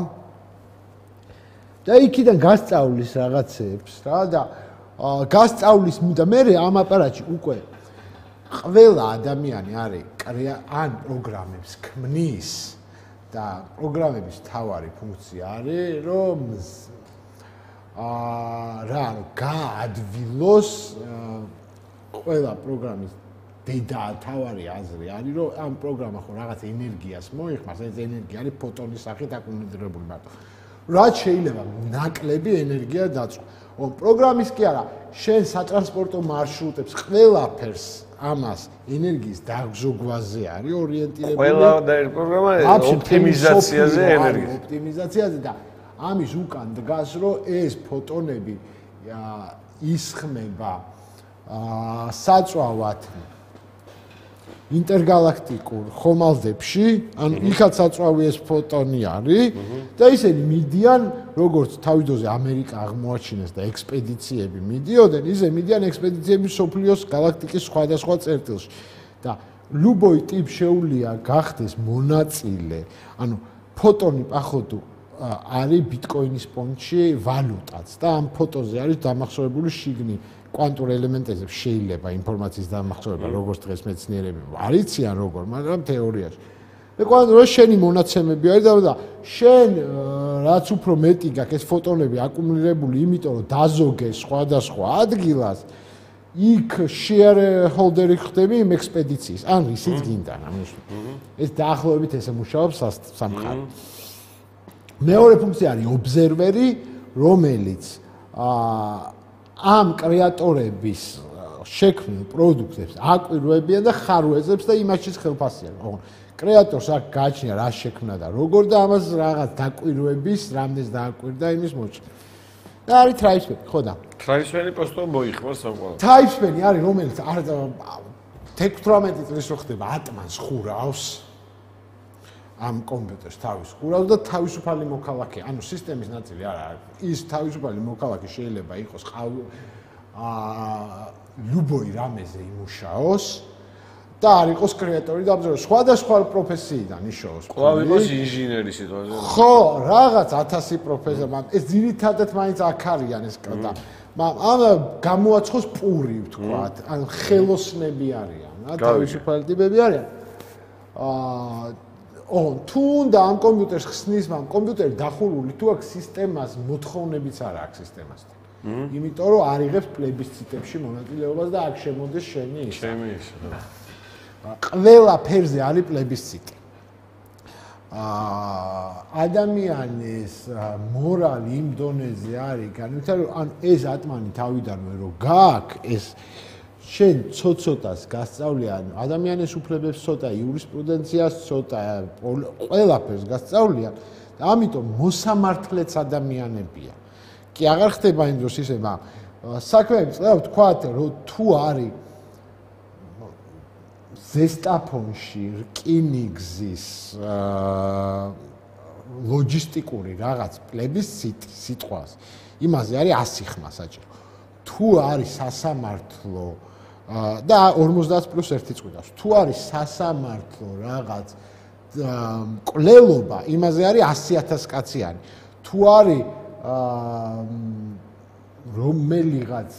და იქიდან გასწავლის რაღაცებს რა და გასწავლის და მე ამ აპარატში უკვე ყველა ადამიანი არის ან პროგრამებს ქმნის და პროგრამების თავარი ფუნქცია არის რომ აა რა გაადვილოს ყველა პროგრამის დედა თავარი აზრი არის რომ ამ პროგრამა ხო რაღაც ენერგიას მოიხმარს, ეს ენერგია არის ფოტონის სახით აკუმულირებული მარტო. რაც შეიძლება ნაკლები ენერგია დაწვა. ო პროგრამის კი არა, შენ სატრანსპორტო მარშრუტებს ყველაფერს ამას ენერგიის დაგზოგვაზე არის ორიენტირებული. ყველა და ეს პროგრამა ოპტიმიზაციაზე ენერგიის. ოპტიმიზაციაზე და ამის უკან დგას რომ ეს ფოტონები ისხმება საწვავად ინტერგალაქტიკურ ხომალდებში, ანუ იქაც საწვავი ეს ფოტონი არის და ისინი მიდიან, როგორც თავიდანვე ამერიკა აღმოაჩინეს და ექსპედიციები მიდიოდნენ, ისე მიდიან ექსპედიციები სოფლიოს გალაქტიკის სხვადასხვა წერტილში. და ლუბოი ტიპ შეუძლია გახდეს მონაწილე, ანუ ფოტონი პახოდუ არის ბიტკოინის ფონდში ვალუტაც და ამ ფოტოზე არის დამახსოვრებული შიგნი კვანტურ ელემენტებზე შეიძლება ინფორმაციის დამახსოვრება, როგორც დღეს მეცნიერები არიციან როგორ, მაგრამ თეორიაში. მე კვანტურ შენი მონაცემები არის და შენ რაც უფრო მეტი გაქვს ეს ფოტონები აკუმულირებული, იმიტომ რომ დაზოგეს სხვადასხვა ადგილას, იქ შეერჰოლდერი ხდები იმ ექსპედიციის. ან ისიც გინდა, ამის. ეს დაახლოებით ესე მუშაობს სამყარო. მეორე ფუნქცია არის ობზერვერი, რომელიც აა ამ კრეატორების შექმნილ პროდუქტებს აკვირვებიან და ხარვეზებს და იმაშიც ხელფასიან. ხო, კრეატორს აქ გააჩნია რა შექმნა და როგორ და ამას რაღაც დაკვირვების, რამდენს დააკვირდა იმის მოჭრა. და არის ტრაიბსმენი, ხო და? ტრაიბსმენი პოსტო მოიხმარს სამყარო. ტრაიბსმენი არის რომელიც არ თექვსმეტი წლის რო ხდება ატმანს ხურავს. ამ კომპიუტერს თავის ხურავს და თავისუფალი მოქალაქე, ანუ სისტემის ნაწილი არ არის. ის თავისუფალი მოქალაქე შეიძლება იყოს აა ლუბოი რამეზე იმუშაოს და არ იყოს კრეატორი და აბზერვატორი, სხვადასხვა პროფესიიდან იშოვოს. კვლავ იყოს ინჟინერი სიტყვაზე. ხო, რაღაც ათასი პროფესია, მაგრამ ეს ძირითადად მაინც აქ არიან ეს და ამ გამოაცხოს პური ვთქვათ, ან ხელოსნები არიან. რა თავისუფალი ტიპები არიან. აა ო თუ უნდა ამ კომპიუტერს ხსნის, მაგრამ კომპიუტერი დახურული თუ აქვს სისტემას მოთხოვნებიც არ აქვს სისტემასთან. იმიტომ რომ არ იღებს პლებისციტებში მონაწილეობას და აქ შემოდის შენი ის. ჩემი ის. ყველა ფერზე არის პლებისციტი. აა ადამიანის მორალი იმ დონეზე არის განვითარებული, ანუ ეს ატმანი თავიდანვე რო გააქვს ეს შენ ცოტ-ცოტას გასწავლი, ანუ ადამიანის უფლებებს ცოტა, იურისპრუდენციას ცოტა, ყველაფერს გასწავლია და ამიტომ მოსამართლეც ადამიანებია. კი აღარ ხდება იმ დროს ისე, მაგრამ საქმეები წლევ თქვათ, რომ თუ არის ზესტაფონში რკინიგზის ლოჯისტიკური რაღაც პლებისციტი სიტყვას, იმაზე არის ასი ხმა საჭირო. თუ არის სასამართლო და ორმოცდაათ პლუს ერთი წყვიტავს. თუ არის სასამართლო რაღაც კვლელობა, იმაზე არის ასი ათას კაციანი. თუ არის რომელიღაც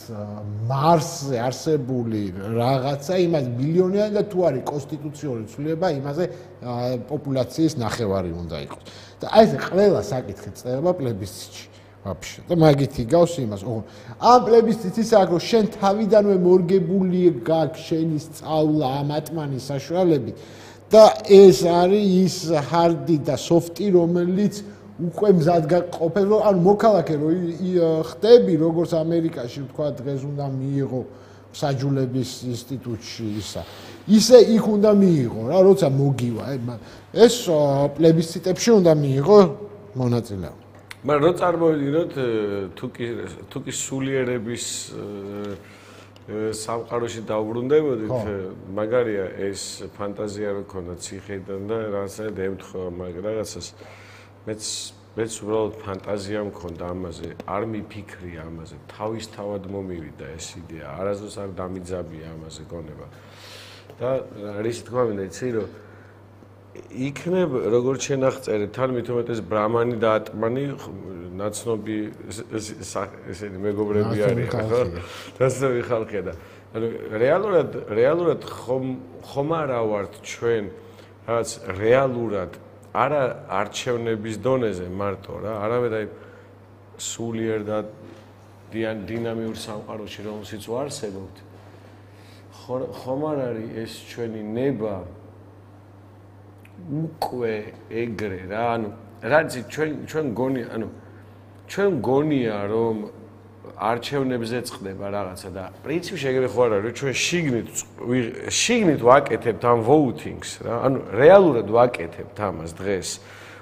მარსზე არსებული რაღაცა, იმას მილიონიანი და თუ არის კონსტიტუციური ცვლილება, იმაზე პოპულაციის ნახევარი უნდა იყოს. და აი ეს ყველა საკითხი წერება პლებისციტში. ვაფშე და მაგით იგავს იმას. ოღონდ ამ პლებისციტს ის აქვს, რომ შენ თავიდანვე მორგებული გაქვს შენი სწავლა ამ ატმანის საშუალებით და ეს არის ის ჰარდი და სოფტი, რომელიც უკვე მზად გაყოფენ, რომ ანუ მოქალაქე რო ხდები, როგორც ამერიკაში თქვა დღეს უნდა მიიღო საჯულების ინსტიტუტში ისა. ისე იქ უნდა მიიღო რა, როცა მოგივა. ეს პლებისციტებში უნდა მიიღო მონაწილეობა. მაგრამ რო წარმოვიდგინოთ თუკი სულიერების სამყაროში დავბრუნდებოდით, მაგარია ეს ფანტაზია რო ქონდა ციხეიდან და რაღაცნაირად ემთხვევა მაგ რაღაცას. მეც მეც უბრალოდ ფანტაზია მქონდა ამაზე, არ მიფიქრია ამაზე, თავისთავად მომივიდა ეს იდეა, არასდროს არ დამიძაბია ამაზე გონება. და რის თქმა უნდა, იცი რომ იქნებ როგორც შენახწერე, თან მით უმეტეს ბრამანი და ატმანი ნაცნობი ესენი მეგობრები არიან, ხო? ნაცნობი ხალხია და ანუ რეალურად რეალურად ხომ ხომ არა ვართ ჩვენ რაღაც რეალურად არა არჩევნების დონეზე მარტო რა, არამედ აი სულიერ და დინამიურ სამყაროში რომელშიც ვარსებობთ. ხომ არ არის ეს ჩვენი ნება უკვე ეგრე რა, ანუ რაც ჩვენ ჩვენ გონია, ანუ ჩვენ გონია რომ არჩევნებზე წდება რაღაცა და პრინციპში ეგრე ხო არ არის, რომ ჩვენ შიგნით შიგნით ვაკეთებთ ამ voting-ს რა, ანუ რეალურად ვაკეთებთ ამას დღეს.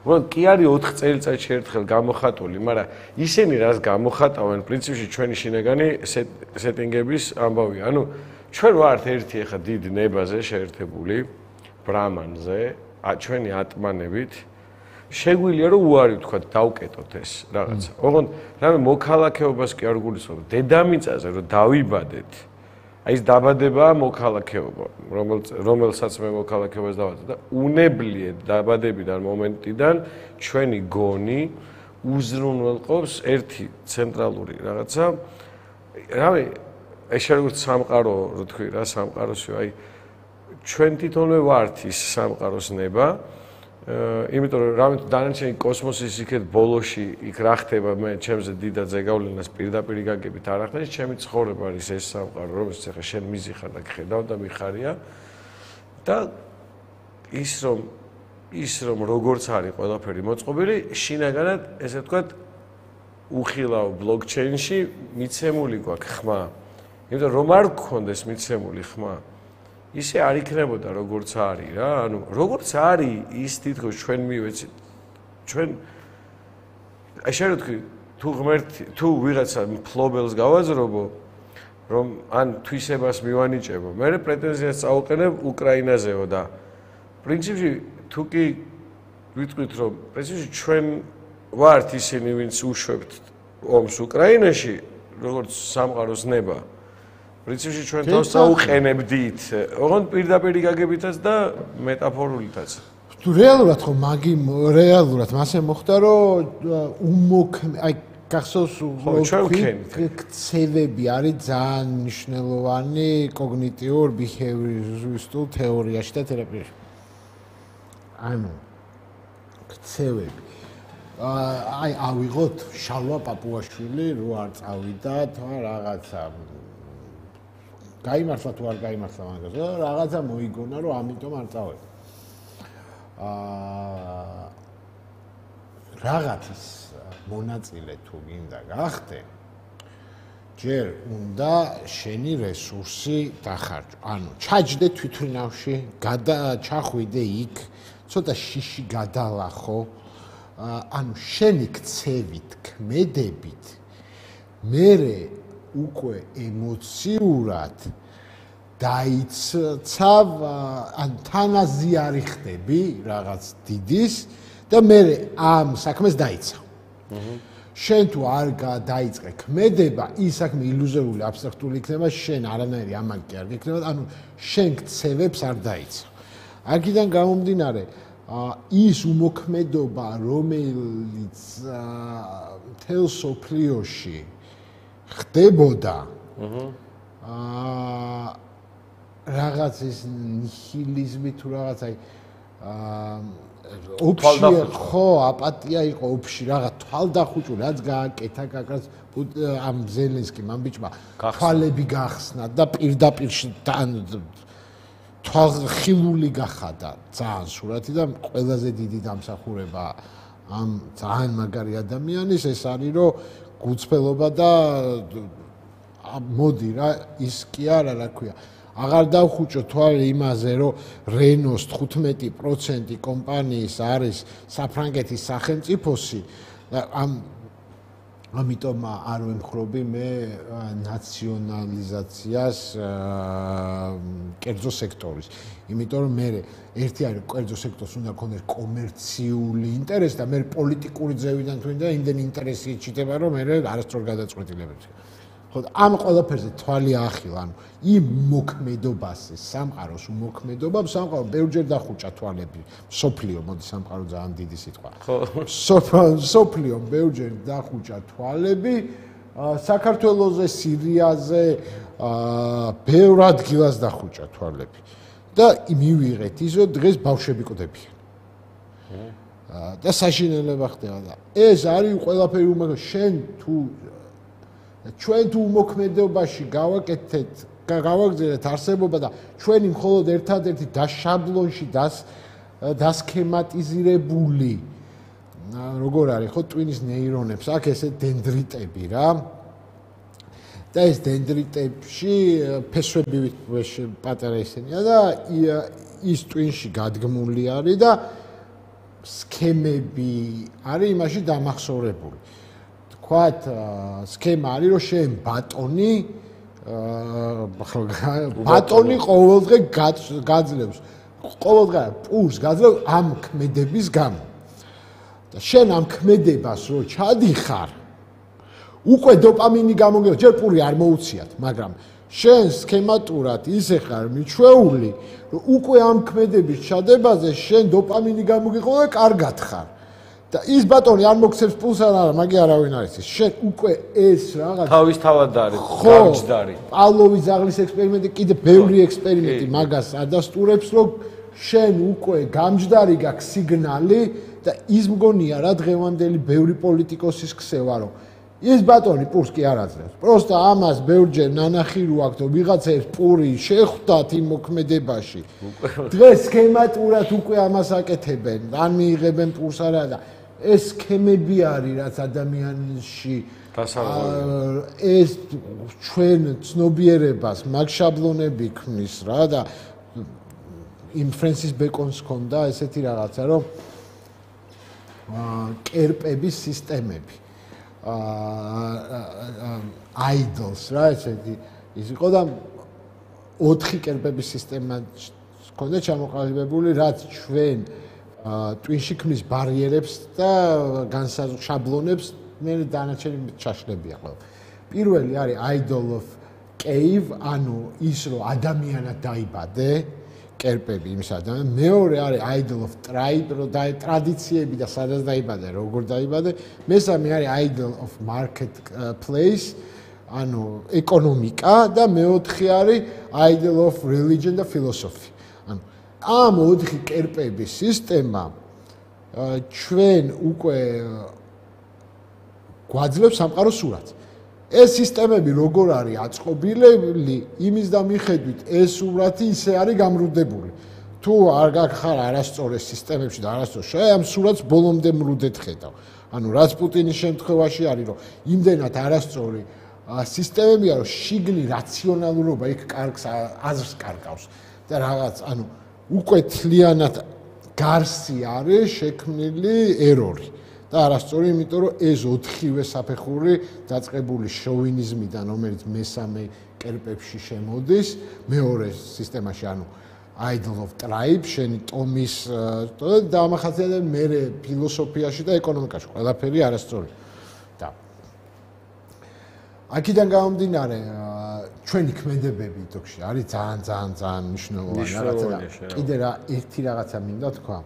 უბრალოდ კი არის ოთხ წელიწადში ერთხელ გამოხატული, მაგრამ ისინი რას გამოხატავენ პრინციპში ჩვენი შინაგანი სეტინგების ამბავია. ანუ ჩვენ ვართ ერთი ახლა დიდ ნებაზე შეერთებული ბრამანზე, ჩვენი ატმანებით შეგვიძლია რომ უარი ვთქვათ დავკეტოთ ეს რაღაცა. ოღონდ რამე მოქალაქეობას კი არ გულისხმობ. დედამიწაზე რომ დავიბადეთ, აი ეს დაბადებაა მოქალაქეობა, რომელსაც მე მოქალაქეობას დავაწყე და უნებლიეთ დაბადებიდან მომენტიდან ჩვენი გონი უზრუნველყოფს ერთი ცენტრალური რაღაცა. რამე ეს როგორც სამყარო, რო თქვი რა, სამყაროსი, აი ჩვენ თვითონვე ვართ ის სამყაროს ნება. იმიტომ რომ რამე დანარჩენი კოსმოსის იქეთ ბოლოში იქ რა ხდება, მე ჩემზე დიდად ზეგავლენას პირდაპირ გაგებით არ ახდენს, ჩემი ცხოვრება არის ეს სამყარო, რომელსაც ახლა შენ მიზიხარ და გხედავ და მიხარია და ის რომ ის რომ როგორც არის ყველაფერი მოწყობილი, შინაგანად ესე ვთქვათ უხილავ ბლოკჩეინში მიცემული გვაქვს ხმა. იმიტომ რომ არ გქონდეს მიცემული ხმა, ისე არ იქნებოდა როგორც არის რა, ანუ როგორც არის ის თითქოს ჩვენ მივეცით ჩვენ აი შენ ვთქვი თუ ღმერთი თუ ვიღაცა ფლობელს გავაძრობო რომ ან თვისებას მივანიჭებო, მე პრეტენზიას წაუყენებ უკრაინაზეო და პრინციპში თუ კი ვიტყვით რომ პრინციპში ჩვენ ვართ ისინი ვინც უშვებთ ომს უკრაინაში როგორც სამყაროს ნება. პრინციპში ჩვენ თავს წაუყენებდით, ოღონდ პირდაპირ გაგებითაც და მეტაფორულითაც. თუ რეალურად ხო მაგი რეალურად მასე მოხდა რომ უმოქმ აი გახსოვს ქცევები არის ძალიან მნიშვნელოვანი კოგნიტიურ ბიჰევიორისტულ თეორიაში და თერაპიაში. ანუ ქცევები. აი ავიღოთ შალვა პაპუაშვილი რო არ წავიდა თან რაღაცა გაიმართლა თუ არ გაიმართლა მაგას და რაღაცა მოიგონა რომ ამიტომ არ წავედა. აა რაღაცის მონაწილე თუ გინდა გახდე ჯერ უნდა შენი რესურსი დახარჯო. ანუ ჩაჯდე თვითმფრინავში, გადაჩახვიდე იქ, ცოტა შიში გადალახო. ანუ შენი ქცევით, ქმედებით მერე უკვე ემოციურად დაიცავ, ან თანაზიარი ხდები რაღაც დიდის და მერე ამ საქმეს დაიცავ. შენ თუ არ დაიწყე ქმედება, ის საქმე ილუზორული, აბსტრაქტული იქნება, შენ არანაირი ამაკი კი არ გექნება, ანუ შენ ქცევებს არ დაიცავ. აქედან გამომდინარე, ის უმოქმედობა, რომელიც მთელ სოფლიოში ხდებოდა, აა რაღაცის ნიჰილიზმი თუ რაღაც აი ოფში ხო აპატია იყო ოფში რაღაც თვალდახუჭი რაც გააკეთა გაკაც ამ ზელენსკიმ ამ ბიჭმა თვალები გახსნა და პირდაპირ თვალხილული გახადა ძალიან სურათი და ყველაზე დიდი დამსახურება ამ ძალიან მაგარი ადამიანის ეს არის რომ გუწფელობა და მოდი რა ის კი არა რა ქვია აღარ დავხუჭო თვალე იმაზე რომ რენოს თხუთმეტი პროცენტი კომპანიის არის საფრანგეთის სახელმწიფოსი და ამ ამიტომ არ ვემხრობი მე ნაციონალიზაციას კერძო სექტორის იმიტომ რომ მე ერთი არის კერძო სექტორს უნდა ქონდეს კომერციული ინტერესი და მე პოლიტიკური ძევიდან თუნდა იმდენი ინტერესი იჭდება რომ მე არასდროს გადაწყვეტილებებს ხო ამ ყველაფერზე თვალი ახილა ანუ იმ მოქმედობაზე სამყაროს უმოქმედობამ სამყარო ბევრჯერ დახუჭა თვალები სოფლიო მოდი სამყარო ძალიან დიდი სიტყვა ხო სოფლიო ბევრჯერ დახუჭა თვალები საქართველოზე სირიაზე ბევრ ადგილას დახუჭა თვალები და მივიღეთ ის რომ დღეს ბავშვები კვდებიან და საშინელება ხდება და ეს არის ყველაფერი უმოქმედო შენ თუ ჩვენ თუ უმოქმედობაში გავაკეთეთ გავაგზავნეთ არსებობა და ჩვენი მხოლოდ ერთადერთი დაშაბლონში დასქემატიზირებული როგორ არის ხო ტვინის ნეირონებს აქ ესე დენდრიტები რა და ეს დენდრიტებში ფესვები პატარა ისენია და ის ტვინში გადგმული არის და სქემები არის იმაში დამახსოვრებული ვთქვათ სქემა არის რომ შენ ბატონი ბატონი ყოველდღე გაძლევს ყოველდღე პულს გაძლევს ამ ქმედების გამო და შენ ამ ქმედებას რო ჩადიხარ უკვე დოპამინი გამოგევა ჯერ პური არ მოუციათ მაგრამ შენ სქემატურად ისე ხარ მიჩვეული რომ უკვე ამ ქმედების ჩადებაზე შენ დოპამინი გამოგეყო და კარგად ხარ და ის ბატონი არ მოგცემს პულს არ არა მაგი არავინ არის ის შენ უკვე ეს რაღაც თავის თავად არის გამჯდარი პავლოვის ზაღლის ექსპერიმენტი კიდე ბევრი ექსპერიმენტი მაგას ადასტურებს რომ შენ უკვე გამჯდარი გაქვს სიგნალი და ის მგონია რა დღევანდელი ბევრი პოლიტიკოსის ქსევა რომ ის ბატონი პურს კი არ აძლევს პროსტა ამას ბევრჯერ ნანახი რო აქვს რომ ვიღაცებს პური შეხვდათ იმ მოქმედებაში დღეს სქემატურად უკვე ამას აკეთებენ ან მიიღებენ პურს არა და ეს სქემები არის რაც ადამიანში ეს ჩვენ ცნობიერებას მაგ შაბლონები ქმნის რა და იმ ფრენსის ბეკონს ჰქონდა ესეთი რაღაცა რომ კერპების სისტემები აიდლს რა ესეთი ის იყო და ოთხი კერპების სისტემა ჰქონდა ჩამოყალიბებული რაც ჩვენ ტვინში ქმნის ბარიერებს და განსაშაბლონებს მე დანარჩენი ჩაშლებია ყველა პირველი არის idol of cave ანუ ის რომ ადამიანად დაიბადე კერპები იმის ადამიანს. მეორე არის idol of tribe, რო და ტრადიციები და სადაც დაიბადე, როგორ დაიბადე. მესამე არის idol of market place, ანუ ეკონომიკა და მეოთხე არის idol of religion და philosophy. ანუ ამ ოთხი კერპების სისტემა ჩვენ უკვე გვაძლევს სამყაროს სურათს. ეს სისტემები როგორ არის აწყობილები, იმის და მიხედვით ეს სურათი ისე არის გამრუდებული. თუ არ გახარ არასწორ ეს სისტემებში და არასწორ შე ამ სურათს ბოლომდე მრუდეთ ხედავ. ანუ რაც პუტინის შემთხვევაში არის, რომ იმდენად არასწორი სისტემებია, რომ შიგნი რაციონალურობა იქ კარგს აზრს კარგავს და რაღაც, ანუ უკვე თლიანად გარსი არის შექმნილი ერორი. და არასწორი, იმიტომ რომ ეს ოთხივე საფეხური დაწყებული შოვინიზმიდან, რომელიც მესამე კერპებში შემოდის, მეორე სისტემაში, ანუ idol of tribe, შენი ტომის და ამახასიათებთ მე ფილოსოფიაში და ეკონომიკაში, ყველაფერი არასწორი. და აქედან გამომდინარე, ჩვენი ქმედებები თქოში არის ძალიან ძალიან ძალიან მნიშვნელოვანი რაღაცა. კიდე რა ერთი რაღაცა მინდა თქვა.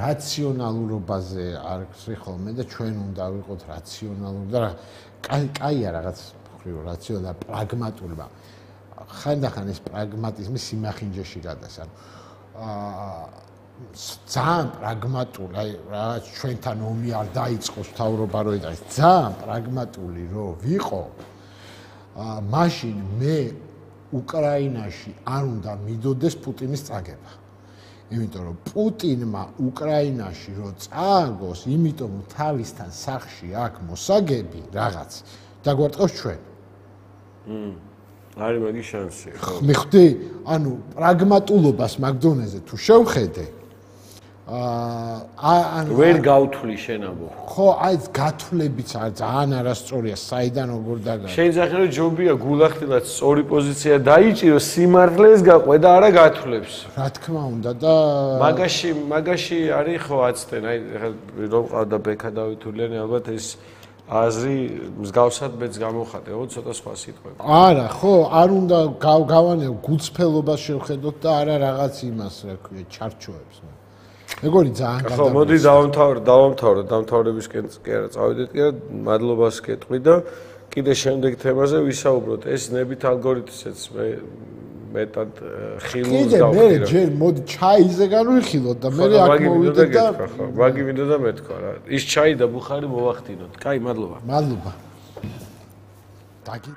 რაციონალურობაზე არ გსვი ხოლმე და ჩვენ უნდა ვიყოთ რაციონალური და კაი კაია რაღაც ხრივ რაციონალური და პრაგმატული, მაგრამ ხანდახან ეს პრაგმატიზმი სიმახინჯეში გადის. ანუ აა ძალიან პრაგმატული, აი რაღაც ჩვენთან ომი არ დაიწყოს თავრობა რო იდას, ძალიან პრაგმატული რო ვიყო, აა მაშინ მე უკრაინაში არ უნდა მიდოდეს პუტინის წაგება. იმიტომ რომ პუტინმა უკრაინაში რო წააგოს, იმიტომ რომ თავისთან სახში აქ მოსაგები რაღაც დაგვარტყავს ჩვენ. მმ. არის მაგის შანსი, ხო? მიხვდი? ანუ პრაგმატულობას მაგდონეზე თუ შევხედე, აა ანუ ვერ გავთვლი შენაბო. ხო, აი გათვლებიც არ ძალიან არასწორია, საიდან როგორ დაგა. შეიძლება რომ ჯობია გულახდილად სწორი პოზიცია დაიჭირო, სიმართლეს გაყვე და არა გათვლებს. რა თქმა უნდა და მაგაში მაგაში არის ხო აცდენ, აი რომ ყავდა ბექა დავითულიანი, ალბათ ეს აზრი მსგავსად მეც გამოხატე, ო ცოტა სხვა სიტყვები. არა, ხო, არ უნდა გავანებ გულწრფელობას შევხედოთ და არა რაღაც იმას, რა ქვია, ჩარჩოებს. მეგონი ძალიან გადაგა. ხო, მოდი დავამთავრე, დავამთავრე, დამთავრებისკენ კი არა, წავიდეთ კი არა, მადლობას გეტყვი და კიდე შემდეგ თემაზე ვისაუბროთ. ეს ნებით ალგორითმსაც მე მეტად ხილულს გავხდირო. კიდე მე ჯერ მოდი ჩაიზე განვიხილოთ და მე აქ მოვიდეთ და მაგი მინდა და მეთქვა რა. ის ჩაი და ბუხარი მოვახდინოთ. კაი, მადლობა. მადლობა. დაგი